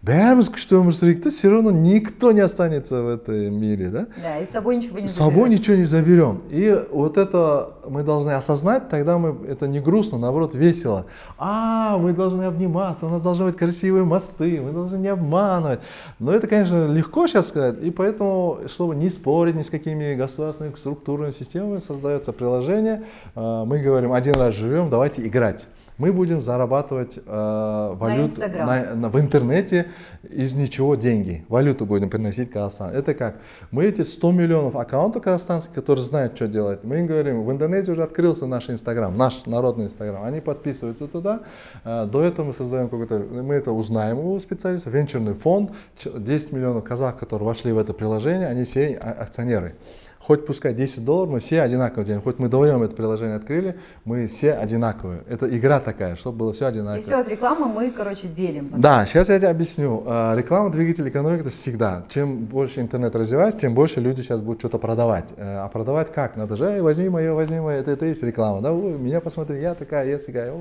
Бәріміз күшті өмір сүрейік, все равно никто не останется в этом мире, да? Да, и с собой ничего не заберем. С собой ничего не заберем. И вот это мы должны осознать, тогда это не грустно, наоборот, весело. Мы должны обниматься, у нас должны быть красивые мосты, мы должны не обманывать. Но это, конечно, легко сейчас сказать, и поэтому, чтобы не спорить ни с какими государственными структурными системами, создается приложение, мы говорим, один раз живем, давайте играть. Мы будем зарабатывать валюту в интернете из ничего деньги. Валюту будем приносить в Казахстан. Это как? Мы эти 100 миллионов аккаунтов казахстанских, которые знают, что делать, мы им говорим, в Индонезии уже открылся наш Инстаграм, наш народный Инстаграм. Они подписываются туда. До этого мы создаем какой-то, мы это узнаем у специалистов, венчурный фонд, 10 миллионов казахов, которые вошли в это приложение, они все акционеры. Хоть пускай $10, мы все одинаково делаем. Хоть мы вдвоем это приложение открыли, мы все одинаковые. Это игра такая, чтобы было все одинаково. И все от рекламы мы, короче, делим. Да, сейчас я тебе объясню. Реклама, двигатель экономики, это всегда. Чем больше интернет развивается, тем больше люди сейчас будут что-то продавать. А продавать как? Надо же, возьми мое, это и есть реклама. Да? Меня посмотри, я такая, я такая.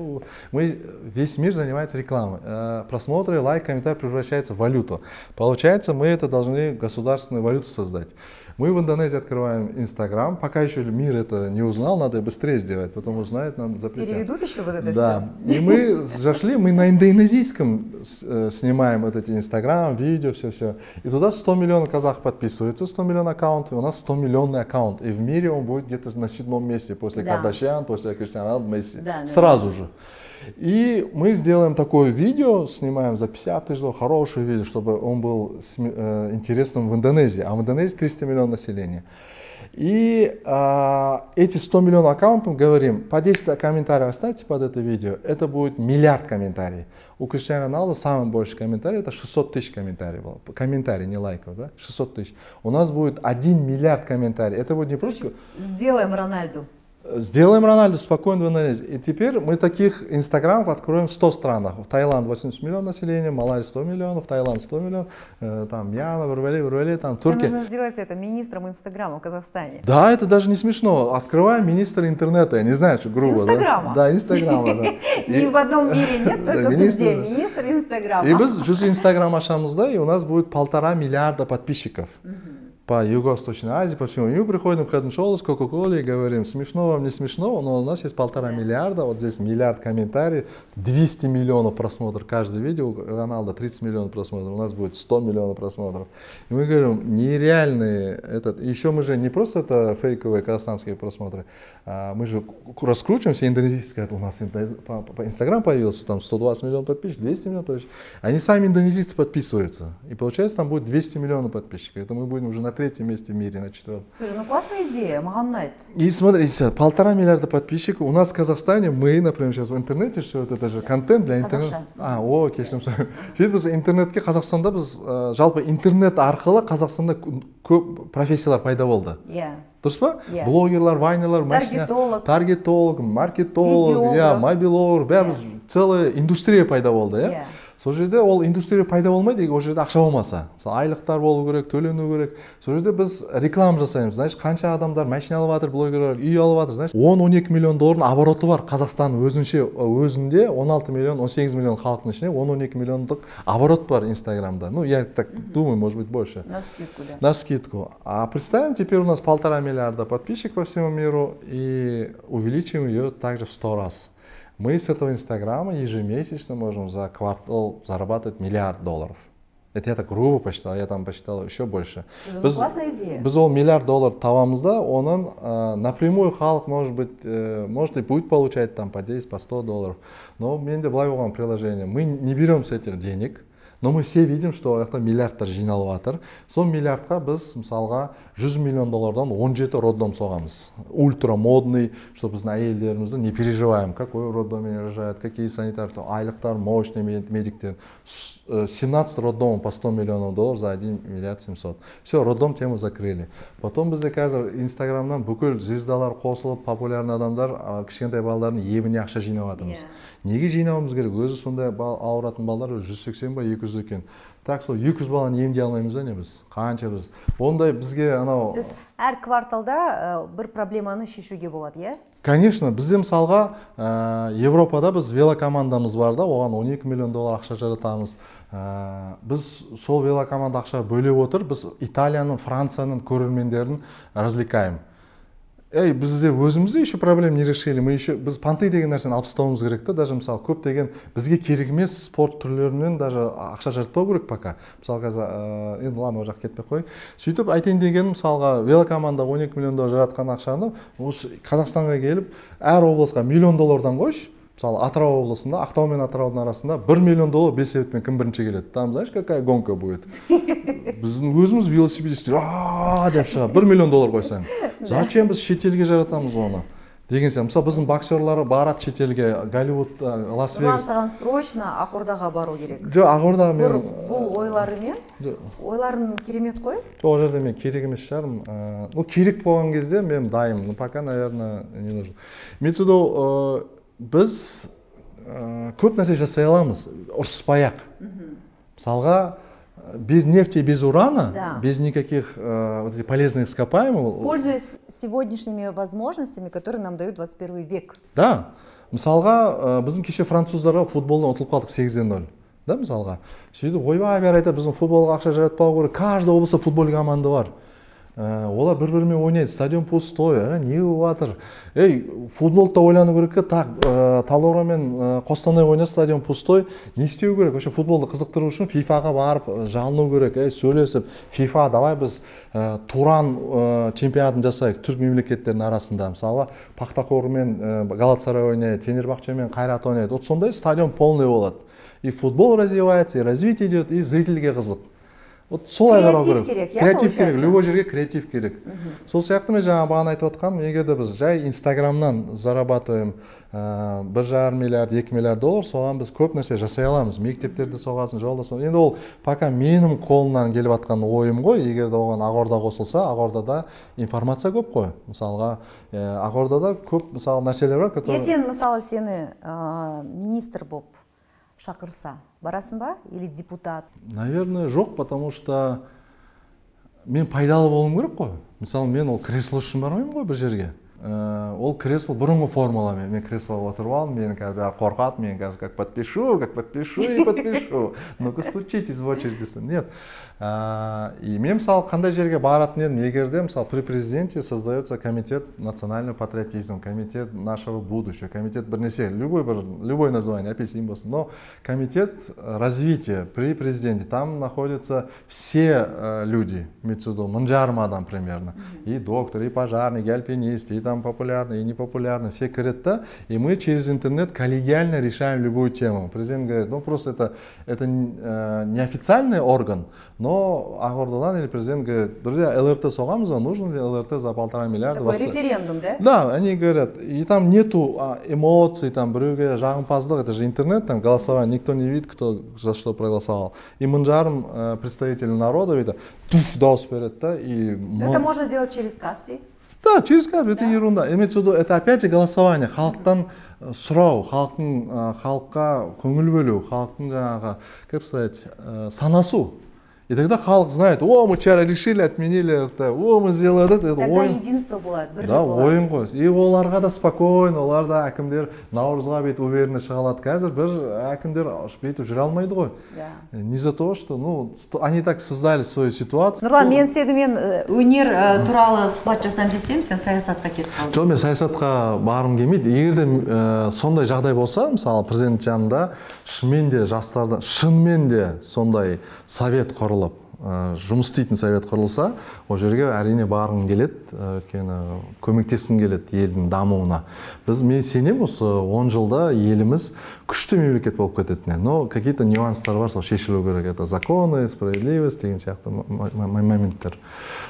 Весь мир занимается рекламой. Просмотры, лайк, комментарий превращается в валюту. Получается, мы это должны государственную валюту создать. Мы в Индонезии открываем Инстаграм, пока еще мир это не узнал, надо быстрее сделать, потом узнает, нам запретят. Переведут еще вот это да. Все? И мы зашли, мы на индонезийском снимаем вот эти Инстаграм, видео, все. И туда 100 миллионов казах подписываются, 100 миллионов аккаунтов, у нас 100 миллионный аккаунт. И в мире он будет где-то на 7-м месте, после Кардашьян, после Криштиану Роналду, Месси. Да, сразу же. И мы сделаем такое видео, снимаем за 50 тысяч долларов, хорошее видео, чтобы он был интересным в Индонезии. А в Индонезии 300 миллионов населения. И эти 100 миллионов аккаунтов, говорим, по 10 комментариев оставьте под это видео, это будет миллиард комментариев. У Криштиану Роналду самый большой комментарий, это 600 тысяч комментариев было. Комментарий, не лайков, да? 600 тысяч. У нас будет 1 миллиард комментариев. Это будет не просто... Сделаем Рональду. Сделаем Рональду спокойно в Индонезии. И теперь мы таких инстаграмов откроем в 100 странах. В Таиланд 80 миллионов населения, Малайзия 100 миллионов, Таиланд 100 миллионов, там Мьянма, Бурвали, там Турция. Нужно сделать это министром Инстаграма в Казахстане. Да, это даже не смешно. Открываем министра интернета, я не знаю, что грубо. Инстаграма. Да, Инстаграма, да. Ни в одном мире нет, только везде. Министр Инстаграма. И біз жүз Инстаграм ашамызда, и у нас будет 1,5 миллиарда подписчиков. По Юго-Восточной Азии, по всему. И мы приходим в Head & Shoulders, Coca-Cola и говорим, смешно вам, не смешно, но у нас есть 1,5 миллиарда, вот здесь миллиард комментариев, 200 миллионов просмотров каждое видео, Роналдо 30 миллионов просмотров, у нас будет 100 миллионов просмотров. И мы говорим, нереальные, еще мы же не просто это фейковые казахстанские просмотры, мы же раскручиваемся, индонезийцы, у нас по Инстаграм появился, там 120 миллионов подписчиков, 200 миллионов подписчиков, они сами индонезийцы подписываются, и получается там будет 200 миллионов подписчиков, это мы будем уже на 3-м месте в мире, на 4-м. Слушай, ну классная идея, Магомед. И смотрите, 1,5 миллиарда подписчиков. У нас в Казахстане, мы, например, сейчас в интернете, все это же контент для интернета. Кешірім сұраймын. Сөйтіп біз интернетке Қазақстанда біз жалпы интернет арқылы Қазақстанда көп профессиялар пайда болды. Дұрыс па? Блогерлар, вайнерлар, таргетолог, маркетолог, мобилолог, бәріміз целая индустрия пайда болды. сол жерде ол индустрия пайда болмайды егер ол жерде ақша болмаса. Мысалы айлықтар болу керек, төлену керек. Сол жерде біз реклама жасаймыз. Значит, қанша адамдар машина алып жатыр, блогерлер үй алып жатыр. Значит, 10-12 миллион доллардың обороты бар Қазақстанның өзінде 16 миллион, 18 миллион халықтың ішінде 10-12 миллиондық оборот бар Инстаграмда. Ну, я так думаю, может быть, больше. На скидку, да. На скидку. А представим, теперь у нас 1,5 миллиарда подписчиков по всему миру и увеличим ее также в 100 раз. Мы с этого Инстаграма ежемесячно можем за квартал зарабатывать $1 миллиард. Это я так грубо посчитал, я там посчитал еще больше. Классная идея. Біз ол $1 миллиард табамыз да, оның напрямую халық, может и будет получать там по 10, по 100 долларов. Но менде былай болған приложение. Мы не берем с этих денег, но мы все видим, что это миллиардтар жиналып жатыр. Сол миллиардқа біз мысалға $100 миллион 17 роддом соғамыз. Ультра модный, что біздің әйелдерімізді не переживаем, какой роддоме рожают, какие санитары, айлықтар, мощный медиктер. 17 роддом по $100 миллионов за $1 миллиард 700. Все, роддом тему закрыли. Потом бізде қазір Инстаграмнан бүкіл звездалар қосылып, популярный адамдар кішкентай балалардың ебіне ақша жинап жатырмыз. Неге жинауымыз керек? Өзі сондай ауыратын балалар 180 ба 200 екен. Так, сол 200 баланы емдей алмаймыз да не біз? Қанша біз? Ондай бізге анау... То есть әр кварталда бір проблеманы шешуге болады, е? Конечно, бізде мысалға Европада біз велокомандамыз бар да, оған $12 миллион ақша жаратамыз. Біз сол велокоманда ақша бөлеп отыр, біз Италияның, Францияның көрермендерін развлекаем. Бізде өзімізде еще проблем не решили. Біз панты деген нәрсені алып тастауымыз керек та, даже мысалы көп деген бізге керек емес спорт түрлерінен даже ақша жаратпау керек пока. Мысалы қазір енді ладно, ол жақ кетпей қой. Сөйтіп айтайын деген мысалға велокоманда $12 миллион жаратқан ақшаны Қазақстанға келіп әр облысқа $1 миллион қойшы. Мысалы Атырау облысында, Ақтау мен Атыраудың арасында $1 миллион бел-себеппен кім бірінші келеді. Там знаешь, какая гонка будет? Біздің өзіміз велосипедистер деп шыға $1 миллион қойсаң. Зачем біз шетелге жаратамыз оны? Деген сияқты. Мысалы біздің боксерлары барады шетелге, Голливуд, Лас-Вегас. Саған срочно Ақордаға бару керек. Жоқ, Ақорда мен бұл ойларымен, ойларын керемет қой. Ол жерде мен керек емес шығармын. Ну, керек болған кезде мен дайым. Ну, пока, наверное, не нужно. Методу біз көп нәрсе жасай аламыз, ұрсыспай-ақ. Мысалға, без нефти, без урана, без никаких полезных ископаемых. Пользуясь сегодняшними возможностями, которые нам дают 21 век. Да. Мысалға, біздің кеше француздарға футболдан ұтылып қалдық 8-0. Да, мысалға. Сөйтіп, ойбай бәрі айтады, біздің футболға ақша жаратпау керек. Каждый облыста футбол команда бар. Олар бір-бірімен ойнайды, стадион пустой, не жатыр? Футболда ойлану керек, так, Талдықорған мен Қостанай ойнайды, стадион пустой, не істеу керек? Вообще футболды қызықтыру үшін FIFA-ға барып, жалыну керек, сөйлесіп, FIFA, давай біз Туран чемпионатын жасайық түрік мемлекеттерінің арасында. Мысалы, Пақтақор мен Галатасарай ойнайды, Фенербахче мен Қайрат ойнайды. Вот сондай стадион полный болады. И футбол развивается, и развитие идет, и зрительге қызық. Вот солай қарау керек. Креатив керек, любой жерге креатив керек. Сол сияқты мен жаңа бағана айтып отқаным, егер де біз жай Инстаграмнан зарабатываем $1,5 миллиард, $2 миллиард, соған біз көп нәрсе жасай аламыз. Мектептерде соғасын, жолда соғасын. Енді ол пока менің қолымнан келіп атқан ойым ғой, егер де оған Ақорда қосылса, Ақордада информация көп қой. Мысалға, Ақордада көп мысалы нәрселер бар, которые... Ертең мысалы сені министр болып шақырса, барасың ба? Или депутат? Наверное, жоқ, потому что мен пайдалы болуым керек қой. Мысалы, мен ол кресло үшін бармаймын ғой бір жерге. Ол кресло бұрынғы формула. Мен креслоға отырып алдым, мені қазір бәрі қорқады, мен қазір как подпишу и подпишу. Ну-ка стучитесь в очередь. Нет. И мен мысалы қандай жерге баратын едім, егерде мысалы при президенте создается комитет национального патриотизма, комитет нашего будущего, комитет бірнеше, любой название, апельсин болсын. Но комитет развития при президенте, там находятся все люди, имеется в виду, 1000 адам примерно. И доктор, и пожарный, и альпинист, и там популярный, и непопулярный, все говорят, и мы через интернет коллегиально решаем любую тему. Президент говорит, ну просто это неофициальный орган, но Ақордадан или президент говорит, друзья, ЛРТ соғамыз, нужно ли ЛРТ за 1,5 миллиарда? Такой референдум, да? Да, они говорят, и там нету эмоций, там біреуге жағымпаздық, это же интернет, там голосование, никто не видит, кто за что проголосовал. И 1000 представителей народа, видно, дауыс береді, да, и... Это можно делать через Каспий? Да, через кабель, это ерунда. Имеется в виду, это опять же голосование. Халықтан сұрау, халыққа көңіл бөлу, халықтың жаңағы, как сказать, санасу. И тогда халық знает, о, мы вчера решили, отменили это, о, мы сделали это. Тогда единство болады, бірлік да, болады. ойын ғой. И оларға да спокойно, олар да әкімдер наурызға бет уверенно шығалады. Қазір бір әкімдер бүйтіп жүре алмайды ғой. Не за то, что, ну, они так создали свою ситуацию. Нұрлан, мен сенімен өнер туралы сұхбат жасам десем, сен саясатқа кетіп қалдың. Жоқ, мен саясатқа барғым келмейді. Егер де сондай жағдай болса, мысалы, президент жанында шынымен де жастардан, шынымен де сондай совет құрылып, жұмыс істейтін совет құрылса, ол жерге әрине барғым келеді, өйткені көмектескім келеді елдің дамуына. Мен сенем, осы 10 жылда еліміз күшті мемлекет болып кететіне. Но какие-то нюанстар бар, сол шешілу керек. Это законы, справедливость деген сияқты моменттер.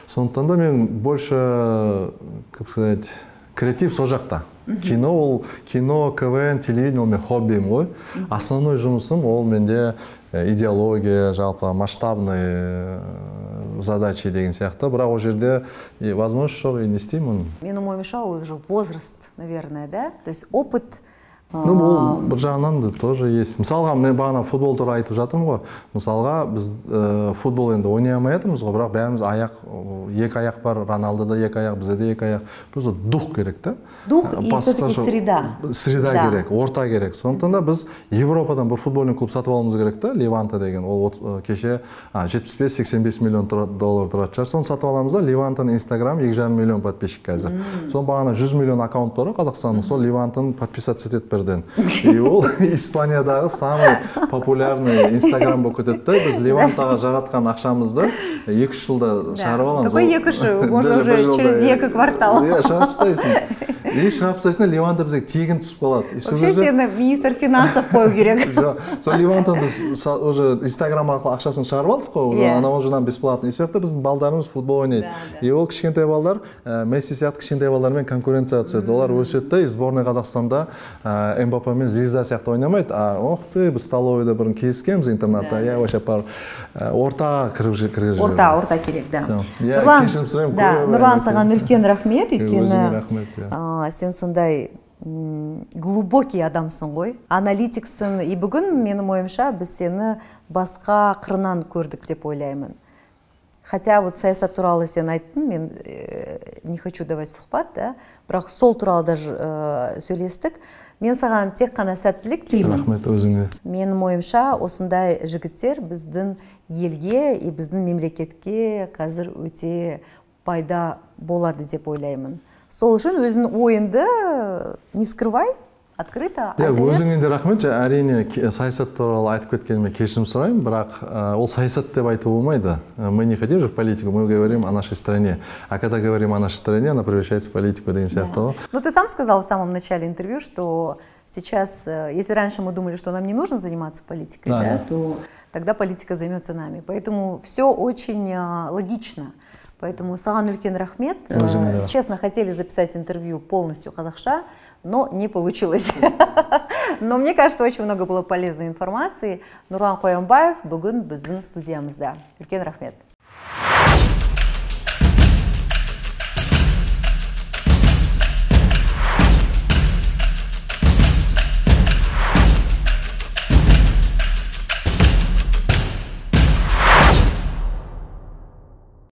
Сондықтан да мен больше, как сказать, креатив сол жақта. Кино, КВН, телевидение ол мен хоббиім ғой. Основной жұмысым ол менде идеология, жалпы масштабные задачи деген сияқты. Бірақ ол жерде возможность жоқ, и не істеймін. Менің ойымша ол уже возраст, наверное, да? То есть опыт. Ну, бұл бір жағынан да тоже есть. Мысалға, мен бағана футбол туралы айтып жатырмын ғой. Мысалға, біз футбол енді ойнай алмай жатырмыз ғой, бірақ бәріміз екі аяқ бар, Роналдода екі аяқ, бізде де екі аяқ. Просто дух керек та. Дух и все-таки среда. Среда керек, орта керек. Сондықтан да біз Европадан бір футбольный клуб сатып алуымыз керек та, Леванта деген. Ол кеше 75-85 миллион доллар тұрады шығар. Соны сатып аламыз да, Левантаның Инстаграм 2,5 миллион подписчик қазір. Соны бағана 100 миллион аккаунт бар Қазақстанның, сол Левантаның подписаться етеді бірден. И ол Испаниядағы самый популярный Инстаграм болып кетеді да. Біз Левантаға жаратқан ақшамызды 2-3 жылда шығарып аламыз. Какой 2-3? Можно уже через 2 квартал. Иә, шығарып тастайсың. И шығарып тастайсың, Леванта бізге тегін түсіп қалады. Вообще сені министр финансов қою керек. Сол Левантаны біз уже Инстаграм арқылы ақшасын шығарып алдық қой, анау жерден бесплатно. И сол жақта біздің балдарымыз футбол ойнайды. И ол кішкентай балдар, Месси сияқты кішкентай балдармен конкуренция түседі. Олар өседі и сборная Қазақстанда Мбаппе мен Звезда сияқты ойнамайды. Ох ты, біз столовыйда бұрын кездескенбіз интернатта. Я вообще ортаға кіргізіп жібердім. Орта керек, да. Нұрлан, саған үлкен рахмет, өйткені сен сондай глубокий адамсың ғой, аналитиксің. И бүгін, менің ойымша, біз сені басқа қырынан көрдік деп ойлаймын. Хотя вот саясат туралы сен айттың, мен не хочу давать сұхбат, да? Бірақ сол туралы даже сөйлестік. Мен саған тек қана сәттілік тілеймін. Рахмет, өзіңе. Менің ойымша, осындай жігіттер біздің елге и біздің мемлекетке қазір өте пайда болады деп ойлаймын. Сол үшін өзің ойынды не скрывай, открыто. Өзіңе де рахмет. Әрине саясат туралы айтып кеткеніме кешірім сұраймын, бірақ ол саясат деп айту болмайды. Мы не хотим же в политику, мы говорим о нашей стране. А когда говорим о нашей стране, она превращается в политику деген сияқты. Ну, ты сам сказал в самом начале интервью, что сейчас, если раньше мы думали, что нам не нужно заниматься политикой, то тогда политика займется нами. Поэтому все очень логично. Поэтому саған үлкен рахмет. Честно, хотели записать интервью полностью қазақша, но не получилось. Но мне кажется, очень много было полезной информации. Нурлан Қоянбаев бүгін біздің студиямызда. Үлкен рахмет.